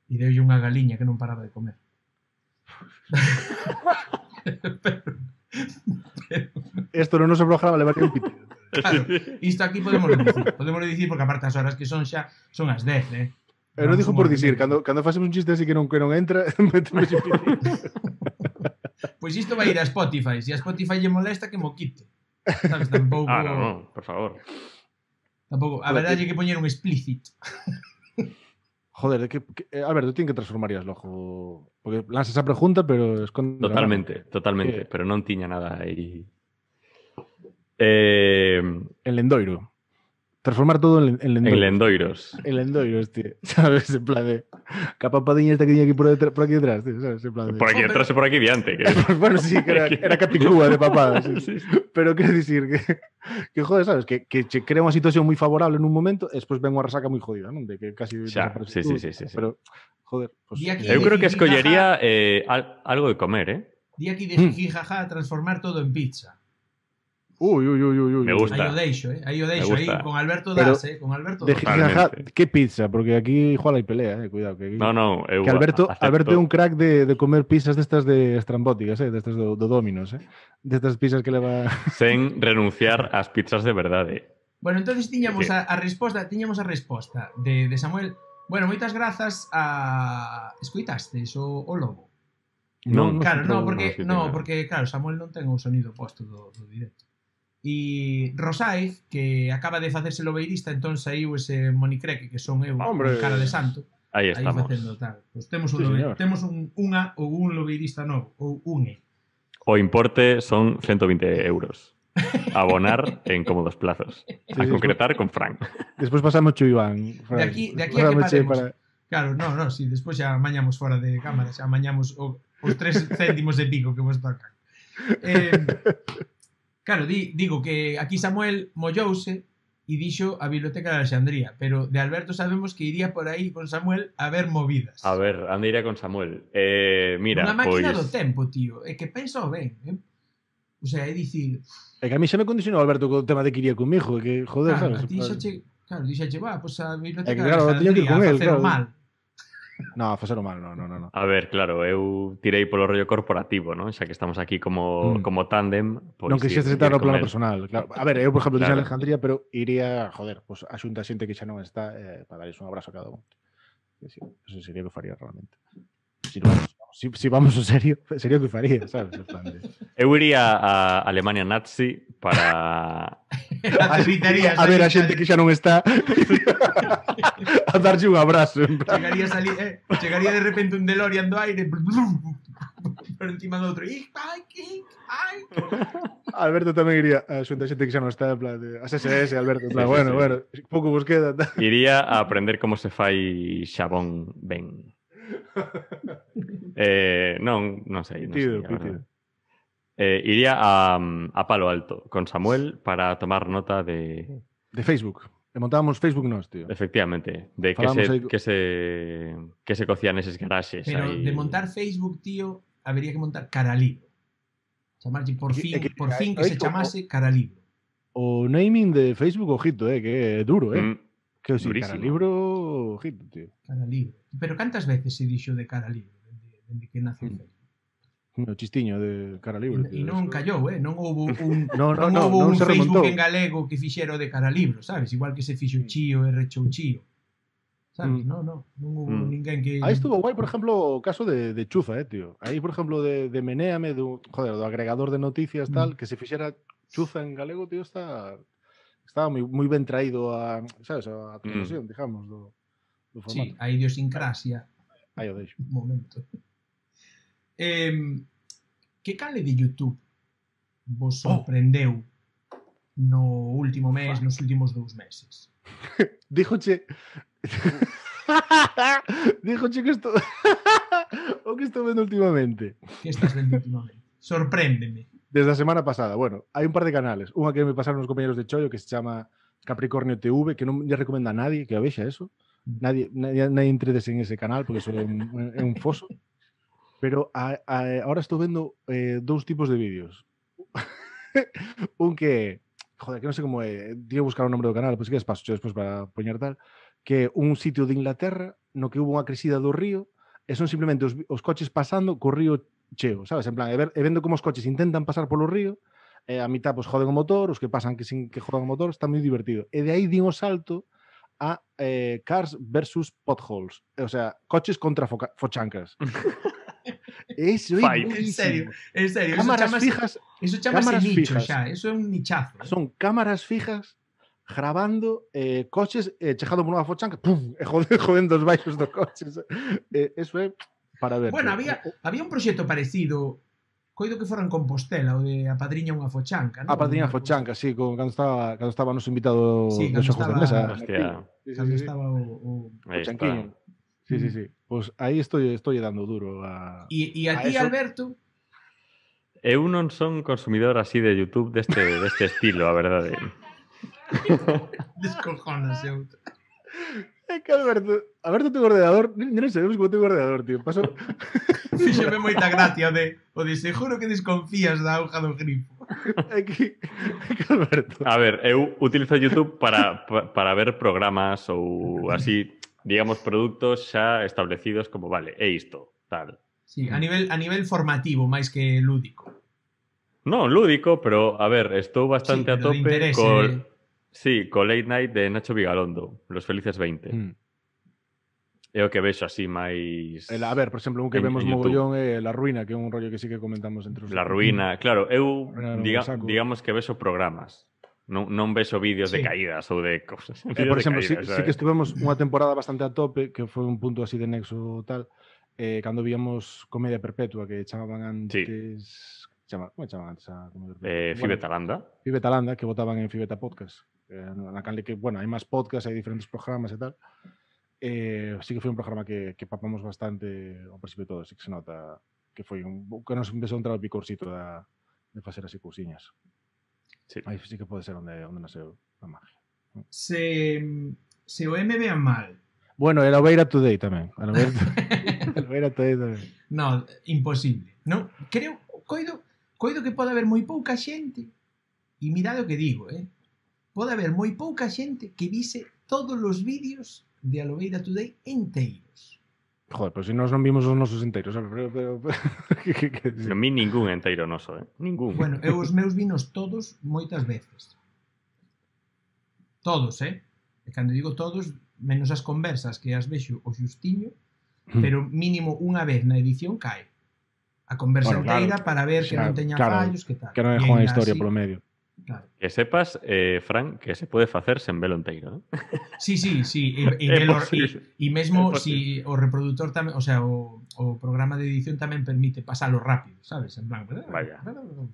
[SPEAKER 1] E deulle unha galiña que non paraba de comer.
[SPEAKER 2] Esto no noso programa levaría un pitido.
[SPEAKER 1] Claro, isto aquí podemos dicir porque aparte as horas que son xa son as 10,
[SPEAKER 2] Eu non dixo por dicir, cando facemos un chiste así que non entra, metemos un pitido.
[SPEAKER 1] Pois isto vai ir a Spotify. Se a Spotify lle molesta, que mo quite. Sabes, tampouco...
[SPEAKER 3] no, por favor.
[SPEAKER 1] Tampouco, a verdade é que poñer un explícit.
[SPEAKER 2] Joder, Alberto, ti que transformarías logo? Porque lanzas a pregunta, pero esconde...
[SPEAKER 3] Totalmente, pero non tiña nada aí.
[SPEAKER 2] En lendoiro. Transformar todo en lendoiros.
[SPEAKER 3] En lendoiros.
[SPEAKER 2] En lendoiros, tío. ¿Sabes? En plan de... Capapadiña esta que tiña aquí por aquí detrás, tío. ¿Sabes? En plan de...
[SPEAKER 3] Por aquí detrás e por aquí diante. Que...
[SPEAKER 2] bueno, sí, que era capicúa de papada. Sí. Pero quero dicir que joder, ¿sabes? Que che crea unha situación moi favorable nun momento e despois ven unha resaca moi jodida, non? De que casi...
[SPEAKER 3] Xa, sí.
[SPEAKER 2] Pero, joder... Pues...
[SPEAKER 3] Eu creo que escollería algo de comer,
[SPEAKER 1] Di aquí de jijijaja transformar todo en pizza.
[SPEAKER 2] Uy.
[SPEAKER 3] Me gusta.
[SPEAKER 1] Aí o deixo, aí con Alberto das, con Alberto das.
[SPEAKER 2] ¿Qué pizza? Porque aquí igual hay pelea, cuidado. Que aquí...
[SPEAKER 3] No,
[SPEAKER 2] que Alberto é un crack de comer pizzas destas de estrambóticas, destas do Domino's, destas pizzas que leva...
[SPEAKER 3] Sen renunciar ás pizzas de verdade.
[SPEAKER 1] Bueno, entonces tiñamos a resposta de Samuel. Bueno, moitas grazas a... Escoitastes o lobo?
[SPEAKER 3] Non,
[SPEAKER 1] claro, porque claro, Samuel non ten o sonido posto do directo. E Rosaiz, que acaba de facerse lobeirista, entón saiu ese monicreque que son eu, cara de santo.
[SPEAKER 3] Aí estamos.
[SPEAKER 1] Facendo tal. Pues temos un lobeirista novo, ou une.
[SPEAKER 3] O importe son 120 euros. Abonar en cómodos plazos. A concretar con Fran.
[SPEAKER 2] Despois pasamos cho Iván.
[SPEAKER 1] De aquí a que paremos. Claro, si despois xa amañamos fora de cámara, xa amañamos os 3 céntimos e pico que vos tocan. Claro, digo que aquí Samuel mollouse e dixo a Biblioteca de Alexandría, pero de Alberto sabemos que iría por aí con Samuel a ver movidas.
[SPEAKER 3] A ver, ande iría con Samuel. Mira,
[SPEAKER 1] unha máquina do tempo, tío, é que penso ben, O sea, é dicir...
[SPEAKER 2] É que a mí xa me condicionou Alberto co tema de que iría conmigo, que joder,
[SPEAKER 1] claro,
[SPEAKER 2] sabes?
[SPEAKER 1] A ti xa che... Claro, dixache, va, pois a biblioteca
[SPEAKER 2] É que, claro,
[SPEAKER 1] de
[SPEAKER 2] tiña que ir con
[SPEAKER 1] Alejandría,
[SPEAKER 2] él,
[SPEAKER 1] a facer o
[SPEAKER 2] claro.
[SPEAKER 1] mal.
[SPEAKER 2] No, a facer o mal, no.
[SPEAKER 3] A ver, claro, eu tirei polo rollo corporativo, non? Xa que estamos aquí como tándem, pois
[SPEAKER 2] non quixeste estar no plano personal, claro. A ver, eu, por exemplo, dixen Alejandría, pero iría, joder, pues a xunta xente que xa non está para darles un abrazo a cada un. Sí, eso sería o que faría realmente. Si vamos en serio, sería o que faría, sabes? En plan de...
[SPEAKER 3] Eu iría a Alemania nazi para...
[SPEAKER 2] a ver a xente que xa non está a darlle un abrazo. En plan.
[SPEAKER 1] Chegaría de repente un DeLorean do aire por encima do outro.
[SPEAKER 2] Alberto tamén iría a xunta xente que xa non está en plan de... As SS, Alberto, en plan, bueno, pouco vos queda.
[SPEAKER 3] Iría a aprender como se fai xabón ben. Non sei. Iría a Palo Alto con Samuel para tomar nota de
[SPEAKER 2] Facebook. E montábamos Facebook nós, tío.
[SPEAKER 3] Efectivamente, de que se cocían eses garaxes.
[SPEAKER 1] Pero
[SPEAKER 3] ahí...
[SPEAKER 1] de montar Facebook, tío, habría que montar Caralibro. Chamarlle por fin que se chamase Caralibro.
[SPEAKER 2] O naming de Facebook, ojito, que é duro, Que si, Caralibro, ojito, tío.
[SPEAKER 1] Caralibro. Pero cantas veces se dixo de Caralibro dende que nace o Facebook?
[SPEAKER 2] O chistiño de Caralibro.
[SPEAKER 1] E non callou, non houve un
[SPEAKER 2] non se
[SPEAKER 1] Facebook
[SPEAKER 2] remontou.
[SPEAKER 1] en galego que fixera o de Caralibro, sabes? Igual que se fixo Chío e rechou Chío. Sabes? Non houve ninguén que...
[SPEAKER 2] Aí estuvo guai, por exemplo, o caso de Chuza, tío. Aí, por exemplo, de Menéame, do agregador de noticias, tal, que se fixera Chuza en galego, tío, estaba moi ben traído a, sabes, a transmisión, digamos, do formato.
[SPEAKER 1] Sí, a idiosincrasia.
[SPEAKER 2] Aí o deixo.
[SPEAKER 1] Un momento. Que canle de YouTube vos sorprendeu no último mes, nos últimos 2 meses?
[SPEAKER 2] Díjoche que isto o que estou vendo últimamente.
[SPEAKER 1] Que estás vendo últimamente? Sorpréndeme.
[SPEAKER 2] Desde a semana pasada, bueno, hai un par de canales. Unha que me pasaron os compañeros de Chollo que se chama Capricornio TV, que non lle recomenda a nadie que a vexa eso. Nadie entredes en ese canal porque eso é un foso. Pero ahora estou vendo 2 tipos de vídeos. Un que, joder, que non sei como é, tío buscar o nombre do canal, pois que es paso despois para poñer tal, que é un sitio de Inglaterra no que hubo unha crecida do río e son simplemente os coches pasando co río cheo, sabes? En plan, e vendo como os coches intentan pasar polo río, e a mitad pois joden o motor, os que pasan que sin que jodan o motor, está moi divertido. E de aí din o salto a Cars versus Potholes, o sea, coches contra fochancas. Eso é buenísimo.
[SPEAKER 1] En serio,
[SPEAKER 2] cámaras fijas.
[SPEAKER 1] Eso chamase nicho xa, eso é un nichazo.
[SPEAKER 2] Son cámaras fijas grabando coches chegando por unha fochanca, pum, e jodendo os baixos dos coches. Eso é para ver.
[SPEAKER 1] Bueno, había un proxecto parecido, coido que fora en Compostela, o de Apadriña unha fochanca, non?
[SPEAKER 2] Apadriña fochanca, sí, cando estaba noso invitado de xogos de mesa.
[SPEAKER 3] Hostia.
[SPEAKER 1] Cando estaba o
[SPEAKER 2] chanquiño. Sí. Pois aí estoy dando duro a...
[SPEAKER 1] E a ti, Alberto?
[SPEAKER 3] Eu non son consumidor así de YouTube deste estilo, a verdade.
[SPEAKER 1] Descojónase outro.
[SPEAKER 2] É que Alberto ten ordenador, non sabemos como ten ordenador, tío. Paso...
[SPEAKER 1] Fíxome moita gracia o de seguro que desconfías da auga do grifo.
[SPEAKER 2] É que Alberto...
[SPEAKER 3] A ver, eu utilizo YouTube para ver programas ou así... digamos, produtos xa establecidos como, vale, é isto, tal.
[SPEAKER 1] Sí, a nivel formativo, máis que lúdico.
[SPEAKER 3] Non, lúdico, pero, a ver, estou bastante a tope co Late Night de Nacho Vigalondo, Los Felices 20. É o que vexo así máis...
[SPEAKER 2] A ver, por exemplo, un que vemos mogollón é La Ruina, que é un rollo que sí que comentamos entre os...
[SPEAKER 3] La Ruina, claro, eu digamos que vexo programas. Non vexo vídeos de caídas ou de cosas.
[SPEAKER 2] Por exemplo, sí que estuvemos unha temporada bastante a tope, que foi un punto así de nexo tal, cando víamos Comedia Perpetua, que chamaban antes... Como chamaban antes a Comedia Perpetua?
[SPEAKER 3] Fibetalanda.
[SPEAKER 2] Fibetalanda, que votaban en Fibeta Podcast. Na canle que, bueno, hai máis podcast, hai diferentes programas e tal. Sí que foi un programa que papamos bastante ao principio todo, sí que se nota que foi que nos empezou a entrar o picorcito de facer así cousiñas. Sí. Aí sí que pode ser onde nasceu a magia.
[SPEAKER 1] Se o me vean mal.
[SPEAKER 2] Bueno, era o Beira Today tamén. O Beira Today tamén.
[SPEAKER 1] No, imposible. Non, creo, coido, coido que pode haber moi pouca xente, e mirade o que digo, pode haber moi pouca xente que vise todos os vídeos de Alobeira Today enteiros.
[SPEAKER 2] Joder, pero se nós non vimos os nosos enteiros,
[SPEAKER 3] Non vi ningún enteiro noso, ningún.
[SPEAKER 1] Bueno, eu os meus vinos todos moitas veces. Todos, E cando digo todos, menos as conversas que as vexo o xustiño, pero mínimo unha vez na edición cae. A conversa enteira para ver que non teña fallos, que tal.
[SPEAKER 2] Que non é unha historia polo medio.
[SPEAKER 1] Claro.
[SPEAKER 3] Que sepas, Fran, que se pode facer sen velo enteiro,
[SPEAKER 1] Sí. E mesmo si o reproductor tamén, o sea, o programa de edición tamén permite pasalo rápido, sabes? En plan,
[SPEAKER 3] vaya,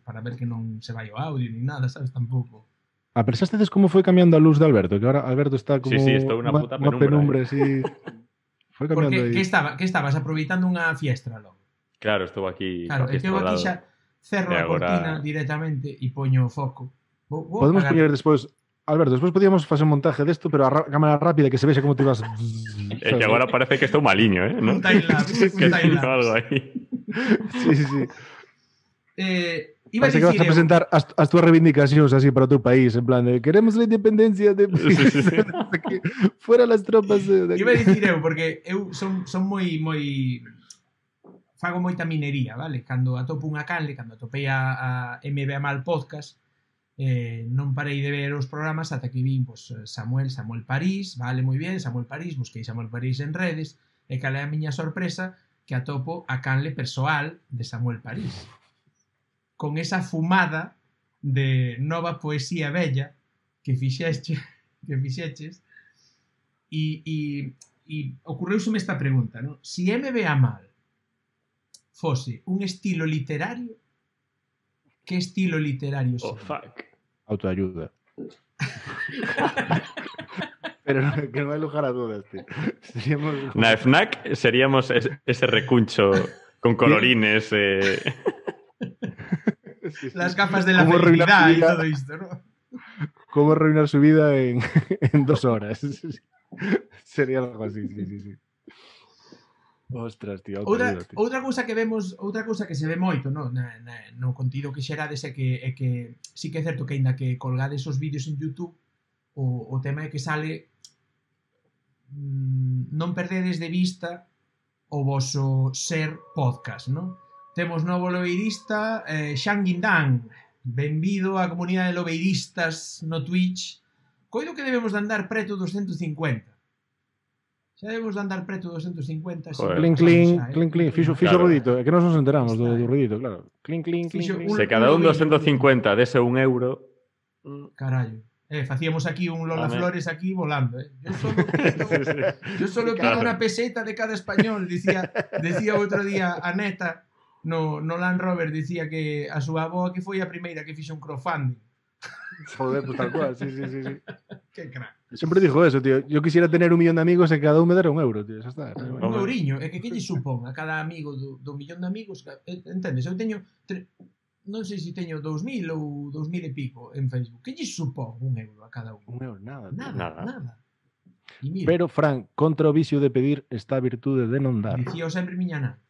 [SPEAKER 1] para ver que non se vai o audio ni nada, sabes? Tampouco.
[SPEAKER 2] Pensastedes como foi cambiando a luz de Alberto? Que agora Alberto está como
[SPEAKER 3] estou unha puta penumbra.
[SPEAKER 2] Sí. Foi cambiando aí.
[SPEAKER 1] Que estabas aproveitando unha fiestra logo.
[SPEAKER 3] Claro, estou aquí.
[SPEAKER 1] Claro, é que eu aquí xa cerro a cortina directamente e poño o foco.
[SPEAKER 2] Podemos poñer despois, Alberto, despois podíamos facer un montaje desto, pero a cámara rápida que se vexe como te ibas.
[SPEAKER 3] É que agora parece que estou maliño, ¿no?
[SPEAKER 1] Un timelapse.
[SPEAKER 3] Algo aí.
[SPEAKER 2] Sí.
[SPEAKER 1] Iba
[SPEAKER 2] Parece que vas a presentar as túas reivindicacións así para o teu país, en plan de queremos a independencia de fuera las tropas de aquí.
[SPEAKER 1] Iba a dicir eu, porque eu son moi fago moita minería, vale? Cando atopo unha canle, cando atopei a MBA Mal Podcast, non parei de ver os programas ata que vin pues, Samuel París, vale, moi bien, Samuel París, busquei Samuel París en redes, e cal é a miña sorpresa que atopo a canle persoal de Samuel París. Con esa fumada de nova poesía bella que fixeches e ocorreuseme esta pregunta, ¿no? Si MBA Mal fose un estilo literario, que estilo literario sería?
[SPEAKER 3] Oh, fuck.
[SPEAKER 2] Autoayuda. Pero que non hai lugar a dudas, tío. Seríamos...
[SPEAKER 3] Na FNAC seríamos ese recuncho con colorines.
[SPEAKER 1] Las gafas de la felicidad y todo esto, ¿no?
[SPEAKER 2] Cómo arruinar su vida en 2 horas. Sería algo así, sí. Ostras, tío.
[SPEAKER 1] Outra cousa que vemos, outra cousa que se ve moito, no contido que xerades é que sí que é certo que aínda que colgades os vídeos en YouTube, o tema é que sale non perdedes de vista o voso ser podcast, non? Temos novo lobeirista, Xan Guindán. Benvido á comunidade de lobeiristas no Twitch. Coido que debemos de andar preto dos 150. Xa debemos de andar preto dos 250.
[SPEAKER 2] Clink. Fixo o ruidito. É que nós nos enteramos do ruidito, claro. Clink.
[SPEAKER 3] Se cada un dos 150 dese un euro...
[SPEAKER 1] Carallo. Facíamos aquí un Lola Flores aquí volando, Yo solo pido una peseta de cada español, decía outro día a Neta. No Land Rover dicía que a súa avoa que foi a primeira que fixo un crowdfunding.
[SPEAKER 2] Joder, pues tal cual, sí.
[SPEAKER 1] Qué crack.
[SPEAKER 2] Siempre dijo eso, tío. Yo quisiera tener 1 millón de amigos e cada un me dera €1, tío. Xa está.
[SPEAKER 1] Un euriño. É que lle supón a cada amigo do millón de amigos? Entendes? Eu teño... Non sei se teño 2.000 ou 2.000 e pico en Facebook. Que lle supón €1 a cada un?
[SPEAKER 2] €1, nada.
[SPEAKER 1] Nada.
[SPEAKER 2] Pero, Fran, contra o vicio de pedir está a virtude de non dar.
[SPEAKER 1] Dicía sempre miña nai.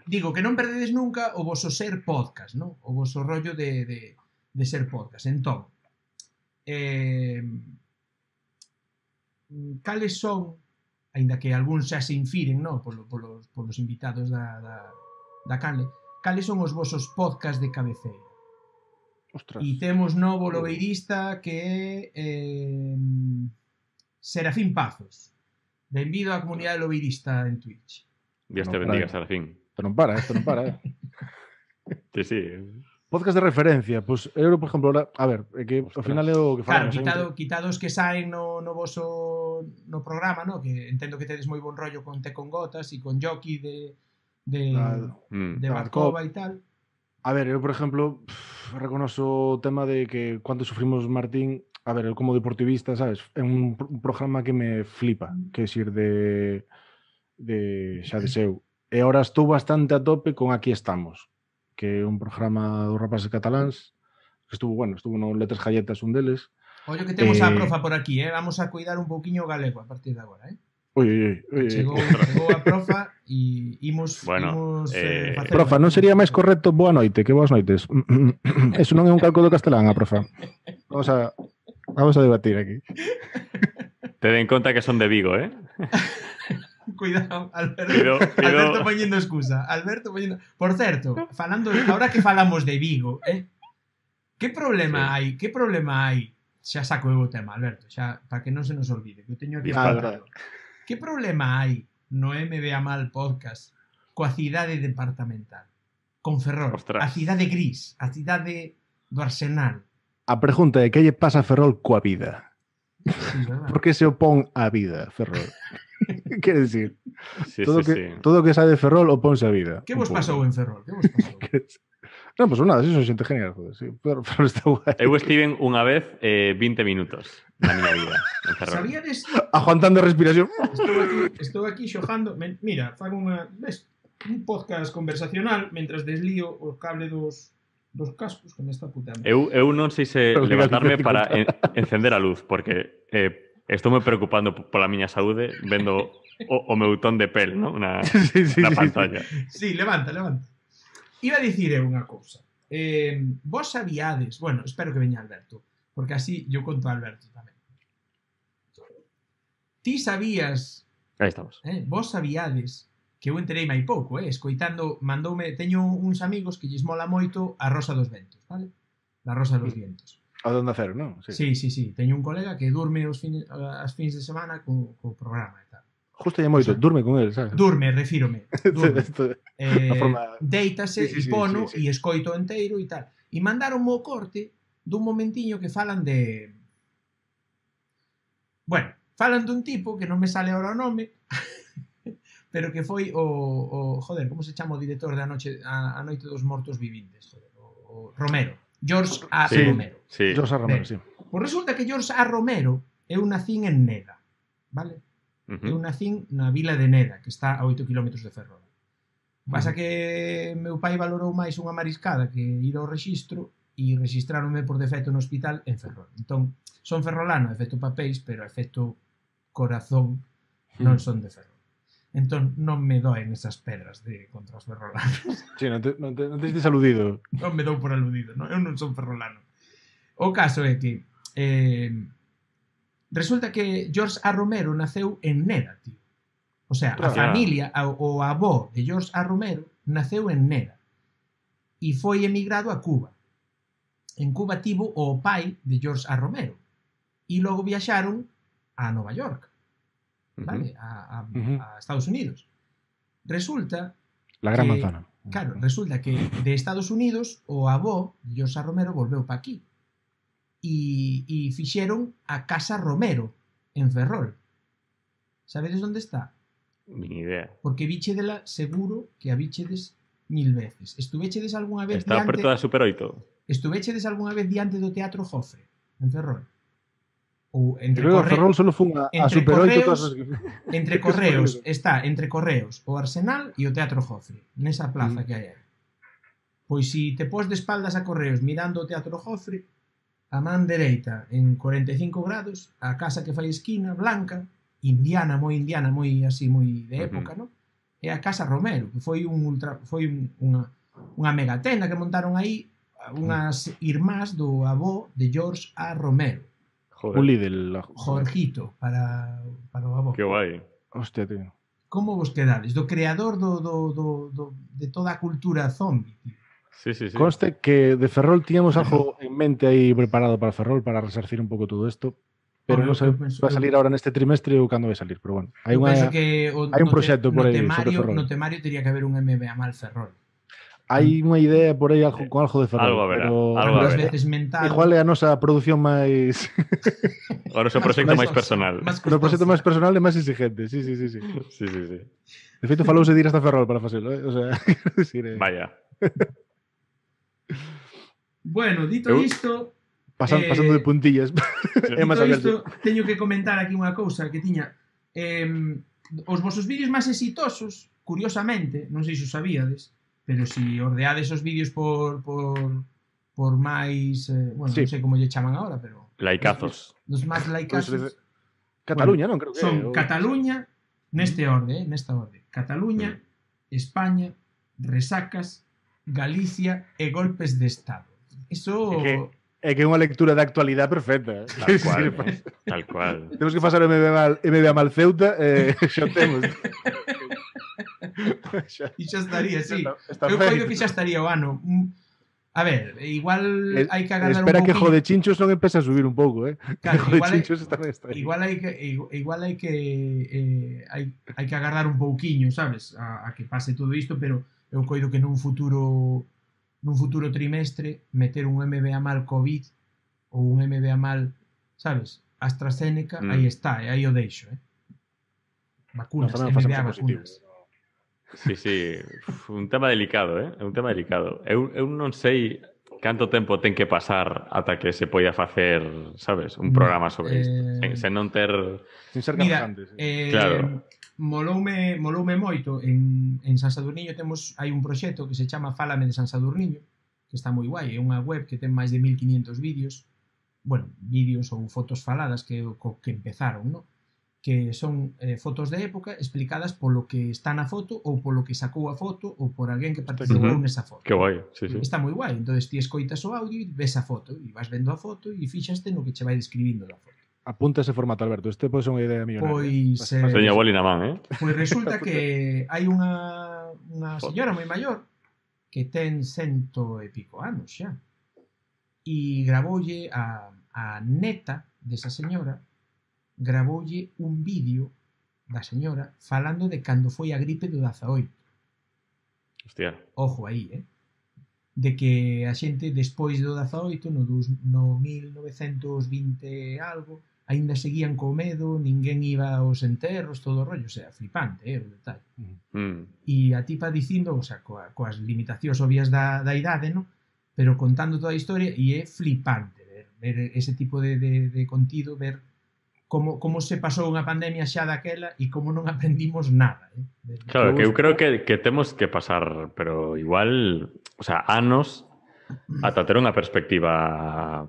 [SPEAKER 1] Digo que non perdedes nunca o voso ser podcast, ¿no? O voso rollo de ser podcast. Entón, cales son, aínda que algúns xa se infiren, ¿no? Polos invitados da canle, cales son os vosos podcast de cabeceira?
[SPEAKER 2] Ostras.
[SPEAKER 1] E temos novo lobeirista que é Serafín Pazos. Benvido á comunidade lobeirista en Twitch.
[SPEAKER 3] Dios te bendiga, Serafín.
[SPEAKER 2] Esto non para.
[SPEAKER 3] Sí.
[SPEAKER 2] Podcast de referencia, pues eu, por exemplo, ahora, a ver, é que ao final é o que falamos.
[SPEAKER 1] Claro, quitados que saen no voso programa, ¿no? Que entendo que tedes moi bon rollo con Te con Gotas e con Jockey de Barcova e tal.
[SPEAKER 2] A ver, eu, por exemplo, reconozo o tema de que cando sufrimos Martín, a ver, eu como deportivista, sabes, é un programa que me flipa, que é ir de xa de seu. E ahora estou bastante a tope con Aquí Estamos, que é un programa dos rapaces cataláns, que estuvo no Letras Galletas un deles.
[SPEAKER 1] Ollo que temos a profa por aquí, vamos a cuidar un pouquiño o galego a partir de agora, Chegou a profa e imos
[SPEAKER 2] profa, non sería máis correcto boa noite que boas noites? Eso non é un calco do castelán, profa. Vamos a debatir aquí.
[SPEAKER 3] Ten en conta que son de Vigo,
[SPEAKER 1] Cuidado, Alberto poñendo excusa. Por certo, ahora que falamos de Vigo, que problema hai? Xa saco eu o tema, Alberto, xa para que non se nos olvide, que eu teño aquí preparado. Que problema hai no MBA Mal Podcast coa cidade departamental? Con Ferrol, a cidade gris, a cidade do Arsenal.
[SPEAKER 2] A pregunta é que lle pasa a Ferrol coa vida?
[SPEAKER 1] Sí,
[SPEAKER 2] por que se opón á vida, Ferrol? Quer decir, todo que sae de Ferrol opónse á vida.
[SPEAKER 1] Que vos pasou en Ferrol? Que vos pasou?
[SPEAKER 2] Non, pues nada, eso é xente genial, joder, sí. Pero está guai.
[SPEAKER 3] Eu estive unha vez 20 minutos na miña vida en Ferrol.
[SPEAKER 1] Sabíades?
[SPEAKER 2] Aguantando a respiración.
[SPEAKER 1] Estou aquí xojando. Mira, fago un podcast conversacional mentras deslío o cable dos cascos que me está putando.
[SPEAKER 3] Eu non sei se levantarme para encender a luz, porque estou me preocupando pola miña saúde vendo o meu ton de pel, ¿no? na pantalla.
[SPEAKER 1] Sí, levanta. Iba a dicir unha cousa. Vos sabíades, bueno, espero que veña Alberto, porque así yo conto a Alberto tamén. Ti sabías...
[SPEAKER 3] Aí estamos.
[SPEAKER 1] Vos sabíades que eu enterei mai pouco, escoitando, teño uns amigos que lles mola moito a Rosa dos Ventos, vale? La Rosa dos Vientos.
[SPEAKER 2] A de Onda Cero, non?
[SPEAKER 1] Sí. Teño un colega que durme as fins de semana co programa e tal.
[SPEAKER 2] Justo lle moito, durme con el, sabes?
[SPEAKER 1] Refírome. Deítase e pono e escoito enteiro e tal. E mandaron o corte dun momentiño que falan de... Bueno, falan dun tipo que non me sale ahora o nome, pero que foi joder, como se chama o director de A Noite dos Mortos Vivintes? Joder, o Romero. George A. Romero.
[SPEAKER 2] Sí. George A. Romero, sí.
[SPEAKER 1] Pois resulta que George A. Romero eu nacín en Neda, vale? Eu nacín na vila de Neda, que está a 8 km de Ferrol. Pasa que meu pai valorou máis unha mariscada que ir ao rexistro e registraronme por defecto no hospital en Ferrol. Entón, son ferrolano, efecto papéis, pero efecto corazón non son de Ferrol. Entón, non me doen esas pedras contra os ferrolanos.
[SPEAKER 2] Sí, non te estes aludido.
[SPEAKER 1] Non me dou por aludido, non? Eu non son ferrolano. O caso é que resulta que George A. Romero naceu en Neda, tío. O sea, a familia, o avó de George A. Romero naceu en Neda e foi emigrado a Cuba. En Cuba tivo o pai de George A. Romero e logo viaxaron a Nova York, vale? A Estados Unidos. Resulta
[SPEAKER 2] la gran manzana.
[SPEAKER 1] Claro, resulta que de Estados Unidos o avó de George A. Romero volveu pa aquí e fixeron a Casa Romero en Ferrol. Sabedes onde está?
[SPEAKER 3] Ni idea.
[SPEAKER 1] Porque bichedela seguro que a bichedes 1000 veces. Estuvechedes algunha vez
[SPEAKER 3] está preto da Super 8.
[SPEAKER 1] Estuvechedes algunha vez diante do Teatro Jofre en Ferrol? Ou entre
[SPEAKER 2] Ferrol solo fun a Super 8
[SPEAKER 1] entre Correos está entre Correos, o Arsenal e o Teatro Jofre, nesa plaza que hai aí. Pois si te pos de espaldas a Correos mirando o Teatro Jofre, a man dereita en 45 grados, a casa que fai esquina, blanca, indiana, moi así, moi de época, non? É a Casa Romero, que foi unha megatenda que montaron aí unhas irmás do avó de George A. Romero.
[SPEAKER 2] Joder. Un líder.
[SPEAKER 1] Jorgito, para o avó.
[SPEAKER 3] Que guai.
[SPEAKER 2] Hostia, tío.
[SPEAKER 1] Como vos quedades? Do creador de toda a cultura zombie, tío.
[SPEAKER 3] Sí.
[SPEAKER 2] Conste que de Ferrol tíamos algo en mente aí preparado para Ferrol para resarcir un pouco todo isto, pero non sei se vai salir ahora neste trimestre ou cando vai salir, pero bueno, hai un proxecto por aí sobre Ferrol.
[SPEAKER 1] No temario teria que haber un MBA Mal Ferrol.
[SPEAKER 2] Hai unha idea por aí con algo de Ferrol,
[SPEAKER 3] algo haberá,
[SPEAKER 2] pero
[SPEAKER 1] veces mental.
[SPEAKER 2] Igual é a nosa produción máis
[SPEAKER 3] o noso proxecto máis personal.
[SPEAKER 2] O proxecto máis personal e máis exigente, sí.
[SPEAKER 3] Sí.
[SPEAKER 2] De feito falouse de ir hasta Ferrol para facelo, o sea,
[SPEAKER 3] Vaya.
[SPEAKER 1] Bueno, dito isto,
[SPEAKER 2] pasando de puntillas.
[SPEAKER 1] Dito isto, teño que comentar aquí unha cousa que tiña. Os vosos vídeos máis exitosos, curiosamente, non sei se os sabíades, pero si ordeades os vídeos por máis, bueno, non sei como lle chaman agora, pero
[SPEAKER 3] laicazos.
[SPEAKER 1] Dos máis laicazos.
[SPEAKER 2] Cataluña, non? Creo que
[SPEAKER 1] son Cataluña, Nesta orde. Cataluña, España, resacas, Galicia e golpes de Estado. Eso...
[SPEAKER 2] É que é unha lectura da actualidade perfecta.
[SPEAKER 3] Tal cual, tal cual.
[SPEAKER 2] Temos que pasar o MBA mal Ceuta xa temos.
[SPEAKER 1] E xa estaría, sí. Eu creo que xa estaría o ano. A ver, igual hai que agardar un pouquinho.
[SPEAKER 2] Espera que Jode Chinchos non empece a subir un pouco,
[SPEAKER 1] Claro,
[SPEAKER 2] igual
[SPEAKER 1] hai que agardar un pouquiño, sabes, a que pase todo isto, pero eu coido que nun futuro trimestre meter un MBA mal COVID ou un MBA mal, sabes, AstraZeneca, aí está, aí o deixo, vacunas, MBA vacunas.
[SPEAKER 3] Sí, un tema delicado, é un tema delicado. Eu non sei canto tempo ten que pasar ata que se poida facer, sabes, un programa sobre isto, sen non ter...
[SPEAKER 2] Sin ser capajantes.
[SPEAKER 3] Claro.
[SPEAKER 1] Moloume moito en San Sadurniño hai un proxecto que se chama Fálame de San Sadurniño, que está moi guai, é unha web que ten máis de 1500 vídeos, vídeos ou fotos faladas que empezaron, non? Que son fotos de época explicadas polo que está na foto ou polo que sacou a foto ou por alguén que participou nesa foto.
[SPEAKER 3] Que guai, sí.
[SPEAKER 1] Está moi guai, entonces ti escoitas o audio e ves a foto e vas vendo a foto e fixaste no que che vai describindo da foto.
[SPEAKER 2] Apunta ese formato, Alberto. Este pode ser unha idea millonaria.
[SPEAKER 3] Seña boli na man,
[SPEAKER 1] Pois resulta que hai unha señora moi maior que ten 100 e pico anos xa. E gravoulle a neta desa señora, gravoulle un vídeo da señora falando de cando foi a gripe do 18.
[SPEAKER 3] Hostia.
[SPEAKER 1] Ojo aí, de que a xente despois do 18, no 1920 algo, aínda seguían co medo, ninguén iba aos enterros, todo o rollo, o sea, flipante, o detalle. E a tipa dicindo, o sea, coas limitacións obvias da idade, ¿no? Pero contando toda a historia, e é flipante ver ese tipo de contido, ver como se pasou unha pandemia xa daquela e como non aprendimos nada.
[SPEAKER 3] Claro, que eu creo que temos que pasar, pero igual, o sea, anos ata ter unha perspectiva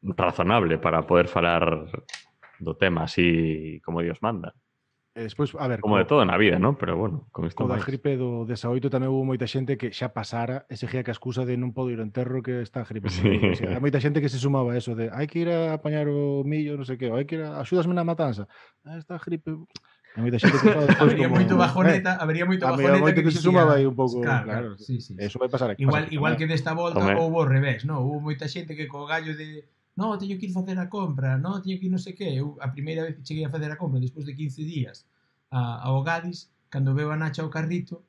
[SPEAKER 3] razonable para poder falar do tema así como Dios manda.
[SPEAKER 2] Despois, a ver,
[SPEAKER 3] como de todo na vida, ¿no? Pero bueno, con isto
[SPEAKER 2] da gripe do 18 tamén houve moita xente que xa pasara e seguía que a excusa de non podo ir ao enterro que está a gripe.
[SPEAKER 3] Sí.
[SPEAKER 2] Hai moita xente que se sumaba a eso de hai que ir a apañar o millo, non sei que, hai que ir axúdasme na matanza. Está a gripe. Hai moita xente que
[SPEAKER 1] habría moito bajoneta,
[SPEAKER 2] que se sumaba aí un pouco, claro.
[SPEAKER 1] Sí.
[SPEAKER 2] Eso vai pasar aquí.
[SPEAKER 1] Igual que desta volta houve ao revés, ¿no? Houve moita xente que co gallo de no, teño que ir facer a compra, no, teño que ir non sei que. Eu a primeira vez que cheguei a facer a compra despois de 15 días ao Gadis, cando veo a Nacha ao carrito,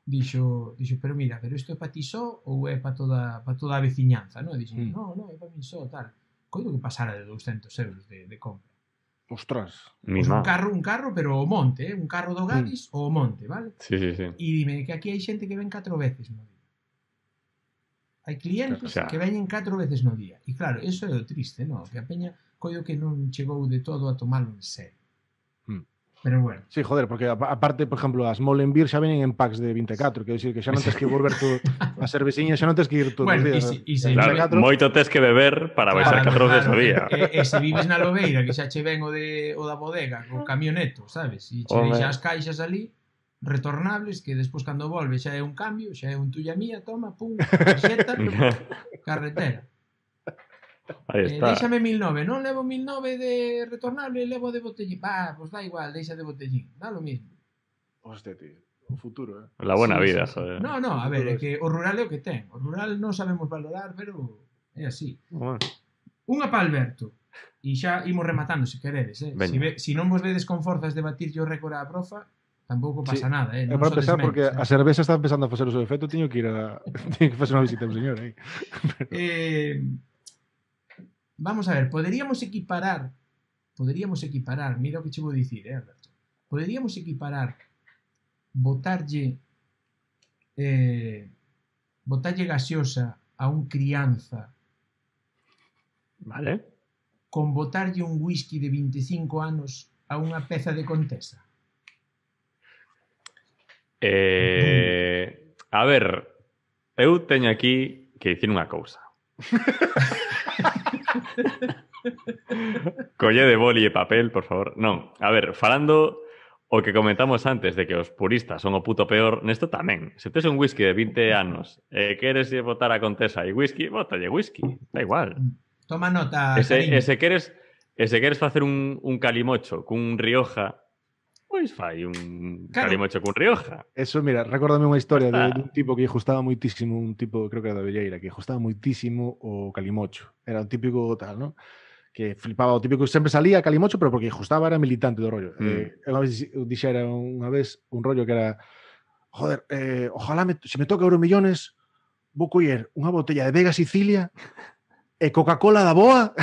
[SPEAKER 1] dixo, pero mira, pero isto é para ti só ou é para toda a veciñanza, non? Dixo, no, é para min só, tal. Coido que pasara de 200 euros de compra.
[SPEAKER 2] Ostras.
[SPEAKER 1] Pues un carro, pero o monte, un carro do Gadis ou o monte, vale?
[SPEAKER 3] Sí.
[SPEAKER 1] E dime que aquí hai xente que ven 4 veces no día. Hai clientes que veñen 4 veces no día. E claro, eso é o triste, non? Que a peña coido que non chegou de todo a tomalo en serio. Pero bueno.
[SPEAKER 2] Sí, joder, porque aparte, por exemplo, as Molenbeer xa venen en packs de 24, quero dicir que xa non tens que volver tú a cerveciña, xa non tens que ir todos os días.
[SPEAKER 3] Claro, moito tens que beber para baixar 4 veces o día.
[SPEAKER 1] E se vives na Lobeira, que xa che ven o da bodega, co camioneto, sabes? E che deixa as caixas ali, retornables, que despois cando volve xa é un cambio, xa é un tuya mía, toma, pum, xeta, carretera. Déxame 1009, non levo 1009 de retornable, levo de botellín. Pois da igual, deixa de botellín, dá lo mismo.
[SPEAKER 2] Hostia, tío, o futuro,
[SPEAKER 3] La buena vida, joder.
[SPEAKER 1] No, a ver, é que o rural é o que ten. O rural non sabemos valorar, pero é así. Unha pa Alberto. E xa imos rematando, se queredes, Se non vos vedes con forzas de batirlle o récord á profa, tampouco pasa nada,
[SPEAKER 2] É para empezar, porque a cerveza está empezando a facer o seu efecto, teño que ir teño que facer unha visita a un señor aí.
[SPEAKER 1] Vamos a ver, poderíamos equiparar, mira o que che vou dicir, Alberto. Poderíamos equiparar botarlle gaseosa a un crianza,
[SPEAKER 3] vale,
[SPEAKER 1] con botarlle un whisky de 25 anos a unha peza de Contesa.
[SPEAKER 3] A ver, eu teño aquí que dicir unha cousa. Colle de boli e papel, por favor. Non, a ver, falando O que comentamos antes de que os puristas son o puto peor, nesto tamén. Se tes un whisky de 20 anos e queres botar a Contesa e whisky, bótalle whisky. Da igual.
[SPEAKER 1] Toma nota,
[SPEAKER 3] E
[SPEAKER 1] cariño.
[SPEAKER 3] se queres facer un calimocho cun Rioja, pois fai un calimocho cun Rioja.
[SPEAKER 2] Eso, mira, recórdame unha historia de un tipo que gustaba moitísimo, un tipo, creo que era da Velleira, que gustaba moitísimo o calimocho. Era un típico tal, ¿no? Que flipaba o típico que sempre salía a calimocho, pero porque gustaba, era militante do rollo. Unha vez dixera unha vez un rollo que era joder, ojalá se me toca Euromillones vou coller unha botella de Vega Sicilia e Coca-Cola da boa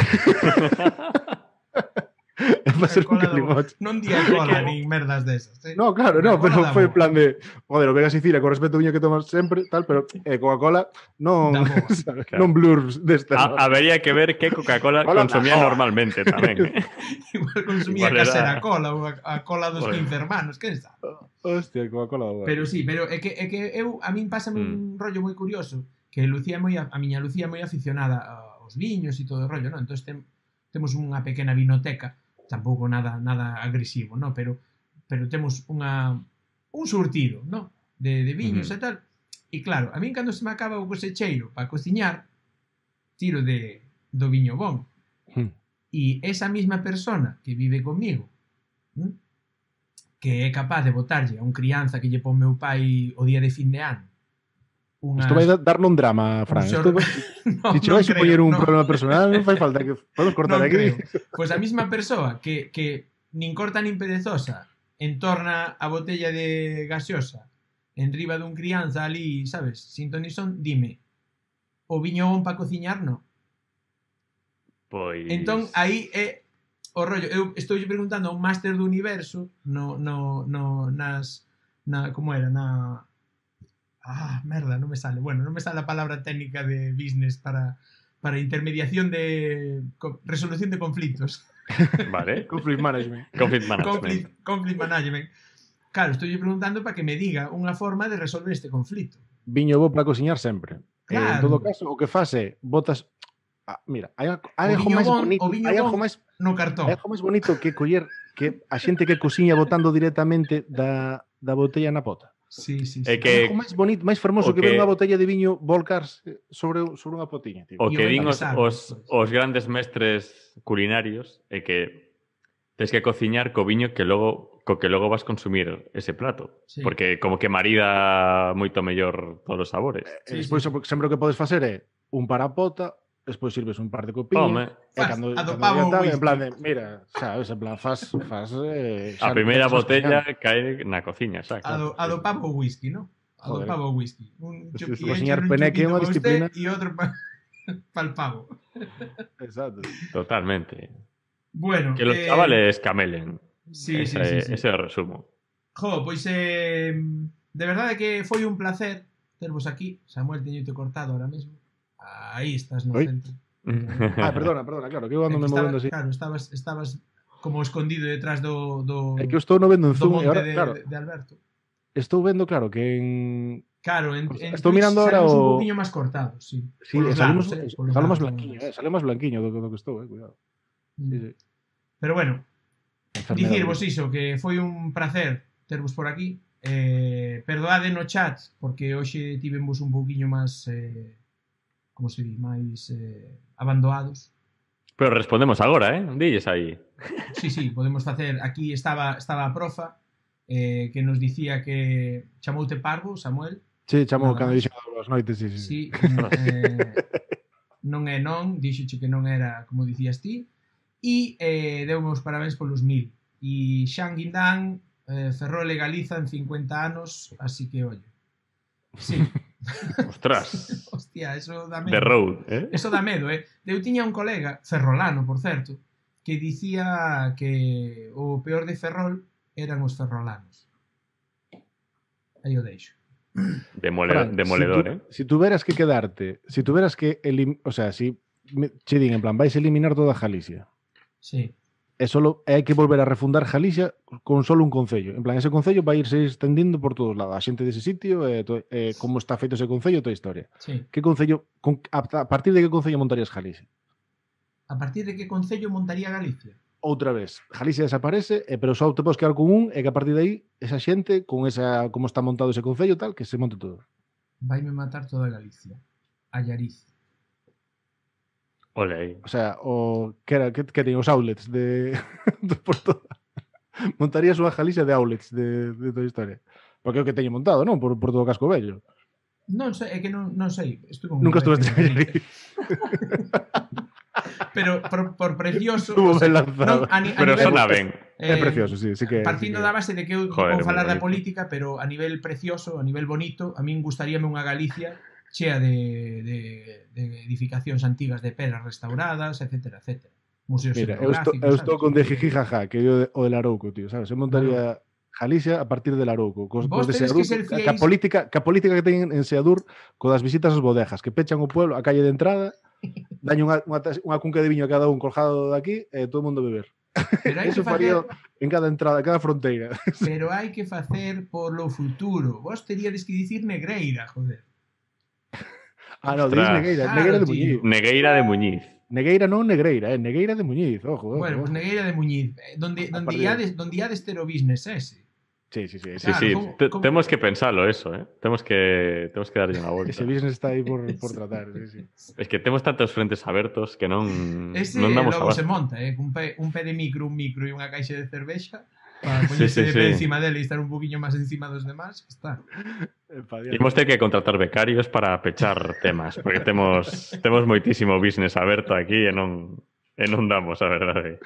[SPEAKER 2] e para ser un calimocho.
[SPEAKER 1] Non di cola nin merdas desas.
[SPEAKER 2] No, claro, no, pero foi en plan de joder, o Vega Sicilia con respeto viño que tomas sempre, tal, pero Coca-Cola non non blurs desta.
[SPEAKER 3] Habería que ver que Coca-Cola consumía normalmente tamén.
[SPEAKER 1] Igual consumía casera cola ou a cola dos 15 hermanos, que está?
[SPEAKER 2] Hostia, Coca-Cola da boa.
[SPEAKER 1] Pero sí, pero é que eu a min pásame un rollo moi curioso, que a miña Lucía é moi aficionada aos viños e todo o rollo, non? Entón temos unha pequena vinoteca, tampouco nada agresivo, no? Pero temos un surtido, no? De viños e tal. E claro, a min cando se me acaba o cosecheiro para cociñar, tiro do viño bon. E esa mesma persona que vive comigo, que é capaz de botarlle a un crianza que lle pon meu pai o día de fin de ano.
[SPEAKER 2] Isto vai darle un drama, Fran. Se che vais a poñer un problema personal, non fai falta que podemos cortar aquí.
[SPEAKER 1] Pois a mesma persoa que nin corta nin perezosa entorna a botella de gaseosa en riba dun crianza ali, sabes, sin ton ni son, dime, o viño bon para cociñar, non?
[SPEAKER 3] Pois...
[SPEAKER 1] Entón, aí é o rollo. Eu estou preguntando a un máster do universo como era, merda, non me sale. Bueno, non me sale a palabra técnica de business para intermediación de resolución de conflitos.
[SPEAKER 3] Vale.
[SPEAKER 2] Conflict management.
[SPEAKER 1] Conflict management. Claro, estou preguntando para que me diga unha forma de resolver este conflito.
[SPEAKER 2] Viño bo para cociñar sempre.
[SPEAKER 1] Claro.
[SPEAKER 2] En todo caso, o que fase, botas... mira, hai algo máis bonito. Hai algo máis
[SPEAKER 1] no cartón.
[SPEAKER 2] Hai algo máis bonito que coller que a xente que cociña botando directamente da botella na pota.
[SPEAKER 1] Sí.
[SPEAKER 3] É que
[SPEAKER 2] algo máis bonito, máis fermoso que ver unha botella de viño volcarse sobre unha potiña, tío.
[SPEAKER 3] O que din os grandes mestres culinarios é que tens que cociñar co viño que logo vas consumir ese plato, porque como que marida moito mellor todos os sabores.
[SPEAKER 2] Despois sempre o que podes facer é un para a pota, despois sirves un par de copiñas e cando en plan de, mira, sabes, en plan faz
[SPEAKER 3] a primeira botella cae na cociña, xa, claro.
[SPEAKER 1] Adopavo whisky, ¿no? Adopavo whisky. Un
[SPEAKER 2] cociñar peneque é unha disciplina
[SPEAKER 1] e outro para el pavo.
[SPEAKER 2] Exacto.
[SPEAKER 3] Totalmente.
[SPEAKER 1] Bueno,
[SPEAKER 3] que los chavales camelen.
[SPEAKER 1] Sí.
[SPEAKER 3] Ese é o resumo.
[SPEAKER 1] Pois de verdade que foi un placer tervos aquí. Samuel, teñote cortado ahora mesmo. Aí estás no centro.
[SPEAKER 2] Perdona, claro, que eu ando me movendo así.
[SPEAKER 1] Claro, estabas como escondido detrás do
[SPEAKER 2] É que eu estou no vendo en Zoom
[SPEAKER 1] e
[SPEAKER 2] agora,
[SPEAKER 1] claro. De Alberto.
[SPEAKER 2] Estou vendo, claro, que en estou mirando ahora
[SPEAKER 1] un poquinho máis cortado, sí.
[SPEAKER 2] Sí, sale máis blanquiño do que estou, cuidado. Sí.
[SPEAKER 1] Pero bueno, dicirvos iso, que foi un placer tervos por aquí. Perdoade no chat, porque hoxe tivemos un pouquiño máis como se di, máis abandonados.
[SPEAKER 3] Pero respondemos agora, dilles aí.
[SPEAKER 1] Sí, podemos facer. Aquí estaba a profa que nos dicía que chamoute parvo, Samuel.
[SPEAKER 2] Sí, chamou cando dixo as noites, sí.
[SPEAKER 1] Non é non, dixoche que non era como dicías ti. E deume os parabéns polos 1000. E Xan Guindán Ferrol legaliza en 50 anos, así que ollo. Sí.
[SPEAKER 3] Ostras.
[SPEAKER 1] Hostia, eso dá medo.
[SPEAKER 3] The road,
[SPEAKER 1] Eso dá medo, Eu tiña un colega, ferrolano, por certo, que dicía que o peor de Ferrol eran os ferrolanos. Aí o deixo.
[SPEAKER 3] Demoledor,
[SPEAKER 2] Si tuveras que quedarte, si tuveras que che din en plan, vais a eliminar toda Galicia.
[SPEAKER 1] Sí.
[SPEAKER 2] E hai que volver a refundar Galicia con solo un concello. En plan, ese concello vai irse extendindo por todos lados. A xente dese sitio, como está feito ese concello, toda a historia.
[SPEAKER 1] Sí.
[SPEAKER 2] Que concello, a partir de que concello montarías Galicia?
[SPEAKER 1] A partir de que concello montaría Galicia?
[SPEAKER 2] outra vez, Galicia desaparece, pero só te podes quedar con un, e que a partir de aí, esa xente, con esa, como está montado ese concello tal, que se monte todo.
[SPEAKER 1] Vaime matar toda Galicia. Allariz.
[SPEAKER 3] Ole aí.
[SPEAKER 2] O sea, que ten os outlets de por toda. Montarías unha Galicia de outlets de toda a historia. Porque é o que teño montado, non? Por todo o casco vello.
[SPEAKER 1] Non sei, é que non sei.
[SPEAKER 2] Nunca estuve en Allariz.
[SPEAKER 1] Pero por precioso...
[SPEAKER 2] Estuvo ben lanzado.
[SPEAKER 3] Pero sona ben.
[SPEAKER 2] É precioso, sí que...
[SPEAKER 1] Partindo
[SPEAKER 2] sí que...
[SPEAKER 1] da base de que eu vou falar da política, pero a nivel precioso, a nivel bonito, a min gustaríame unha Galicia chea de edificacións antigas de pedras restauradas, etcétera, etcétera. Museos etnográficos.
[SPEAKER 2] Eu estou con de Jiji jaja, que é o del Arouco, tío, sabes? Eu montaría Galicia a partir del Arouco. Cos de Seadur, que a política que teñen en Seadur, co das visitas ás bodejas, que pechan o pueblo, a calle de entrada, daño unha cunca de viño a cada un colgado de aquí e todo o mundo beber. Eso faría en cada entrada, cada fronteira.
[SPEAKER 1] Pero hai que facer polo futuro. Vos teríades que dicir Negreira, joder.
[SPEAKER 2] No, dices Negueira, claro, Negueira de Muñiz.
[SPEAKER 3] Negueira de Muñiz.
[SPEAKER 2] Negueira non Negreira, Negueira de Muñiz, ojo.
[SPEAKER 1] Bueno, pues Negueira de Muñiz, donde iades ter o business ese.
[SPEAKER 2] Sí.
[SPEAKER 3] Claro, temos que pensalo eso, Temos que darlle unha volta.
[SPEAKER 2] Ese business está aí por tratar, sí.
[SPEAKER 3] Es que temos tantos frentes abertos que non
[SPEAKER 1] damos logo se monta, un pé de micro, un micro e unha caixa de cervexa para poñerse de pé encima dele e estar un poquinho máis encima dos demás, que está.
[SPEAKER 3] Imos ter que contratar becarios para pechar temas, porque temos moitísimo business aberto aquí e non damos, a verdade.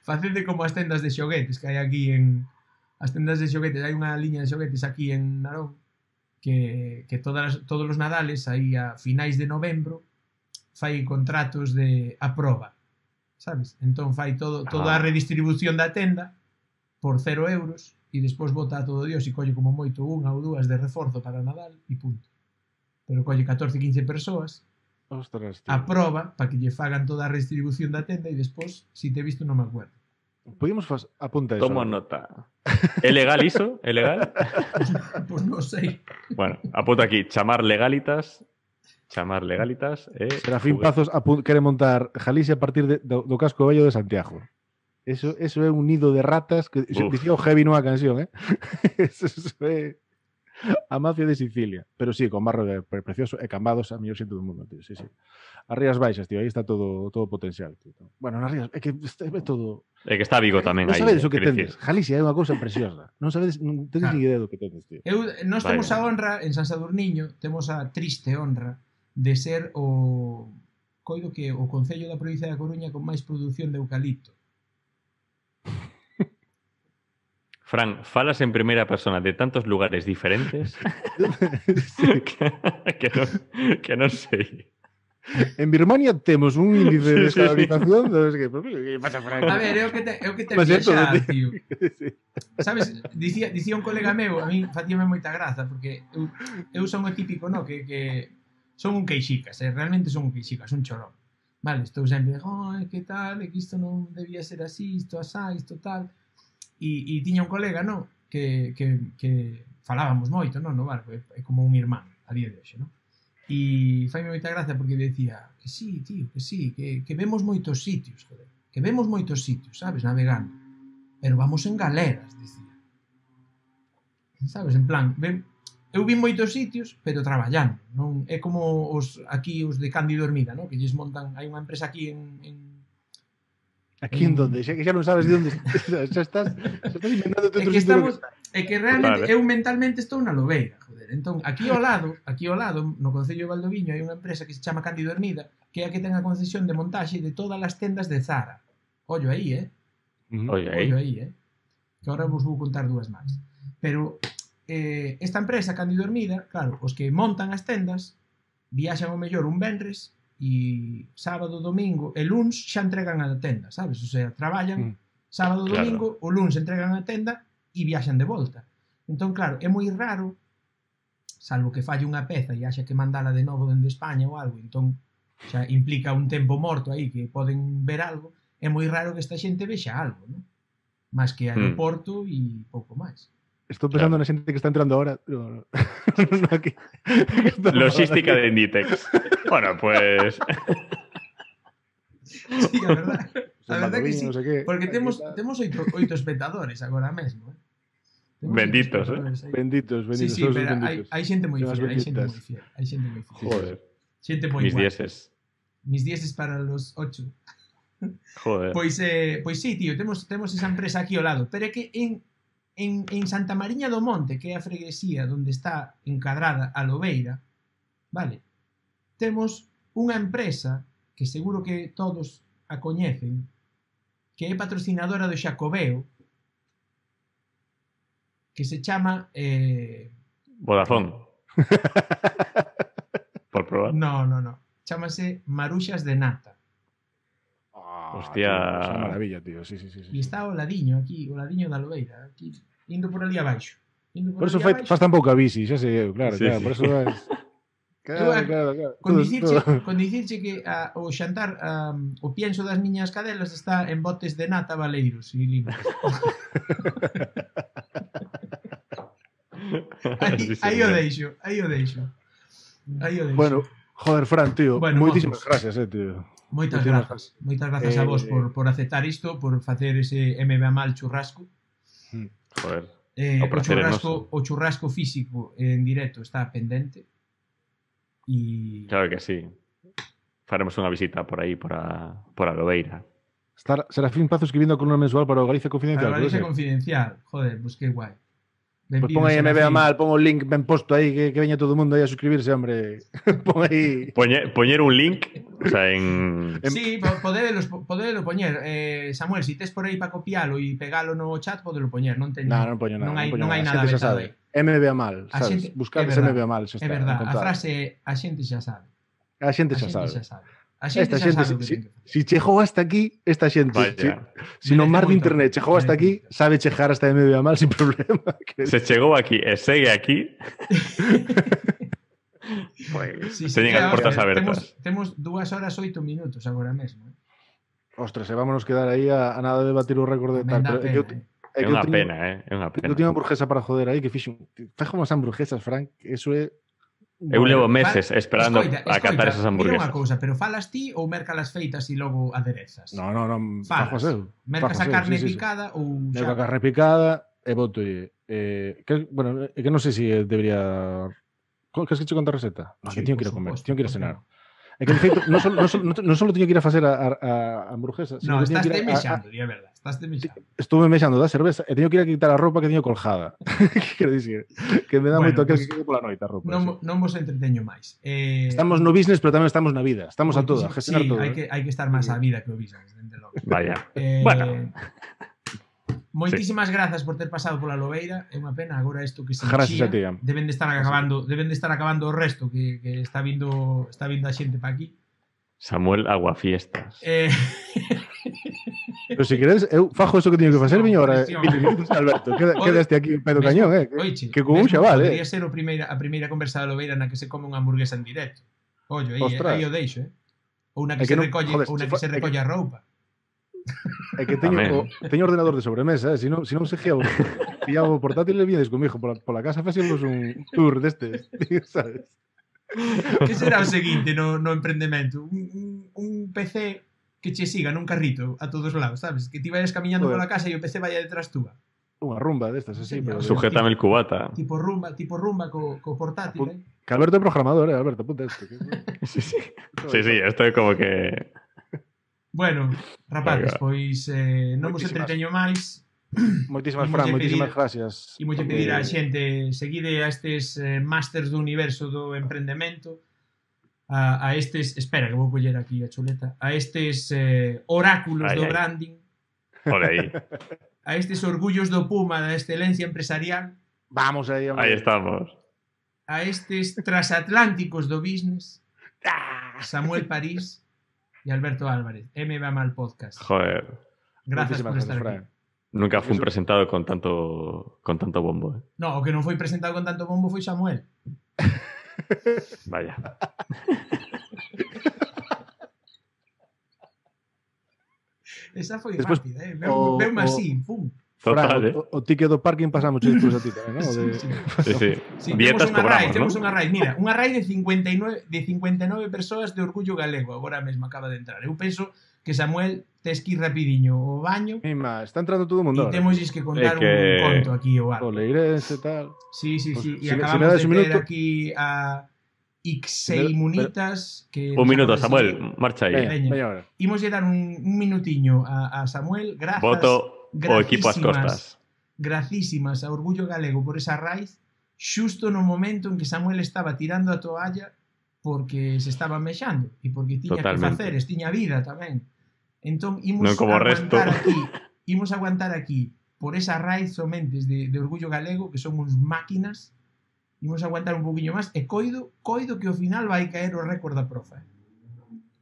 [SPEAKER 1] Facende como as tendas de xoguetes que hai aquí as tendas de xoguetes, hai unha liña de xoguetes aquí en Narón que todos os nadales aí a finais de novembro fai contratos de a proba, sabes? Entón fai toda a redistribución da tenda por 0 euros e despois bota a todo Dios e colle como moito unha ou dúas de reforzo para Nadal e punto. Pero colle 14-15 persoas a proba para que lle fagan toda a redistribución da tenda e despois, si te he visto, non me acuerdo.
[SPEAKER 2] Podíamos apuntar eso.
[SPEAKER 3] Tomo nota. É legal iso? É legal?
[SPEAKER 1] Pois non sei.
[SPEAKER 3] Bueno, apunto aquí, chamar legalitas.
[SPEAKER 2] Serafín Pazos quere montar Galicia a partir do casco vello de Santiago. Eso é un nido de ratas que dicía o Heavy nunha canción, Eso é a mafia de Sicilia. Pero sí, con barro precioso e cambados a mellor xente do mundo, tío. Sí. As Rías Baixas, tío, aí está todo potencial, tío. Bueno, nas Rías, é que é todo...
[SPEAKER 3] É que está Vigo tamén
[SPEAKER 2] aí.
[SPEAKER 3] Non
[SPEAKER 2] sabedes o que tendes. Galicia é unha cousa preciosa. Non tedes ni idea do que tendes, tío.
[SPEAKER 1] Nós temos a honra, en San Sadurniño, temos a triste honra de ser coido que o concello da provincia da Coruña con máis produción de eucalipto.
[SPEAKER 3] Fran, falas en primeira persona de tantos lugares diferentes que non sei.
[SPEAKER 2] En Birmania temos un índice de descarbonización que pasa, Fran?
[SPEAKER 1] A ver, é o que te viaxar, tío. Sabes, dicía un colega meu, a mí facíame moita graza, porque eu son o típico, no, que son un queixicas, realmente son un queixicas, un chorón. Vale, estou sempre, que tal, que isto non debía ser así, isto asá, isto tal. E tiña un colega, no, que falábamos moito, no barco, é como un irmán a día de hoxe, no? E faime moita gracia porque decía que sí, tío, que sí, que vemos moitos sitios, joder, que vemos moitos sitios, sabes, navegando, pero vamos en galeras, decía. Sabes, en plan, eu vi moitos sitios, pero traballando, non é como os de Cándido Hermida, no? Que lles montan, hai unha empresa aquí
[SPEAKER 2] Aquí en donde, xa non sabes de onde xa estás inventando outro sitio.
[SPEAKER 1] É que realmente eu mentalmente estou na Lobeira, joder. Entón, aquí ao lado, no concello de Valdoviño, hai unha empresa que se chama Cándido Hermida, que é a que ten a concesión de montaxe de todas as tendas de Zara. Ollo aí,
[SPEAKER 3] Ollo
[SPEAKER 1] aí, Que agora vos vou contar dúas máis. Pero esta empresa, Cándido Hermida, claro, os que montan as tendas viaxan o mellor un venres e sábado, domingo e luns xa entregan a tenda, sabes? O sea, traballan sábado, domingo, o luns entregan a tenda e viaxan de volta. Entón, claro, é moi raro, salvo que falle unha peza e haxa que mandala de novo dende España ou algo, entón xa implica un tempo morto aí que poden ver algo, é moi raro que esta xente vexa algo, non? Más que aeroporto e pouco máis.
[SPEAKER 2] Estou pensando na xente que está entrando ahora. No, aquí.
[SPEAKER 3] Logística de Inditex. Bueno, pues...
[SPEAKER 1] Sí, a verdad. A verdade que sí, porque temos 8 espectadores agora mesmo.
[SPEAKER 3] Benditos,
[SPEAKER 2] Benditos.
[SPEAKER 1] Sí, pero hai xente moi fiel, hai xente moi fiel.
[SPEAKER 3] Joder.
[SPEAKER 1] Xente moi
[SPEAKER 3] Mis
[SPEAKER 1] guai.
[SPEAKER 3] dieces.
[SPEAKER 1] Mis dieces para los 8.
[SPEAKER 3] Joder.
[SPEAKER 1] Pois sí, tío, temos esa empresa aquí ao lado, pero é que en Santa Mariña do Monte, que é a freguesía onde está encadrada a Lobeira, vale, temos unha empresa que seguro que todos a coñecen, que é patrocinadora do Xacobeo, que se chama...
[SPEAKER 3] Vodafone. Por probar.
[SPEAKER 1] No. Chámase Maruxas de Nata.
[SPEAKER 3] Hostia.
[SPEAKER 2] Tío, es una maravilla, tío. Sí.
[SPEAKER 1] E está o ladiño aquí, o ladiño da Lobeira, aquí, indo por ali abaixo.
[SPEAKER 2] Por eso faz tan pouca bici, xa sei, claro, por eso es... Claro.
[SPEAKER 1] Con dicirche que o xantar, o pienso das miñas cadelas está en botes de nata valeiros e limpos. Aí o deixo.
[SPEAKER 2] Bueno, joder, Fran, tío, moitísimas gracias, tío.
[SPEAKER 1] Moitas grazas a vos por aceptar isto, por facer ese MBA mal churrasco.
[SPEAKER 3] Joder.
[SPEAKER 1] O churrasco físico en directo está pendente.
[SPEAKER 3] Claro que sí. Faremos unha visita por aí, por a Lobeira.
[SPEAKER 2] Serafín Pazo escribindo a columna mensual para o Galicia Confidencial.
[SPEAKER 1] Para o Galicia Confidencial. Joder, pues qué guai.
[SPEAKER 2] Pues pon aí MBA mal, pon o link ben posto aí, que veña todo o mundo aí a suscribirse, hombre. Pon aí...
[SPEAKER 3] Poñer un link, o sea, en...
[SPEAKER 1] Sí, podelo poñer. Samuel, si tes por aí para copialo e pegalo no chat, podelo poñer. Non
[SPEAKER 2] poño nada.
[SPEAKER 1] Non hai nada vetado aí.
[SPEAKER 2] MBA mal, sabes? Buscades MBA mal, xa está.
[SPEAKER 1] É verdad, a frase a xente xa sabe.
[SPEAKER 2] A xente xa sabe.
[SPEAKER 1] Esta xente,
[SPEAKER 2] si chegou hasta aquí, esta xente, si no mar de internet chegou hasta aquí, sabe chegar hasta MBA mal sin problema.
[SPEAKER 3] Se chegou aquí e segue aquí, pues, teñen as portas abertas.
[SPEAKER 1] Temos 2 horas 8 minutos agora mesmo.
[SPEAKER 2] Ostras, vámonos quedar aí a nada de batir o récord de tal.
[SPEAKER 3] É unha pena, é unha pena.
[SPEAKER 2] Eu tiña unha hamburguesa para joder aí que fixo unhas hamburguesas, Frank, eso é...
[SPEAKER 3] Eu levo meses esperando a catar esas hamburguesas.
[SPEAKER 1] Mira unha cousa, pero falas ti ou mercalas feitas e logo aderezas?
[SPEAKER 2] No, falas eu.
[SPEAKER 1] Mercas a carne picada ou...
[SPEAKER 2] Merco a carne picada e boto... Bueno, é que non sei se debería... Queres que che conta a receta? No, que teño que ir a comer, teño que ir a cenar. É que, de feito, non só teño que ir a facer a hamburguesa,
[SPEAKER 1] no, estás mexando, é verdad.
[SPEAKER 2] Estuve mexando da cerveza e teño que ir a quitar a roupa que teño colgada. Que quero dicir? Que me dá moito aquel que quede pola noite a roupa.
[SPEAKER 1] Non vos entreteño máis.
[SPEAKER 2] Estamos no business, pero tamén estamos na vida. Estamos a todo, a gestionar todo.
[SPEAKER 1] Sí, hai que estar máis á vida que o business, dende logo.
[SPEAKER 3] Vaya. Bueno.
[SPEAKER 1] Moitísimas grazas por ter pasado pola Lobeira. É unha pena agora isto que se
[SPEAKER 2] chía.
[SPEAKER 1] Deben de estar acabando o resto que está vindo a xente pa aquí.
[SPEAKER 3] Samuel Aguafiestas.
[SPEAKER 2] Pero se queres, eu fajo eso que teño que facer, viño ahora 20 minutos, Alberto. Quedaste aquí pedo cañón, que con un xaval,
[SPEAKER 1] Podría ser a primeira conversa da Lobeira na que se come unha hamburguesa en directo. Ollo, aí o deixo, Ou na que se recolle a roupa.
[SPEAKER 2] É que teño ordenador de sobremesa, se non se pillaba o portátil e viñades comigo pola casa, facíamos un tour destes, sabes?
[SPEAKER 1] Que será o seguinte no emprendemento? Un PC que che siga nun carrito a todos lados, sabes? Que ti vayas camiñando pola casa e o PC vaya detrás túa.
[SPEAKER 2] Unha rumba destas, así.
[SPEAKER 3] Sujétame el cubata.
[SPEAKER 1] Tipo rumba co portátil,
[SPEAKER 2] Que Alberto é programador, Alberto, apunta esto.
[SPEAKER 3] Sí, esto é como que...
[SPEAKER 1] Bueno, rapaces, pois non vos entreteño máis.
[SPEAKER 2] Moitísimas, Fran, moitísimas gracias.
[SPEAKER 1] E moito pedir a xente, seguide a estes másters do universo do emprendemento, a estes, espera que vou coller aquí a chuleta, a estes oráculos do branding, a estes orgullos do Puma da excelencia empresarial.
[SPEAKER 2] Vamos aí, hombre.
[SPEAKER 3] Aí estamos.
[SPEAKER 1] A estes transatlánticos do business, Samuel París e Alberto Álvarez, MBA Mal Podcast.
[SPEAKER 3] Joder.
[SPEAKER 1] Gracias por estar aquí.
[SPEAKER 3] Nunca fui presentado con tanto bombo.
[SPEAKER 1] No, o que non foi presentado con tanto bombo foi Samuel.
[SPEAKER 3] Vaya.
[SPEAKER 1] Esa foi rápida, veume así, pum.
[SPEAKER 3] Total,
[SPEAKER 2] o ticket do parking pasamos despois a ti tamén, non?
[SPEAKER 3] Sí. Dietas cobramos,
[SPEAKER 1] temos unha raid, mira, unha raid de 59 persoas de Orgullo Galego agora mesmo acaba de entrar. Eu penso que Samuel tes que ir rapidiño ao baño.
[SPEAKER 2] Mima, está entrando todo o mundo.
[SPEAKER 1] E temos que contar un conto aquí o algo.
[SPEAKER 2] O Leirense e tal.
[SPEAKER 1] Sí.
[SPEAKER 2] Pues,
[SPEAKER 1] E acabamos de ter aquí a Ixei Munitas.
[SPEAKER 3] Un minuto, Samuel, marcha aí.
[SPEAKER 2] Veña.
[SPEAKER 1] Imos dar un minutiño a Samuel. Grazas.
[SPEAKER 3] Voto o equipo ás costas.
[SPEAKER 1] Gracísimas a Orgullo Galego por esa raíz, xusto no momento en que Samuel estaba tirando a toalla porque se estaba mexando e porque tiña que faceres, tiña vida tamén. Entón, imos aguantar aquí por esa raíz somente de Orgullo Galego, que son uns máquinas, imos aguantar un poquinho máis, e coido que ao final vai caer o récord da profa.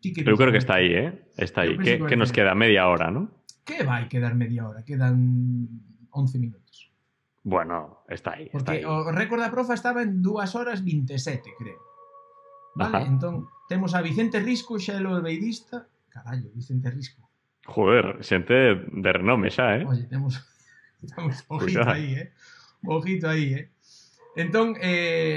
[SPEAKER 3] Eu creo que está aí, Está aí. Que nos queda media hora, ¿no?
[SPEAKER 1] Que vai quedar media hora? Quedan 11 minutos.
[SPEAKER 3] Bueno, está aí.
[SPEAKER 1] Porque o récord da profa estaba en 2 horas 27, creo. Vale, entón, temos a Vicente Risco, xa é o beirista. Carallo, Vicente Risco.
[SPEAKER 3] Joder, xente de renome xa,
[SPEAKER 1] Oye, temos ojito aí, Ojito aí, Entón,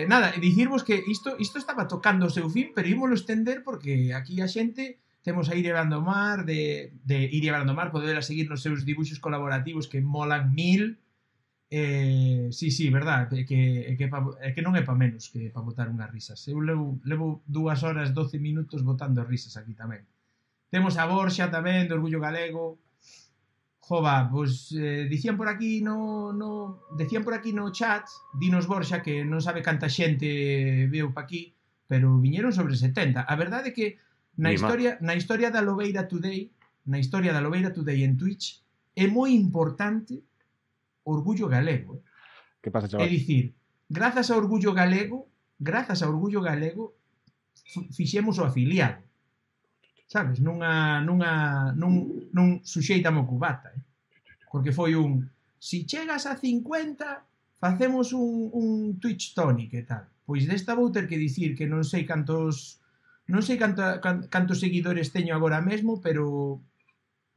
[SPEAKER 1] nada, dicirvos que isto estaba tocando o seu fin, pero ímolo estender porque aquí a xente temos a Iria Brandomar, de Iria Brandomar, poderla seguir nos seus dibuixos colaborativos que molan 1000. Sí, verdad, que non é pa menos que pa botar unhas risas. Eu levo 2 horas 12 minutos botando risas aquí tamén. Temos a Borxa tamén, do Orgullo Galego. Jova, pois dicían por aquí no chat, dinos Borxa, que non sabe canta xente veu pa aquí, pero viñeron sobre 70. A verdade é que na historia da Lobeira Today en Twitch, é moi importante Orgullo Galego.
[SPEAKER 2] Que pasa, chaval?
[SPEAKER 1] É dicir, grazas a Orgullo Galego, fixemos o afiliado. Sabes? Nun suxeitamo cubata, Porque foi si chegas a 50, facemos un Twitch Tonic e tal. Pois desta vou ter que dicir que non sei cantos seguidores teño agora mesmo, pero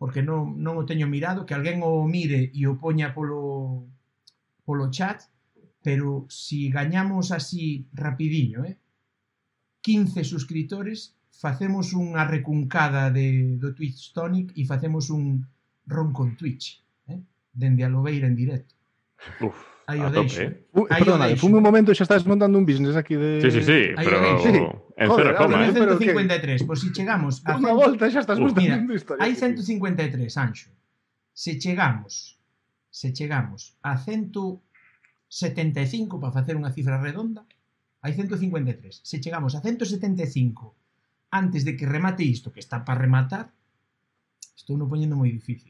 [SPEAKER 1] porque non o teño mirado, que alguén o mire e o poña polo chat, pero si gañamos así rapidinho, 15 suscriptores, facemos unha recuncada do Twitch Tonic e facemos un ron con Twitch, dende a Lobeira en directo. Aí o deixo.
[SPEAKER 2] Perdona, fume un momento e xa estás montando un business aquí de...
[SPEAKER 3] Sí, pero en 0,
[SPEAKER 1] 153, pois si chegamos a...
[SPEAKER 2] Unha volta xa estás montando historia.
[SPEAKER 1] Hai 153, Anxo. Se chegamos a 175, para facer unha cifra redonda, hai 153. Se chegamos a 175 antes de que remate isto, que está para rematar, estou non poñendo moi difícil.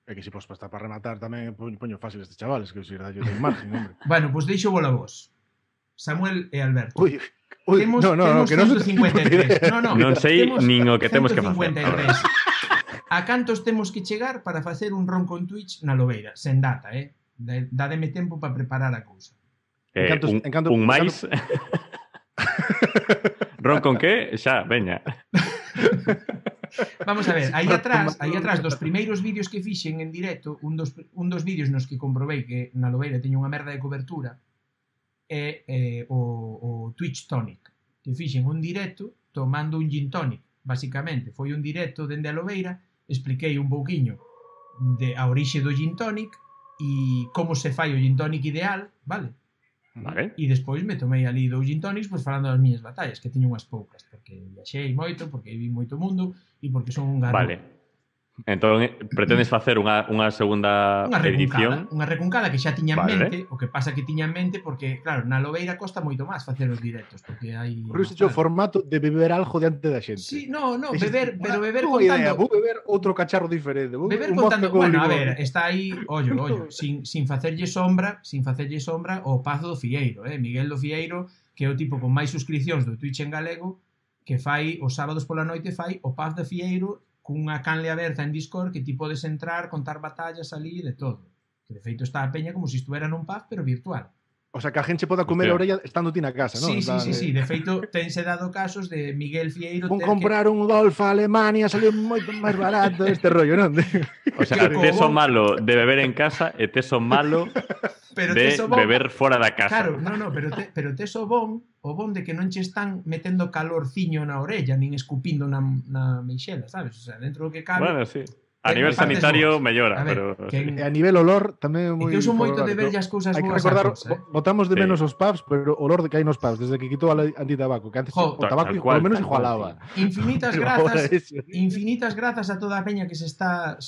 [SPEAKER 2] É que se pos para rematar tamén poño fácil estes chavales, que se irá yo ten margen, hombre.
[SPEAKER 1] Bueno, pois deixo bola vos. Samuel e Alberto.
[SPEAKER 2] Uy,
[SPEAKER 1] temos
[SPEAKER 2] que non
[SPEAKER 1] 153. Non
[SPEAKER 3] sei nin o que temos que facer.
[SPEAKER 1] 153. A cantos temos que chegar para facer un ron con Twitch na Lobeira? Sen data, Dádeme tempo para preparar a cousa.
[SPEAKER 3] Un máis... Ron con que? Xa, veña.
[SPEAKER 1] Vamos a ver, aí atrás dos primeiros vídeos que fixen en directo, un dos vídeos nos que comprobei que na Lobeira teño unha merda de cobertura é o Twitch Tonic, que fixen un directo tomando un gin tonic, basicamente. Foi un directo dende a Lobeira, expliquei un pouquiño a orixe do gin tonic e como se fai o gin tonic ideal, vale?
[SPEAKER 3] Vale.
[SPEAKER 1] E despois me tomei ali 2 gin tonics falando das miñas batallas, que teño unhas poucas, porque viaxei moito, porque vi moito mundo e porque son un garro.
[SPEAKER 3] Vale. Entón, pretendes facer unha segunda edición?
[SPEAKER 1] Unha recuncada que xa tiña en mente, o que pasa que tiña en mente porque, claro, na Lobeira costa moito máis facer os directos, porque hai...
[SPEAKER 2] Por iso o formato de beber algo diante da xente.
[SPEAKER 1] Sí, beber contando...
[SPEAKER 2] Idea, vou beber outro cacharro diferente.
[SPEAKER 1] Beber contando... Bueno, a ver, está aí, ollo, sin facerlle sombra o Paz do Fieiro, Miguel do Fieiro, que é o tipo con máis suscripcións do Twitch en galego, que fai, os sábados pola noite fai o Paz do Fieiro cunha canle aberta en Discord que ti podes entrar, contar batallas ali de todo. Que de feito está a peña como se estuvera nun pub, pero virtual.
[SPEAKER 2] O sea, que a gente poda comer a orella estando ti na casa, non?
[SPEAKER 1] Sí. De feito, tense dado casos de Miguel Fieiro
[SPEAKER 2] Vou comprar un Golf a Alemania, salió moito máis barato este rollo, non?
[SPEAKER 3] O sea, teso malo de beber en casa e teso malo de beber fora da casa.
[SPEAKER 1] Claro, pero teso bon de que non che están metendo calorciño na orella, nin escupindo na meixela, sabes? O sea, dentro do que cabe...
[SPEAKER 3] Bueno, sí. A nivel sanitario mellora, pero...
[SPEAKER 2] A nivel olor tamén é moi...
[SPEAKER 1] É que uso moito de ver as cousas boas.
[SPEAKER 2] Hai que recordar, botamos de menos os pubs, pero o olor de que hai nos pubs, desde que quitou a antitabaco, que antes o tabaco polo menos igualaba.
[SPEAKER 1] Infinitas grazas a toda a peña que se está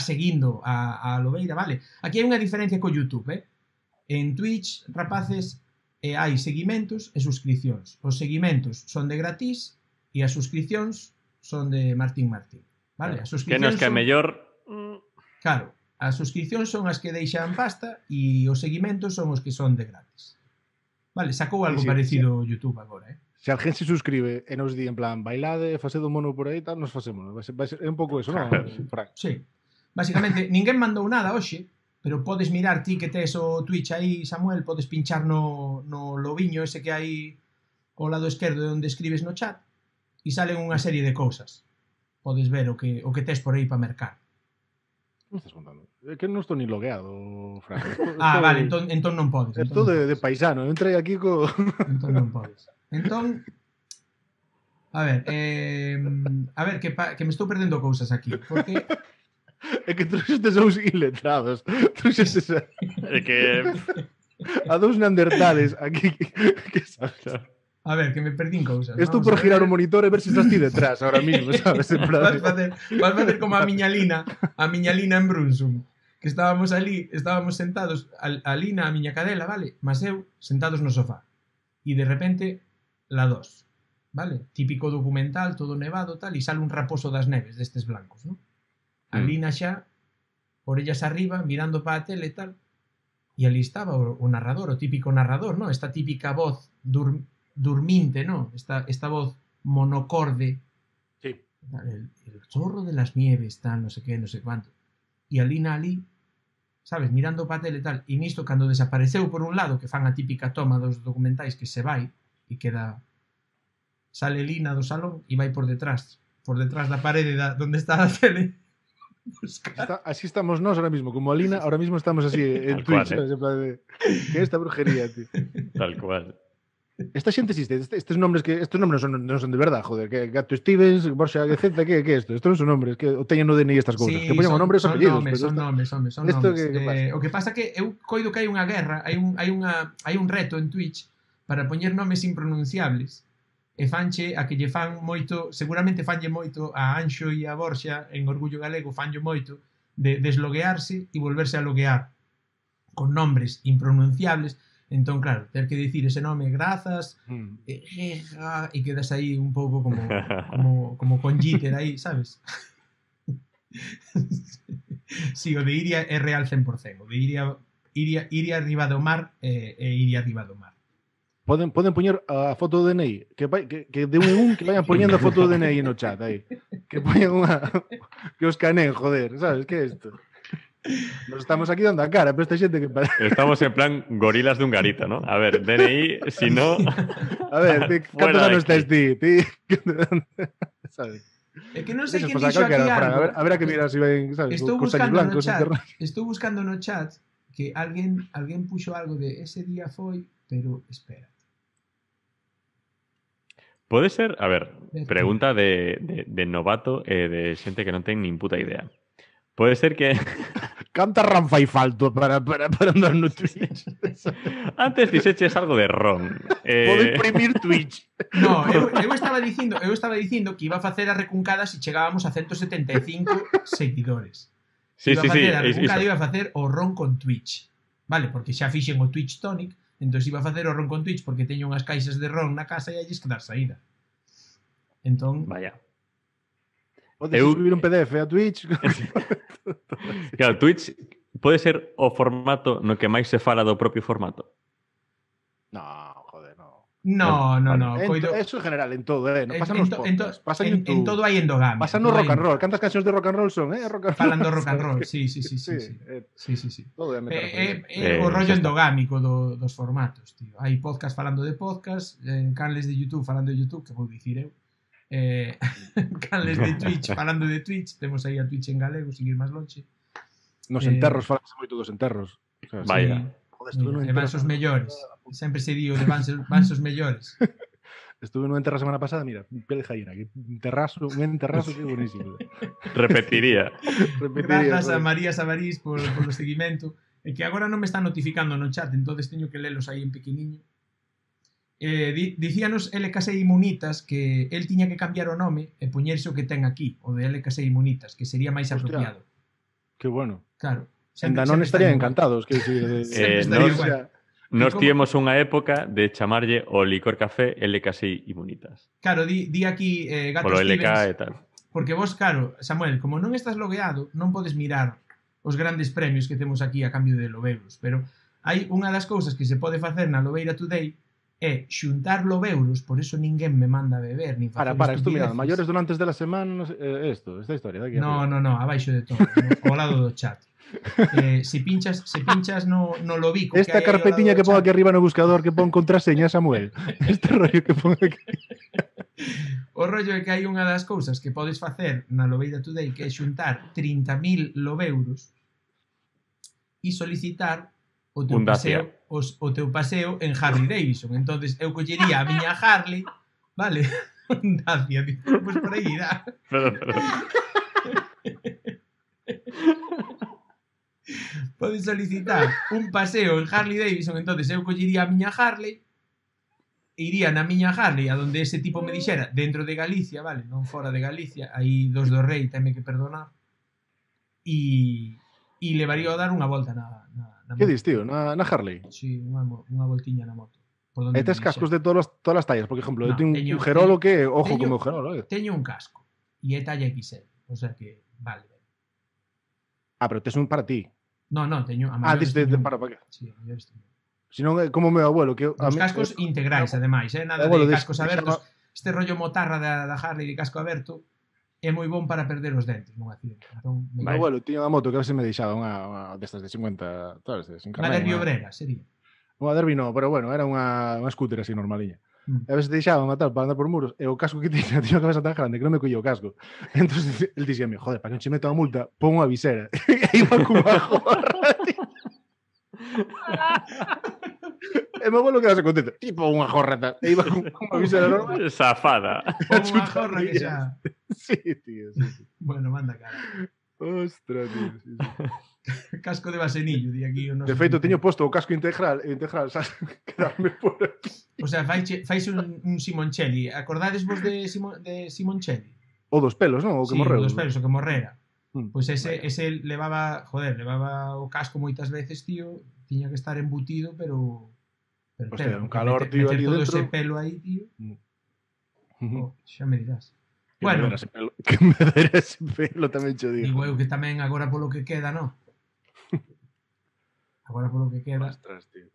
[SPEAKER 1] seguindo a Lobeira, vale? Aquí hai unha diferencia co YouTube, En Twitch, rapaces, hai seguimentos e suscripcións. Os seguimentos son de gratis e as suscripcións son de Martín, vale? As
[SPEAKER 3] que nos que é mellor...
[SPEAKER 1] Claro, as suscripcións son as que deixan pasta e os seguimentos son os que son de gratis. Vale, sacou algo parecido YouTube agora,
[SPEAKER 2] Se alguén se suscribe e nos di en plan bailade, facede un mono por aí, tal, nos facemos. É un pouco eso, non?
[SPEAKER 1] Sí. Basicamente, ninguén mandou nada hoxe, pero podes mirar ti que tes o Twitch aí, Samuel, podes pinchar no lobiño ese que hai ao lado esquerdo onde escribes no chat e salen unha serie de cousas. Podes ver o que tes por aí para mercar.
[SPEAKER 2] Que me estás contando? É que non estou ni logueado, Fran.
[SPEAKER 1] Vale, entón non podes.
[SPEAKER 2] Estou de paisano, entrei aquí co...
[SPEAKER 1] Entón non podes. Entón, a ver, que me estou perdendo cousas aquí, porque...
[SPEAKER 2] É que trouxestes uns iletrados. Trouxestes a dous neandertales aquí que sabes.
[SPEAKER 1] A ver, que me perdín cousas.
[SPEAKER 2] Estou por girar o monitor e ver se estás ti detrás ahora mismo, sabes?
[SPEAKER 1] Vas facer como a miña Lina en Brunsum, que estábamos sentados a Lina, a miña cadela, vale? Mas eu, sentados no sofá. E de repente, la 2, vale? Típico documental, todo nevado, tal, e sale un raposo das neves destes blancos, non? A Lina xa, orellas arriba, mirando para a tele e tal, e ali estaba o narrador, o típico narrador, non? Esta típica voz durminte, ¿no? Esta voz monocorde.
[SPEAKER 2] Sí.
[SPEAKER 1] El chorro de las nieves, tal, no sé qué, no sé cuánto. Y a Lina ali, sabes, mirando para tele tal, e nisto, cando desapareceu por un lado, que fan a típica toma dos documentais que se vai, e queda... Sale Lina do salón e vai por detrás da parede donde está a tele.
[SPEAKER 2] Así estamos nós ahora mismo, como a Lina, ahora mismo estamos así en Twitch, ¿sabes? En plan de... ¿Qué es esta brujería, tío?
[SPEAKER 3] Tal cual.
[SPEAKER 2] Esta xente existe, estes nombres non son de verdade, joder, que Gato Stevens, Borja Gaceta, que é isto? Estos non son nombres, que o teñen no DNI estas cousas,
[SPEAKER 1] sí,
[SPEAKER 2] que poñan o nombre e os apellidos.
[SPEAKER 1] Son nomes. O que pasa que eu coido que hai unha guerra, hai un reto en Twitch para poñer nomes impronunciables e fanche a que lle fan moito, seguramente fanlle moito a Anxo e a Borxa en Orgullo Galego, fanlle moito de desloguearse e volverse a loguear con nombres impronunciables. Entón, claro, ter que dicir ese nome grazas e quedas aí un pouco como con Jitter aí, sabes? Sí, o de Iria é real 100%. O de Iria arriba do mar e Iria arriba do mar.
[SPEAKER 2] Poden poñer a foto do DNI, que de un en un que vayan poñendo a foto do DNI no chat aí. Que poñan que os caneen, joder, sabes? Que é isto? Nos estamos aquí dando a cara, pero esta xente que...
[SPEAKER 3] Estamos en plan gorilas de un garita, ¿no? A ver, DNI, si no...
[SPEAKER 2] A ver, ¿cantos anos estás ti? ¿Sabes?
[SPEAKER 1] É que non sei quen dixo aquí algo.
[SPEAKER 2] A ver a que mirar si ven, ¿sabes?
[SPEAKER 1] Estou buscando no chat que alguén puxo algo de ese día foi, pero espera.
[SPEAKER 3] Pode ser, a ver, pregunta de novato e de xente que non ten nin puta idea. Pode ser que...
[SPEAKER 2] Canta ron fai falto para andar no Twitch.
[SPEAKER 3] Antes dixeches algo de ron.
[SPEAKER 2] Podo imprimir Twitch.
[SPEAKER 1] No, eu estaba dicindo que iba a facer a recuncada se chegábamos a 175 seguidores.
[SPEAKER 3] Sí.
[SPEAKER 1] A recuncada iba a facer o ron con Twitch. Vale, porque xa fixen o Twitch Tonic, entón iba a facer o ron con Twitch porque teño unhas caixas de ron na casa e hai que dar saída. Entón...
[SPEAKER 3] Vaya.
[SPEAKER 2] Podes subir un PDF a Twitch.
[SPEAKER 3] Claro, Twitch pode ser o formato no que máis se fala do propio formato.
[SPEAKER 2] No, joder, no.
[SPEAKER 1] No.
[SPEAKER 2] Eso en general, en todo, non pasa nos podcasts, pasa en YouTube.
[SPEAKER 1] En todo hai endogamia.
[SPEAKER 2] Pasa no rock and roll. Cantas cancións de rock and roll son, rock and roll.
[SPEAKER 1] Falando rock and roll, sí.
[SPEAKER 2] Todo
[SPEAKER 1] o rollo endogámico dos formatos, tío. Hai podcast falando de podcast, canles de YouTube falando de YouTube, que vou dicir eu. Canles de Twitch falando de Twitch. Temos aí a Twitch en galego, seguir máis longe.
[SPEAKER 2] Nos enterros, falase moito dos enterros.
[SPEAKER 3] Vaya.
[SPEAKER 1] E vanse os mellores. Sempre se dio de vanse os mellores.
[SPEAKER 2] Estuve nun enterro a semana pasada, mira, pele jaira, un enterrazo que buenísimo.
[SPEAKER 3] Repetiría.
[SPEAKER 1] Grazas a María Sabarís polo seguimento. E que agora non me está notificando no chat, entonces teño que lelos aí en pequeniño. Dicíanos LKC Inmunitas que el tiña que cambiar o nome e poñerse o que ten aquí, o de LKC Inmunitas, que sería máis apropiado.
[SPEAKER 2] Que bueno.
[SPEAKER 1] Claro.
[SPEAKER 2] En Danón estarían encantados.
[SPEAKER 3] Nos tivemos unha época de chamarlle o licor café LKC Inmunitas.
[SPEAKER 1] Claro, di aquí Gato
[SPEAKER 3] Stevens. LK e tal.
[SPEAKER 1] Porque vos, claro, Samuel, como non estás logueado, non podes mirar os grandes premios que temos aquí a cambio de lobeuros. Pero hai unha das cousas que se pode facer na Lobeira Today é xuntar lobeuros, por eso ninguén me manda a beber, nin facer
[SPEAKER 2] Para, esto mira, maiores donantes de la semana, esta historia de aquí.
[SPEAKER 1] No, abaixo de todo, ao lado do chat. Se pinchas no lobico
[SPEAKER 2] esta carpetiña que pon aquí arriba no buscador que pon contraseña, Samuel. Este rollo que pon aquí.
[SPEAKER 1] O rollo é que hai unha das cousas que podes facer na Lobeira Today, que é xuntar 30.000 lobeuros e solicitar o teu paseo en Harley Davidson. Entonces eu collería a miña Harley, vale? Dacia, pues por aí irá. Podes solicitar un paseo en Harley Davidson, entonces eu collería a miña Harley, iría na miña Harley a donde ese tipo me dixera, dentro de Galicia, vale, non fora de Galicia, aí dos do Rei, teme que perdonar, e levaría a dar unha volta na
[SPEAKER 2] que dis, tío? Na Harley?
[SPEAKER 1] Sí, unha voltiña na moto.
[SPEAKER 2] E tes cascos de todas as tallas, por exemplo, eu teño un Gerolo que, ojo como o Gerolo,
[SPEAKER 1] Teño un casco, e é talla XL, o sea que vale.
[SPEAKER 2] Pero tes un para ti.
[SPEAKER 1] No, teño a
[SPEAKER 2] maiores. Para que?
[SPEAKER 1] Sí, a maiores teño.
[SPEAKER 2] Si non é como o meu abuelo, que
[SPEAKER 1] os cascos integrais, ademais, nada de cascos abertos. Este rollo motarra da Harley de casco aberto é moi bon para perder os dentes nun accidente. Entón,
[SPEAKER 2] meu abuelo tiña unha moto que a veces me deixaba unha destas de 50, sabes, sin carné.
[SPEAKER 1] Unha derbi obrera, sería.
[SPEAKER 2] Unha derbi non, pero bueno, era unha scooter así normaliña. A veces deixaba unha tal para andar por muros e o casco que tiña a cabeza tan grande que non me collía o casco. Entón, el dixíame, joder, para que non che meto a multa, pon unha visera. E iba cunha jorra, tío. E meu abuelo quedase contento. Tipo unha jorra tal. E iba con unha visera normal.
[SPEAKER 3] Zafada.
[SPEAKER 1] Unha jorra que xa...
[SPEAKER 2] Sí, tío, sí.
[SPEAKER 1] Bueno, manda cara.
[SPEAKER 2] Ostras, tío. Sí.
[SPEAKER 1] Casco de vasenillo, di aquí.
[SPEAKER 2] De feito, teño posto o casco integral, sabes? Quedarme por aquí.
[SPEAKER 1] O sea, fais un Simoncelli. Acordades vos de Simoncelli?
[SPEAKER 2] O dos pelos, non? O que morreu.
[SPEAKER 1] Sí, o dos pelos, o que morrera. Pois ese levaba o casco moitas veces, tío, tiña que estar embutido, pero
[SPEAKER 2] hostia, un calor, tío,
[SPEAKER 1] ali
[SPEAKER 2] dentro.
[SPEAKER 1] Todo ese pelo aí, tío. Xa me dirás.
[SPEAKER 2] Bueno, que me dera ese pelo tamén cho digo.
[SPEAKER 1] Digo eu que tamén agora polo que queda, non? Agora polo que queda.
[SPEAKER 2] Ostras, tío.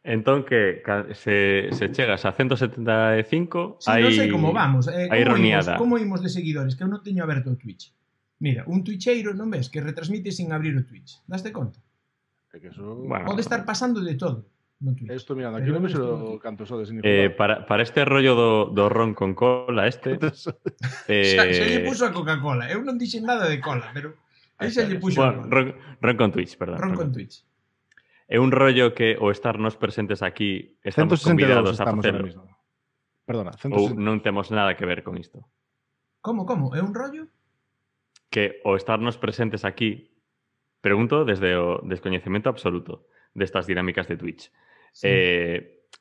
[SPEAKER 3] Entón que se chegas a 175,
[SPEAKER 1] sí, non sei como vamos.
[SPEAKER 3] Hai roniada.
[SPEAKER 1] Como imos de seguidores? Que eu non teño aberto o Twitch. Mira, un twitcheiro, non ves? Que retransmite sin abrir o Twitch. Daste conta?
[SPEAKER 2] É que eso...
[SPEAKER 1] Pode estar pasando de todo no Twitch.
[SPEAKER 2] Estou mirando, aquí non me xo canto sodes.
[SPEAKER 3] Para este rollo do ron con cola,
[SPEAKER 1] xa lle puso a Coca-Cola. Eu non dixen nada de cola, pero xa lle puxo a cola.
[SPEAKER 3] Ron con Twitch, perdón.
[SPEAKER 1] Ron con Twitch.
[SPEAKER 3] É un rollo que o estarnos presentes aquí estamos convidados a facer.
[SPEAKER 2] Perdona, 162.
[SPEAKER 3] Ou non temos nada que ver con isto.
[SPEAKER 1] Como? É un rollo?
[SPEAKER 3] Que o estarnos presentes aquí, pregunto desde o descoñecemento absoluto destas dinámicas de Twitch. Sí.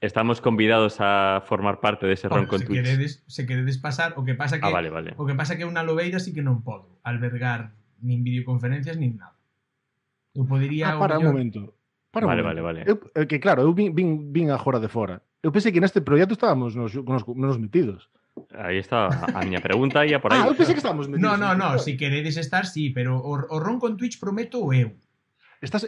[SPEAKER 3] Estamos convidados a formar parte dese ron con Twitch.
[SPEAKER 1] Se queredes pasar, o que pasa que
[SPEAKER 3] vale.
[SPEAKER 1] O que pasa que unha lobeira sí que non podo albergar nin videoconferencias nin nada. Eu podería
[SPEAKER 2] para un momento.
[SPEAKER 3] Vale.
[SPEAKER 2] Que claro, eu vin agora de fora. Eu pensei que neste proxecto estábamos nos metidos.
[SPEAKER 3] Aí está a miña pregunta ia por aí.
[SPEAKER 2] Eu pensei que estábamos metidos.
[SPEAKER 1] No, si queredes estar, sí, pero o ron con Twitch prometo eu.
[SPEAKER 2] Estás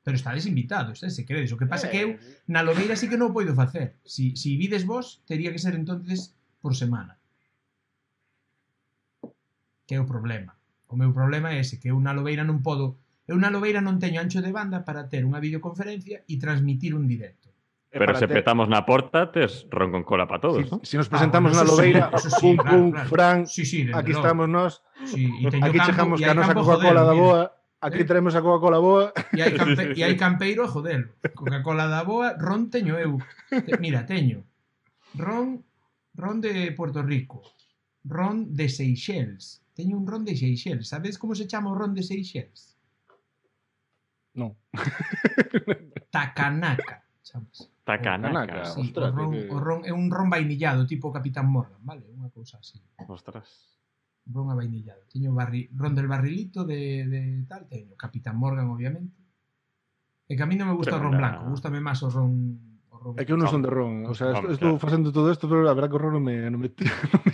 [SPEAKER 1] Pero estades invitados, se queredes. O que pasa que eu na Lobeira sí que non o podo facer. Si vides vos, tería que ser entonces por semana. Que é o problema. O meu problema é ese, que eu na Lobeira non podo... Eu na Lobeira non teño ancho de banda para ter unha videoconferencia e transmitir un directo.
[SPEAKER 3] Pero se petamos na porta, tes ron con cola para todos, ¿no?
[SPEAKER 2] Si nos presentamos na Lobeira, pum, Fran, aquí estamos nós, aquí chegamos ca nosa Coca-Cola da boa, aquí traemos a Coca-Cola boa.
[SPEAKER 1] E hai campeiro a jodelo. Coca-Cola da boa, ron teño eu. Mira, teño ron de Puerto Rico, ron de Seychelles. Teño un ron de Seychelles. Sabes como se chama o ron de Seychelles?
[SPEAKER 2] Non.
[SPEAKER 1] Takanaka, chamas.
[SPEAKER 3] Takanaka.
[SPEAKER 1] Sí, o ron é un ron vainillado, tipo Capitán Morgan, vale? Unha cousa así.
[SPEAKER 3] Ostras.
[SPEAKER 1] Ron avainillado. Teño ron del barrilito de tal, teño Capitán Morgan, obviamente. E que a mí non me gusta o ron blanco, gústame máis o ron...
[SPEAKER 2] É que eu non son de ron, o sea, estou facendo todo isto, pero a verdad que o ron non me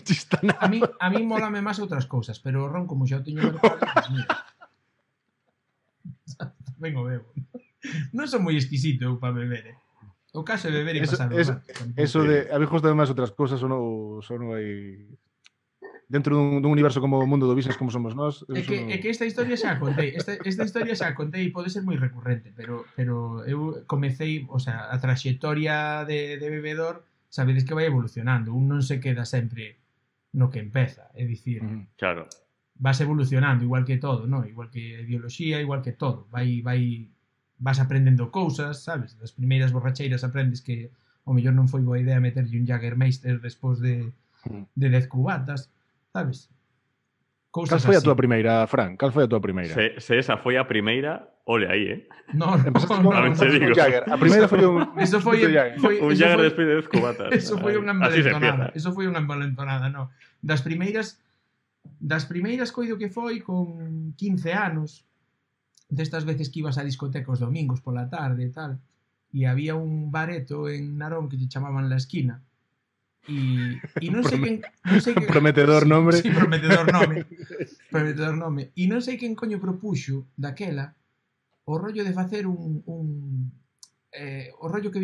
[SPEAKER 2] chista nada.
[SPEAKER 1] A mí molame máis outras cousas, pero o ron, como xa o teño mercado, pues mira. Vengo bebo. Non son moi exquisito eu para beber, O caso é beber e pasar o rato.
[SPEAKER 2] Eso de... A mí gustan máis outras cousas, ou non hai... Dentro dun universo como o mundo do business como somos nós...
[SPEAKER 1] É que esta historia xa a contei. Esta historia xa a contei e pode ser moi recurrente, pero eu comecei, o sea, a traxectoria de bebedor, sabedes que vai evolucionando. Un non se queda sempre no que empeza, é dicir...
[SPEAKER 3] Claro.
[SPEAKER 1] Vas evolucionando, igual que todo, ¿no? Igual que a ideoloxía, igual que todo. Vas aprendendo cousas, sabes? Das primeiras borracheiras aprendes que o mellor non foi boa idea meterlle un Jägermeister despois de 10 cubatas. Sabes?
[SPEAKER 2] Cal foi a túa primeira, Fran? Cal foi a túa primeira?
[SPEAKER 3] Se esa foi a primeira, ole aí,
[SPEAKER 1] No.
[SPEAKER 2] A primeira foi un...
[SPEAKER 1] Eso foi
[SPEAKER 3] un Jäger despois de 10 cubatas.
[SPEAKER 1] Eso foi unha envalentonada. Eso foi unha envalentonada, no. Das primeiras coido que foi con 15 anos, destas veces que ibas a discoteca os domingos pola tarde e tal, e había un bareto en Narón que lle chamaban La Esquina, e non sei quen...
[SPEAKER 2] Prometedor nome.
[SPEAKER 1] Sí, prometedor nome. E non sei quen coño propuxo daquela o rollo de facer o rollo que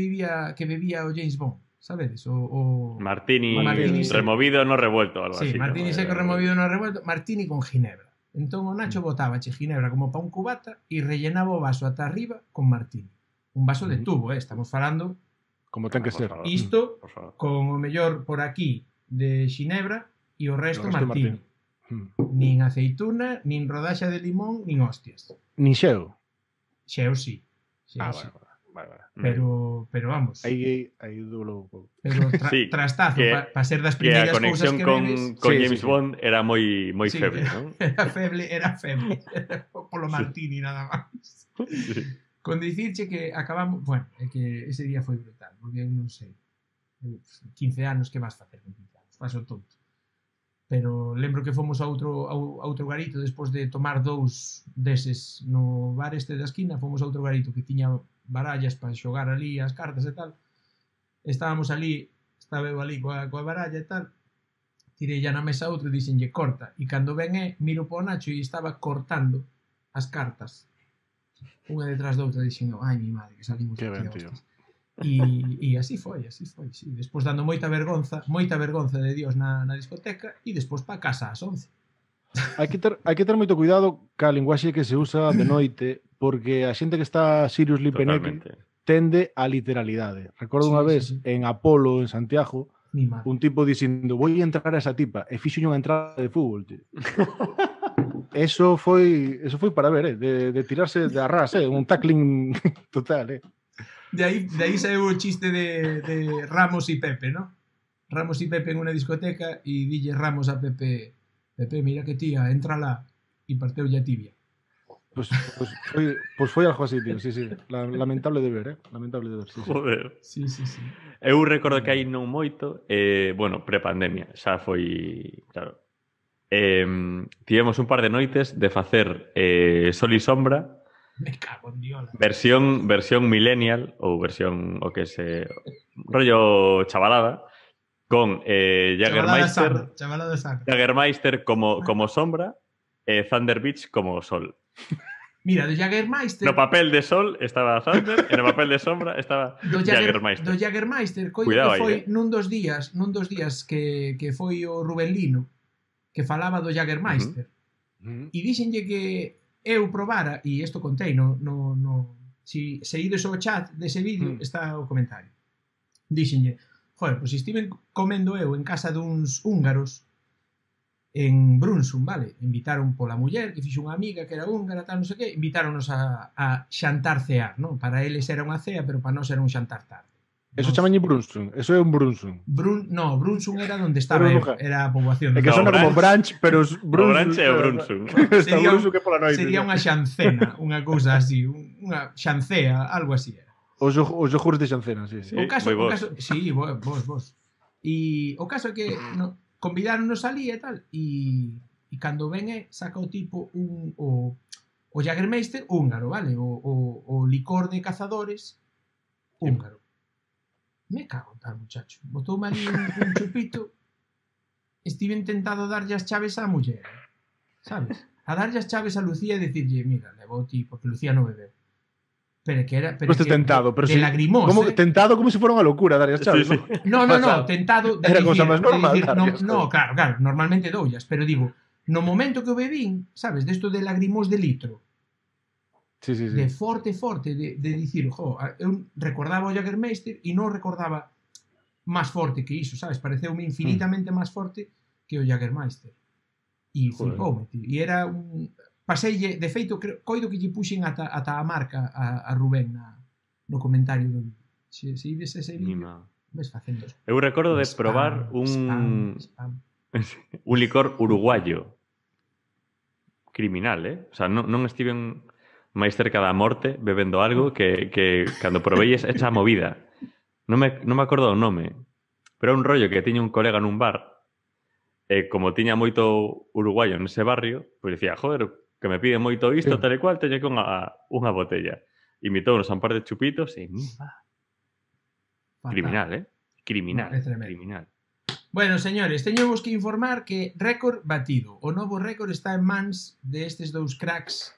[SPEAKER 1] bebía o James Bond, sabedes?
[SPEAKER 3] Martini removido no revuelto, algo así.
[SPEAKER 1] Sí, Martini seco removido no revuelto, Martini con ginebra. Entón o Nacho botábache ginebra como pa un cubata e rellenaba o vaso ata arriba con Martini. Un vaso de tubo, estamos falando...
[SPEAKER 2] Como ten que ser.
[SPEAKER 1] Isto, con o mellor por aquí de xinebra e o resto Martini. Nin aceituna, nin rodaxa de limón, nin hostias.
[SPEAKER 2] Nin xeo?
[SPEAKER 1] Xeo sí.
[SPEAKER 2] Vale.
[SPEAKER 1] Pero vamos.
[SPEAKER 2] Aí dolo pouco.
[SPEAKER 1] Pero trastazo, para ser das primeiras cousas que
[SPEAKER 3] bebes. Con James Bond era moi feble, non?
[SPEAKER 1] Era feble. Polo Martini nada máis. Con dicirche que acabamos... Bueno, é que ese día foi brutal, porque eu non sei. 15 anos, que vas facer con 15 anos? Paso tonto. Pero lembro que fomos a outro garito despois de tomar 2 deses no bar este da esquina, fomos a outro garito que tiña barallas para xogar ali as cartas e tal. Estábamos ali, estaba eu ali coa baralla e tal. Tirei ya na mesa outro e dixenlle corta. E cando ven miro po Nacho e estaba cortando as cartas. Unha detrás da outra, dixen, ai, mi madre, que salimos
[SPEAKER 2] que ben,
[SPEAKER 1] tío. E así foi, sí. Despois dando moita vergonza de Dios na discoteca e despois pa casa ás 11.
[SPEAKER 2] Hai que ter moito cuidado ca linguaxe que se usa de noite, porque a xente que está seriously peneque tende á literalidade. Recordo unha vez en Apolo, en Santiago, un tipo dicindo, vou entrar a esa tipa, e fixo unha entrada de fútbol, tío. Eso foi para ver, de tirarse de arras, un tackling total,
[SPEAKER 1] De aí saiu o chiste de Ramos y Pepe, ¿no? Ramos y Pepe en una discoteca y dille Ramos a Pepe, mira que tía, entrala, y parteu ya tibia.
[SPEAKER 2] Pues foi algo así, tío, sí. Lamentable de ver, lamentable de ver, sí.
[SPEAKER 3] Joder.
[SPEAKER 1] Sí.
[SPEAKER 3] Eu recordo que aí non moito, bueno, prepandemia, xa foi, claro. Tivemos un par de noites de facer Sol y Sombra.
[SPEAKER 1] Me cago en Dios.
[SPEAKER 3] Versión millennial ou versión o que se rollo chavalada con Jägermeister.
[SPEAKER 1] Chavalada saca.
[SPEAKER 3] Jägermeister como sombra e Thunder Beach como sol.
[SPEAKER 1] Mira, do Jägermeister...
[SPEAKER 3] No papel de sol estaba Thunder e no papel de sombra estaba Jägermeister.
[SPEAKER 1] Do Jägermeister, coido
[SPEAKER 3] Cuidado
[SPEAKER 1] que foi
[SPEAKER 3] aí,
[SPEAKER 1] nun dos días que foi o Rubén Lino que falaba do Jägermeister. E díxenlle que eu probara, e isto contei si ides ao chat dese vídeo, está o comentario. Díxenlle, joder, pois estiven comendo eu en casa duns húngaros en Brunsum, vale? Invitaron pola muller, que fixo unha amiga que era húngara, tal, non sei que, invitáronos a xantar cear, non? Para eles era unha cea, pero para nós era un xantar tarde.
[SPEAKER 2] Eso chamañe Brunsum, eso é un Brunsum.
[SPEAKER 1] No, Brunsum era onde estaba eu, era a poboación.
[SPEAKER 2] É que sona como Branch, pero
[SPEAKER 3] o Branch é o Brunsum.
[SPEAKER 1] Sería unha xancena, unha cousa así, unha xancea, algo así era.
[SPEAKER 2] Os yogures de xancena, sí.
[SPEAKER 1] O caso, sí, vos. E o caso é que convidáronos ali e tal, e cando ven saca o tipo o Jägermeister húngaro, vale? O licor de cazadores húngaro. Me cago en tal, muchacho. Botoume ali un chupito, estive intentado darlle as chaves á muller, sabes? A darlle as chaves a Lucía e dicirlle, mira, levou ti, porque Lucía non bebeu. Pero que era...
[SPEAKER 2] Pero que tentado, pero
[SPEAKER 1] de lagrimós,
[SPEAKER 2] tentado como se fora unha locura darlle as chaves,
[SPEAKER 3] sí.
[SPEAKER 1] No, tentado de
[SPEAKER 2] era
[SPEAKER 1] dicir...
[SPEAKER 2] Era cosa máis normal
[SPEAKER 1] claro, normalmente doullas, pero digo, no momento que o bebín, sabes, desto de lagrimós de litro,
[SPEAKER 2] sí.
[SPEAKER 1] De forte, de dicir, eu recordaba o Jägermeister e non recordaba máis forte que iso, sabes? Pareceume infinitamente máis forte que o Jägermeister. E flipoume, tío. E era un... Paseille, de feito, coido que lle puxen ata a marca a Rubén no comentario do vídeo. Se ides ese vídeo, ves facendo...
[SPEAKER 3] Eu recordo de probar un licor uruguayo criminal, O sea, non estiven máis cerca da morte bebendo algo que cando provei esa movida. Non me acordo o nome, pero é un rollo que tiña un colega nun bar e como tiña moito uruguayo nese barrio, pois dicía, joder, que me pide moito isto, tal e cual, teño que unha botella. Imitou-nos un par de chupitos e... Criminal, Criminal.
[SPEAKER 1] Bueno, señores, teñemos que informar que récord batido. O novo récord está en mans destes dous cracks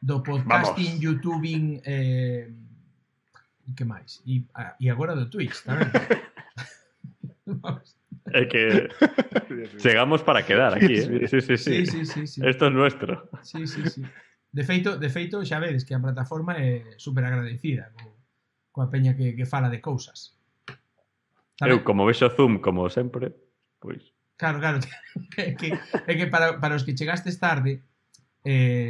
[SPEAKER 1] do podcasting, youtubing e que máis? E agora do Twitch, tamén.
[SPEAKER 3] É que chegamos para quedar aquí, Sí. Esto es nuestro.
[SPEAKER 1] Sí. De feito, xa vedes que a plataforma é super agradecida coa peña que fala de cousas.
[SPEAKER 3] Eu, como vexo Zoom, como sempre, pois...
[SPEAKER 1] Claro. É que para os que chegastes tarde,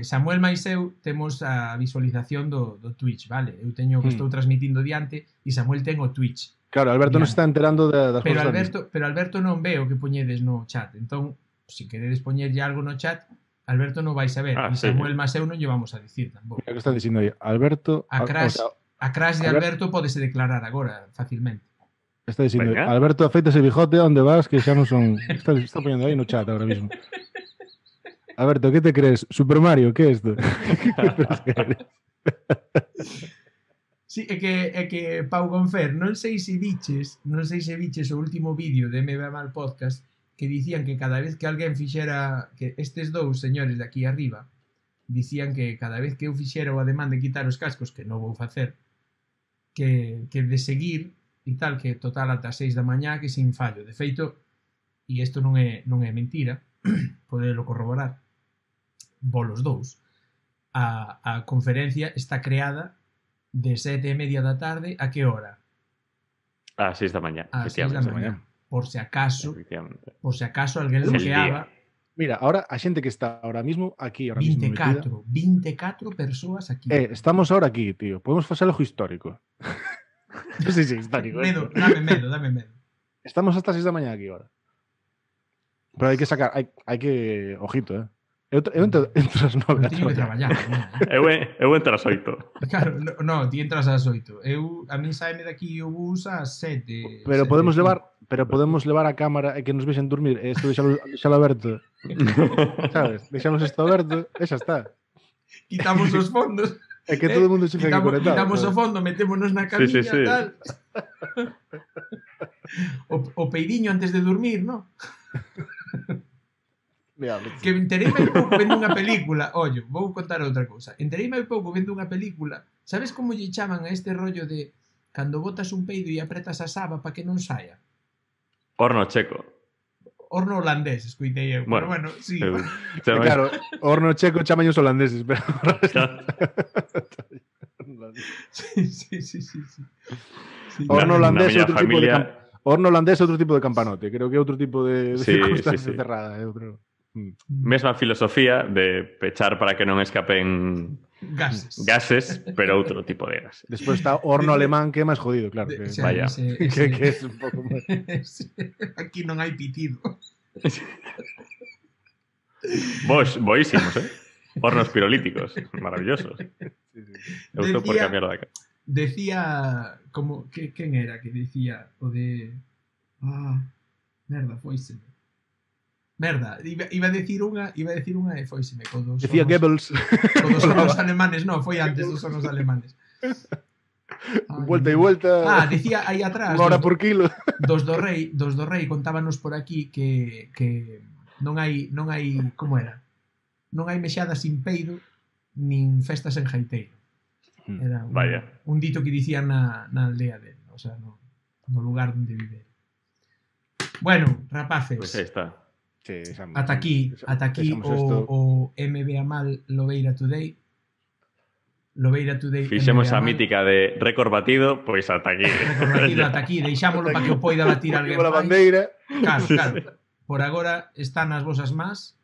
[SPEAKER 1] Samuel máis eu temos a visualización do Twitch, vale? Eu teño que estou transmitindo diante e Samuel ten o Twitch.
[SPEAKER 2] Claro, Alberto non está enterando das
[SPEAKER 1] cousas. Pero Alberto non ve o que poñedes no chat. Entón, se queredes poñerlle algo no chat, Alberto non vai saber. E Samuel máis eu non lle vamos a dicir tampouco.
[SPEAKER 2] O que está dicindo aí, Alberto...
[SPEAKER 1] A crash de Alberto pódese declarar agora, facilmente.
[SPEAKER 2] Está dicindo, Alberto, afeita ese bijote, onde vas, que xa non son... Está poñendo aí no chat agora mismo. Alberto, ¿qué te crees? ¿Super Mario? ¿Qué es esto?
[SPEAKER 1] Sí, é que Pau Gonfer, non sei se viches o último vídeo de MB Mal Podcast que dicían que cada vez que alguén fixera, que estes dous señores de aquí arriba dicían que cada vez que eu fixera o ademán de quitar os cascos, que non vou facer, que de seguir e tal, que total ata 6 da mañá, que sin fallo. De feito, e isto non é mentira, podelo corroborar, volos dous, a conferencia está creada de 7:30 da tarde a que hora?
[SPEAKER 3] A 6 da mañá.
[SPEAKER 1] A 6 da mañá. Por se acaso alguén lo creaba.
[SPEAKER 2] Mira, ahora a xente que está ahora mismo aquí, ahora
[SPEAKER 1] 24 persoas aquí.
[SPEAKER 2] Estamos ahora aquí, tío. Podemos facer algo histórico. Non sei se histórico.
[SPEAKER 1] Dame medo.
[SPEAKER 2] Estamos hasta 6 da mañá aquí ahora. Pero hai que sacar, hai que... Ojito, Eu entro ás 9.
[SPEAKER 1] Teño que traballar.
[SPEAKER 3] Eu entro ás 8.
[SPEAKER 1] Claro, no, ti entras ás 8. A min saime daqui o bus ás 7.
[SPEAKER 2] Pero podemos levar a cámara e que nos vexen dormir. Isto deixalo aberto. Sabes? Deixamos isto aberto e xa está.
[SPEAKER 1] Quitamos os fondos.
[SPEAKER 2] É que todo o mundo se fica conectado.
[SPEAKER 1] Quitamos o fondo, metémonos na camiña, tal. O peidiño antes de dormir, ¿no? Que entereime hai pouco vendo unha película. Ollo, vou contar outra cousa. Entereime hai pouco vendo unha película. Sabes como lle chaman a este rollo de cando botas un peido e apretas a saba para que non saia?
[SPEAKER 3] Horno checo.
[SPEAKER 1] Horno holandés, escoitei eu. Pero bueno, sí.
[SPEAKER 2] Claro, horno checo chamaños holandeses, pero...
[SPEAKER 1] Sí.
[SPEAKER 2] Horno holandés é outro tipo de horno holandés é outro tipo de campanote, creo que é outro tipo de circunstancia cerrada, é outro.
[SPEAKER 3] Mesma filosofía de pechar para que non escapen gases, pero outro tipo de gases.
[SPEAKER 2] Despois está horno alemán que é máis jodido, claro. Que,
[SPEAKER 3] vaya.
[SPEAKER 2] Que é un pouco máis.
[SPEAKER 1] Aquí non hai pitido.
[SPEAKER 3] Boísimos, hornos pirolíticos, maravillosos. Eu estou por cambiar de acá.
[SPEAKER 1] Decía como quen era que decía o de merda, foiseme. Merda, iba a decir unha e foiseme con dos.
[SPEAKER 2] Decía Goebbels.
[SPEAKER 1] Con dos hornos alemanes, non, foi antes dos hornos alemanes.
[SPEAKER 2] Vuelta e vuelta.
[SPEAKER 1] Decía aí atrás.
[SPEAKER 2] Unha hora por kilo.
[SPEAKER 1] Dos do rei contábanos por aquí que non hai como era? Non hai mexada sin peido nin festas en jaiteiro. Era un dito que dicían na aldea dele, o sea, no lugar onde vive. Bueno, rapaces.
[SPEAKER 3] Pois aí está.
[SPEAKER 2] Sí,
[SPEAKER 1] ata aquí o MBA mal Lobeira Today.
[SPEAKER 3] Fixemos a mítica de récord batido, pois ata aquí.
[SPEAKER 1] Récord batido ata aquí, deixámoslo para que o poida batir alguén
[SPEAKER 2] máis. Bandeira.
[SPEAKER 1] Claro. Por agora están as vosas más.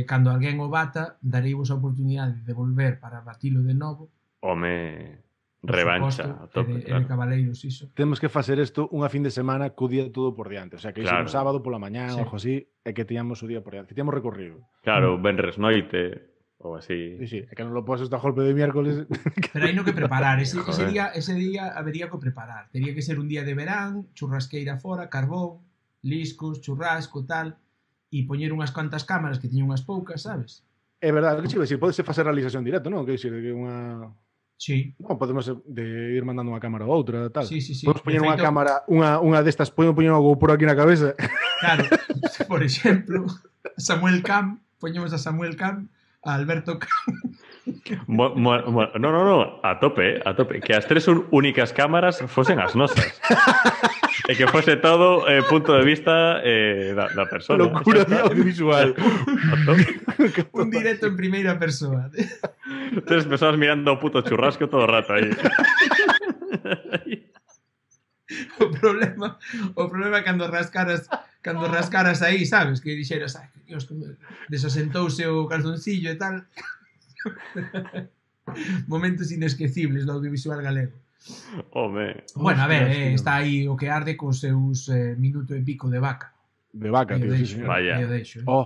[SPEAKER 1] Cando alguén o bata, dareivos a oportunidade de volver para batilo de novo.
[SPEAKER 3] Home, revancha a tope,
[SPEAKER 1] claro. Cabaleiros, iso.
[SPEAKER 2] Temos que facer isto unha fin de semana co día todo por diante, o sea, que claro. Un sábado pola mañá ou algo así, é que tiñamos o día por diante, que tiñamos recorrido.
[SPEAKER 3] Claro, venres noite ou así.
[SPEAKER 2] Sí, é que non lo poses a golpe de miércoles.
[SPEAKER 1] Pero hai no que preparar, ese día habería que preparar. Tería que ser un día de verán, churrasqueira fora, carbón, liscos, churrasco, tal, e poñer unhas cuantas cámaras que tiñan unhas poucas, sabes?
[SPEAKER 2] É verdade, que chive, podese facer realización directa, non? Que dicir, que unha...
[SPEAKER 1] Sí.
[SPEAKER 2] Non, podemos ir mandando unha cámara ou outra, tal.
[SPEAKER 1] Sí.
[SPEAKER 2] Podemos poñer unha cámara, unha destas, podemos poñer unha GoPro aquí na cabeza.
[SPEAKER 1] Claro, por exemplo, Samuel Cam, poñemos a Samuel Cam, a Alberto Cam.
[SPEAKER 3] No, a tope. Que as tres únicas cámaras fosen as nosas. E que fose todo punto de vista da persona.
[SPEAKER 2] Locura audiovisual.
[SPEAKER 1] Un directo en primeira persoa.
[SPEAKER 3] Tres persoas mirando o puto churrasco todo o rato aí.
[SPEAKER 1] O problema é cando rascaras aí, sabes? Que dixeras, Dios, desasentouse o calzoncillo e tal. Momentos inesquecibles do audiovisual galego. Bueno, a ver, está aí o que arde cos seus minuto e pico de vaca.
[SPEAKER 2] De vaca, tío, sí, señor.
[SPEAKER 3] Vaya.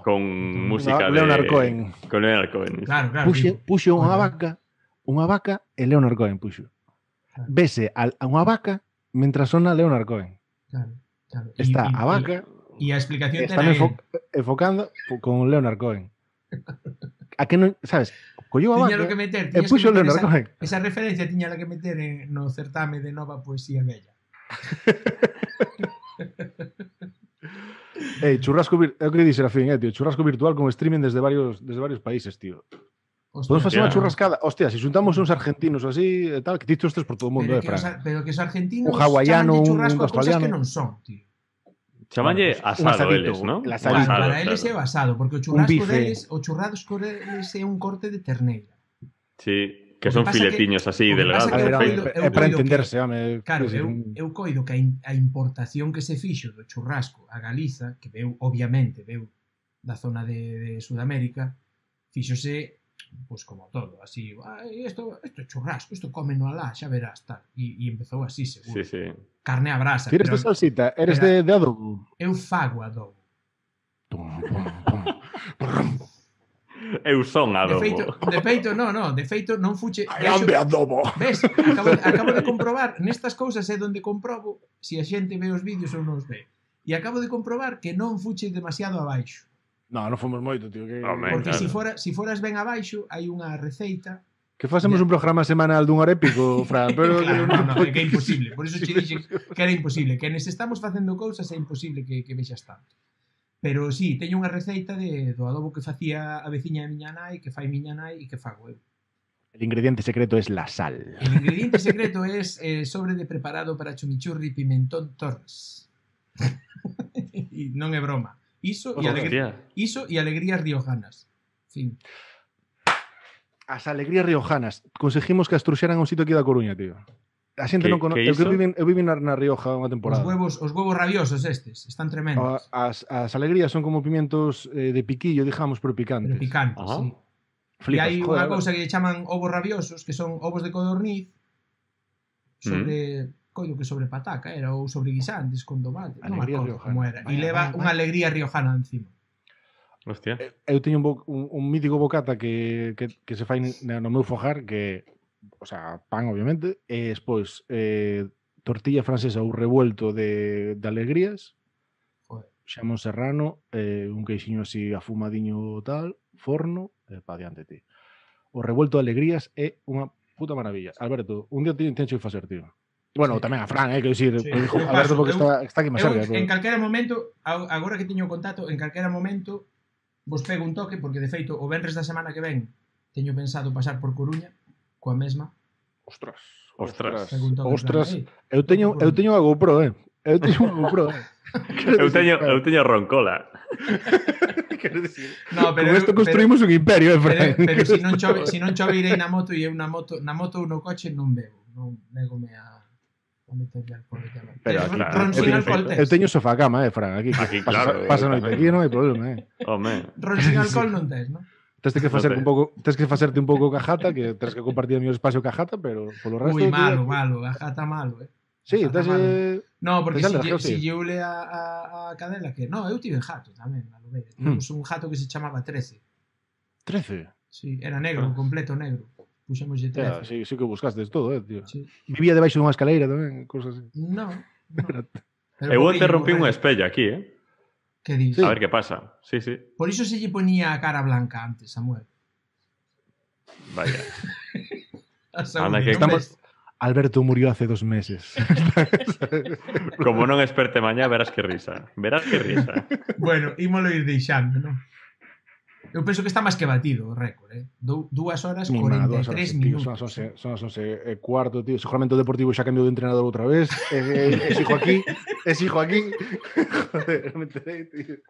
[SPEAKER 3] Con música de
[SPEAKER 2] Leonard Cohen.
[SPEAKER 3] Con Leonard Cohen.
[SPEAKER 1] Claro.
[SPEAKER 2] Puxo unha vaca e Leonard Cohen puxo. Vese a unha vaca mentras sona Leonard Cohen.
[SPEAKER 1] Claro.
[SPEAKER 2] Está a vaca
[SPEAKER 1] e a explicación
[SPEAKER 2] están enfocando con Leonard Cohen. A que non, sabes, colleu a vaca e puxo Leonard Cohen.
[SPEAKER 1] Esa referencia tiña que meter no certame de nova poesía bella.
[SPEAKER 2] Churrasco é o que di Serafín, tío, churrasco virtual con streaming desde varios países, tío. Podemos facer unha churrascada. Hostia, se xuntamos uns argentinos ou así, tal, que ti estes por todo o mundo, Fran.
[SPEAKER 1] Pero que os argentinos
[SPEAKER 2] un hawaiano, un australiano,
[SPEAKER 1] que non son, tío.
[SPEAKER 3] Chamanlle asado eles, ¿no?
[SPEAKER 1] Para eles é o asado, porque o churrasco deles é un corte de terneira.
[SPEAKER 3] Sí, que son filetiños así, delgados.
[SPEAKER 2] É para entenderse, home.
[SPEAKER 1] Claro, eu coido que a importación que se fixo do churrasco a Galiza, que obviamente veu da zona de Sudamérica, fíxose pois como todo, así, isto é churrasco, isto cómeno alá, xa verás, tal. E empezou así, seguro.
[SPEAKER 3] Sí.
[SPEAKER 1] Carne a brasa.
[SPEAKER 2] Tires de salsita, eres de adobo?
[SPEAKER 1] Eu fago adobo.
[SPEAKER 3] Eu son adobo.
[SPEAKER 1] De feito, non fuche...
[SPEAKER 2] Grande adobo.
[SPEAKER 1] Ves, acabo de comprobar, nestas cousas é onde comprobo se a xente ve os vídeos ou non os ve. E acabo de comprobar que non fuche demasiado abaixo.
[SPEAKER 2] Non fomos moito, tío.
[SPEAKER 1] Porque se foras ben abaixo, hai unha receita...
[SPEAKER 2] Que facemos un programa semanal dun hora épico, Fran, pero...
[SPEAKER 1] Claro, non, é que é imposible. Por iso che dixen que era imposible. Que nes estamos facendo cousas é imposible que vexas tanto. Pero sí, teño unha receita do adobo que facía a veciña de miña nai, que fai miña nai e que fago eu.
[SPEAKER 2] El ingrediente secreto es la sal.
[SPEAKER 1] El ingrediente secreto es sobre de preparado para chimichurri pimentón Torres. E non é broma. Iso e alegrías riojanas. Fin.
[SPEAKER 2] As alegrías riojanas. Conseguimos que as truxeran a un sitio aquí da Coruña, tío. A xente non conoce. Eu viven na Rioja unha temporada.
[SPEAKER 1] Os huevos rabiosos estes, están tremendos.
[SPEAKER 2] As alegrías son como pimientos de piquillo, digamos, pero picantes.
[SPEAKER 1] Pero picantes, sí. E hai unha cousa que chaman ovos rabiosos, que son ovos de codorniz sobre, coido que sobre pataca era, ou sobre guisantes con tomate, non me acordo como era. E leva unha alegría riojana encima.
[SPEAKER 3] Hostia.
[SPEAKER 2] Eu teño un mítico bocata que se fai no meu fogar, que, o sea, pan, obviamente, e despois tortilla francesa ou revuelto de alegrías, xamón serrano, un queixiño así afumadiño tal, forno, pa diante, tío. O revuelto de alegrías é unha puta maravilla. Alberto, un día tencho que facer, tío. Bueno, tamén a Fran, que dicir, Alberto, porque está aquí máis cerca.
[SPEAKER 1] En calquera momento, agora que teño contacto, en calquera momento vos pego un toque, porque de feito, o venres da semana que ven teño pensado pasar por Coruña coa mesma.
[SPEAKER 3] Ostras.
[SPEAKER 2] Eu teño a GoPro, Eu teño unha GoPro,
[SPEAKER 3] Eu teño roncola.
[SPEAKER 2] Quero dicir, no, pero con isto construímos un imperio,
[SPEAKER 1] Fran. Pero se non chove irei na moto, e eu na moto ou no coche non bebo. Non negome a meterle alcohol. Pero
[SPEAKER 2] eu teño sofá cama, Fran, aquí
[SPEAKER 3] claro.
[SPEAKER 2] Pasa noite aquí, non hai problema,
[SPEAKER 3] Home.
[SPEAKER 1] Ron sin alcohol non tes, non?
[SPEAKER 2] Tens que facerte un pouco cajata, que tens que compartir o meu espacio cajata, pero polo resto...
[SPEAKER 1] Ui, malo, cajata malo,
[SPEAKER 2] Sí, tens...
[SPEAKER 1] No, porque si lleule a cadela que... No, eu tive jato tamén, a lo veis. Temos un jato que se chamaba 13.
[SPEAKER 2] 13?
[SPEAKER 1] Sí, era negro, completo negro. Puxemos de 13.
[SPEAKER 2] Sí que buscastes todo, tío. Sí. Vivía debaixo dunha escaleira tamén, cosas así.
[SPEAKER 1] No.
[SPEAKER 3] Eu te rompí un espello aquí,
[SPEAKER 1] Que dices?
[SPEAKER 3] A ver que pasa. Sí.
[SPEAKER 1] Por iso se lle ponía a cara blanca antes, Samuel.
[SPEAKER 3] Vaya.
[SPEAKER 1] Anda que
[SPEAKER 2] estamos... Alberto murió hace 2 meses.
[SPEAKER 3] Como non esperte mañá, verás que risa.
[SPEAKER 1] Bueno, ímolo ir deixando, non? Eu penso que está máis que batido o récord, 2 horas 43 minutos.
[SPEAKER 2] Son as 11 cuarto, tío. Seguramente o Deportivo xa cambiou de entrenador outra vez. Exijo aquí. Joder, me enterei, tío.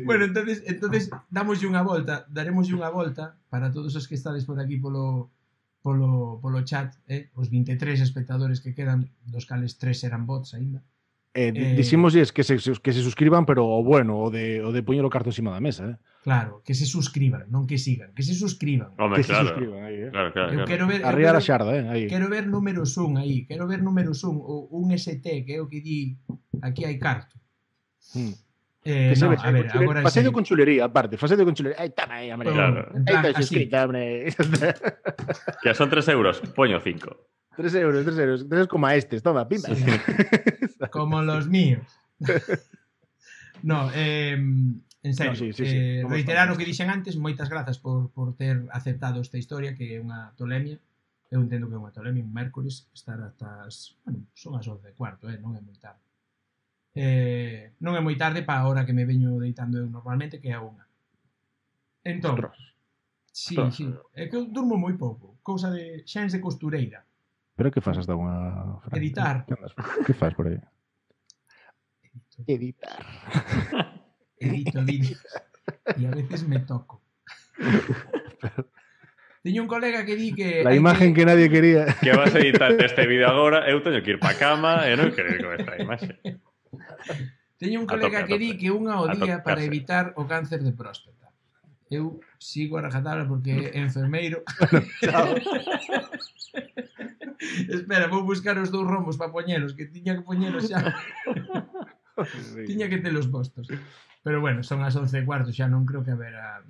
[SPEAKER 1] Bueno, entonces daremoslle unha volta para todos os que estades por aquí polo chat, os 23 espectadores que quedan, dos cales 3 eran bots aínda.
[SPEAKER 2] Dicimosles que se suscriban, pero o bueno, o de poñer o carto encima da mesa,
[SPEAKER 1] Claro, que se suscriban, non que sigan, que se suscriban.
[SPEAKER 3] Hombre,
[SPEAKER 2] que se suscriban aí,
[SPEAKER 3] Claro.
[SPEAKER 1] Quero ver
[SPEAKER 2] arriar a xarda, aí.
[SPEAKER 1] Quero ver números 1 aí, o un ST, que é o que di aquí hai carto. A ver, agora
[SPEAKER 2] facendo con chulería, aparte, Ai, tama aí, hombre.
[SPEAKER 3] Claro.
[SPEAKER 2] Aí está suscrita, hombre.
[SPEAKER 3] Que son 3 euros, poño 5.
[SPEAKER 2] 3 euros. 3 como a estes, toma, pimba.
[SPEAKER 1] Sí. Como los míos. No, en serio,
[SPEAKER 2] sí.
[SPEAKER 1] reiterar o que dixen antes, moitas grazas por ter aceptado esta historia, que é unha tolemia. Eu entendo que é unha tolemia, un mércores, estar hasta as... Bueno, son as 11:15, non é moi tarde. Non é moi tarde para a hora que me veño deitando eu normalmente, que é a 1. Entón, sí, é que eu durmo moi pouco, cousa de xens de costureira.
[SPEAKER 2] Pero que faz hasta unha...
[SPEAKER 1] Editar.
[SPEAKER 2] Que faz por aí? Editar.
[SPEAKER 1] Edito vídeos. E a veces me toco. Teño un colega que di que...
[SPEAKER 2] La imagen que nadie quería.
[SPEAKER 3] Que vas a editar este vídeo agora, eu teño que ir pa cama e non quero ir con esta imaxe.
[SPEAKER 1] Teño un colega que di que unha ao día para evitar o cáncer de próstata. Eu sigo a rajatabla porque é enfermeiro.
[SPEAKER 2] Chao.
[SPEAKER 1] Espera, vou buscar os 2 rombos para poñelos, que tiña que poñelos xa. Tiña que telos postos. Pero bueno, son as 11:15, xa non creo que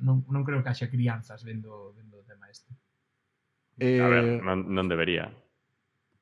[SPEAKER 1] non creo que haxa crianzas vendo o tema este.
[SPEAKER 3] A ver, non debería.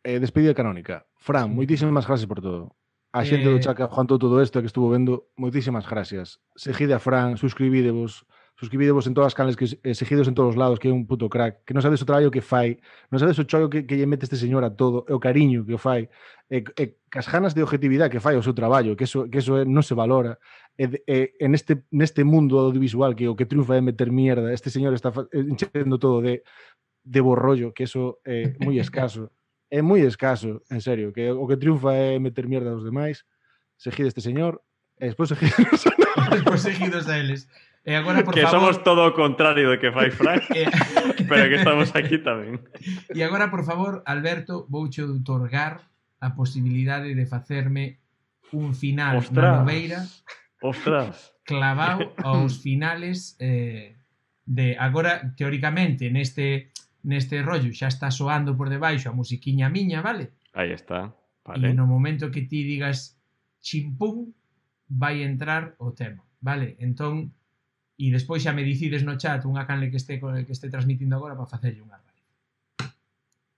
[SPEAKER 2] Despedida canónica. Fran, moitísimas gracias por todo. A xente do chat que aguantou todo isto que estuvo vendo, moitísimas gracias. Seguide a Fran, suscribídevos suscribidevos en todas as canles, seguidos en todos os lados, que é un puto crack, que non sabes o traballo que fai, non sabes o chollo que lle mete este señor a todo, e o cariño que o fai, e as ganas de objetividade que fai o seu traballo, que eso non se valora, neste mundo audiovisual que o que triunfa é meter mierda, este señor está enchendo todo de borrollo, que eso é moi escaso. É moi escaso, en serio, que o que triunfa é meter mierda aos demais. Seguide este señor, e despois seguidos a nós.
[SPEAKER 1] Despois seguidos a eles. E agora, por
[SPEAKER 3] que
[SPEAKER 1] favor...
[SPEAKER 3] somos todo o contrario do que fai Frank, pero que estamos aquí tamén.
[SPEAKER 1] E agora, por favor, Alberto, vouche outorgar a posibilidade de facerme un final na noveira clavado aos finales de agora, teóricamente, neste rollo xa está soando por debaixo a musiquiña miña, vale?
[SPEAKER 3] Aí está, vale.
[SPEAKER 1] E no momento que ti digas chimpún, vai entrar o tema, vale? Entón, e despois xa me dicides no chat unha canle que este transmitindo agora para facerlle unha raíz.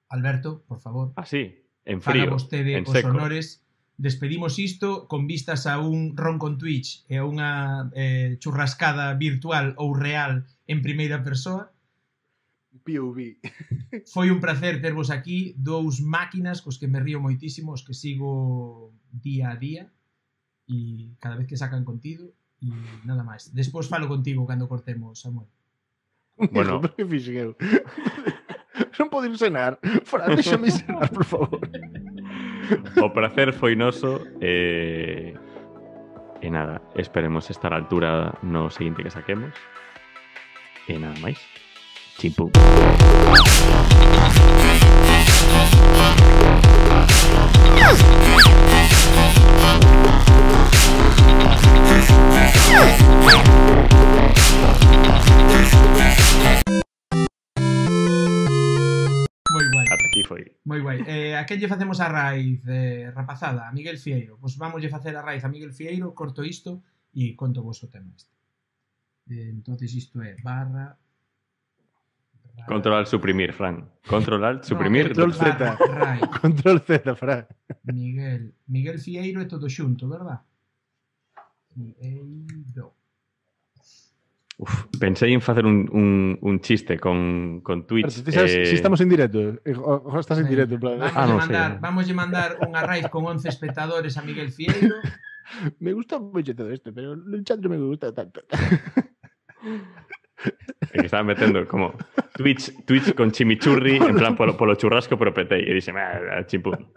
[SPEAKER 1] Alberto, por favor.
[SPEAKER 3] Así, en frío,
[SPEAKER 1] faga vostede
[SPEAKER 3] en
[SPEAKER 1] os
[SPEAKER 3] seco.
[SPEAKER 1] honores. Despedimos isto con vistas a un ron con Twitch e a unha churrascada virtual ou real en primeira persoa.
[SPEAKER 2] POV.
[SPEAKER 1] Foi un placer tervos aquí, dous máquinas cos que me río moitísimo, os que sigo día a día e cada vez que sacan contido e nada máis. Despois falo contigo cando cortemos, Samuel.
[SPEAKER 2] Bueno, que fixen eu? Non podo ir cenar. Fran, déxame cenar, por favor.
[SPEAKER 3] O placer foi noso e nada, esperemos estar á altura no seguinte que saquemos. E nada máis. Chimpú.
[SPEAKER 1] Moi guai.
[SPEAKER 3] Ata aquí foi.
[SPEAKER 1] Moi guai. A quen lle facemos a raíz, rapazada? A Miguel Fieiro. Pois vamos lle facer a raíz a Miguel Fieiro, corto isto e conto vos o tema este. Entonces isto é barra...
[SPEAKER 3] Controlar, suprimir, Fran. Controlar, suprimir.
[SPEAKER 2] Control Z. Control Z, Fran.
[SPEAKER 1] Miguel Fieiro é todo xunto, verdad? Fieiro.
[SPEAKER 3] Uf, pensei en facer un chiste con Twitch.
[SPEAKER 2] Pero, sabes, si estamos en directo, estás en directo. En plan.
[SPEAKER 1] Vamos a mandar unha raíz con 11 espectadores a Miguel Fieiro.
[SPEAKER 2] Me gusta mucho todo esto, pero el chat no me gusta tanto.
[SPEAKER 3] Que estaba metendo como Twitch con chimichurri en plan polo churrasco, pero petei e dixe, chimpún.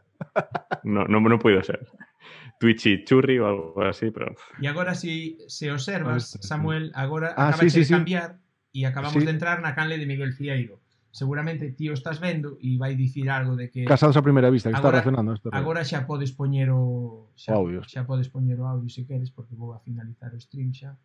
[SPEAKER 3] Non puido ser. Twitch y churri ou algo así, pero...
[SPEAKER 1] E agora, se observas, Samuel, agora acaba de cambiar e acabamos de entrar na canle de Miguel Fieiro. Seguramente ti o estás vendo e vai dicir algo de que...
[SPEAKER 2] Casados a primeira vista, que agora, está reaccionando.
[SPEAKER 1] Agora xa podes poñer o...
[SPEAKER 2] Audio.
[SPEAKER 1] Xa podes poñer o audio se queres, porque vou a finalizar o stream xa.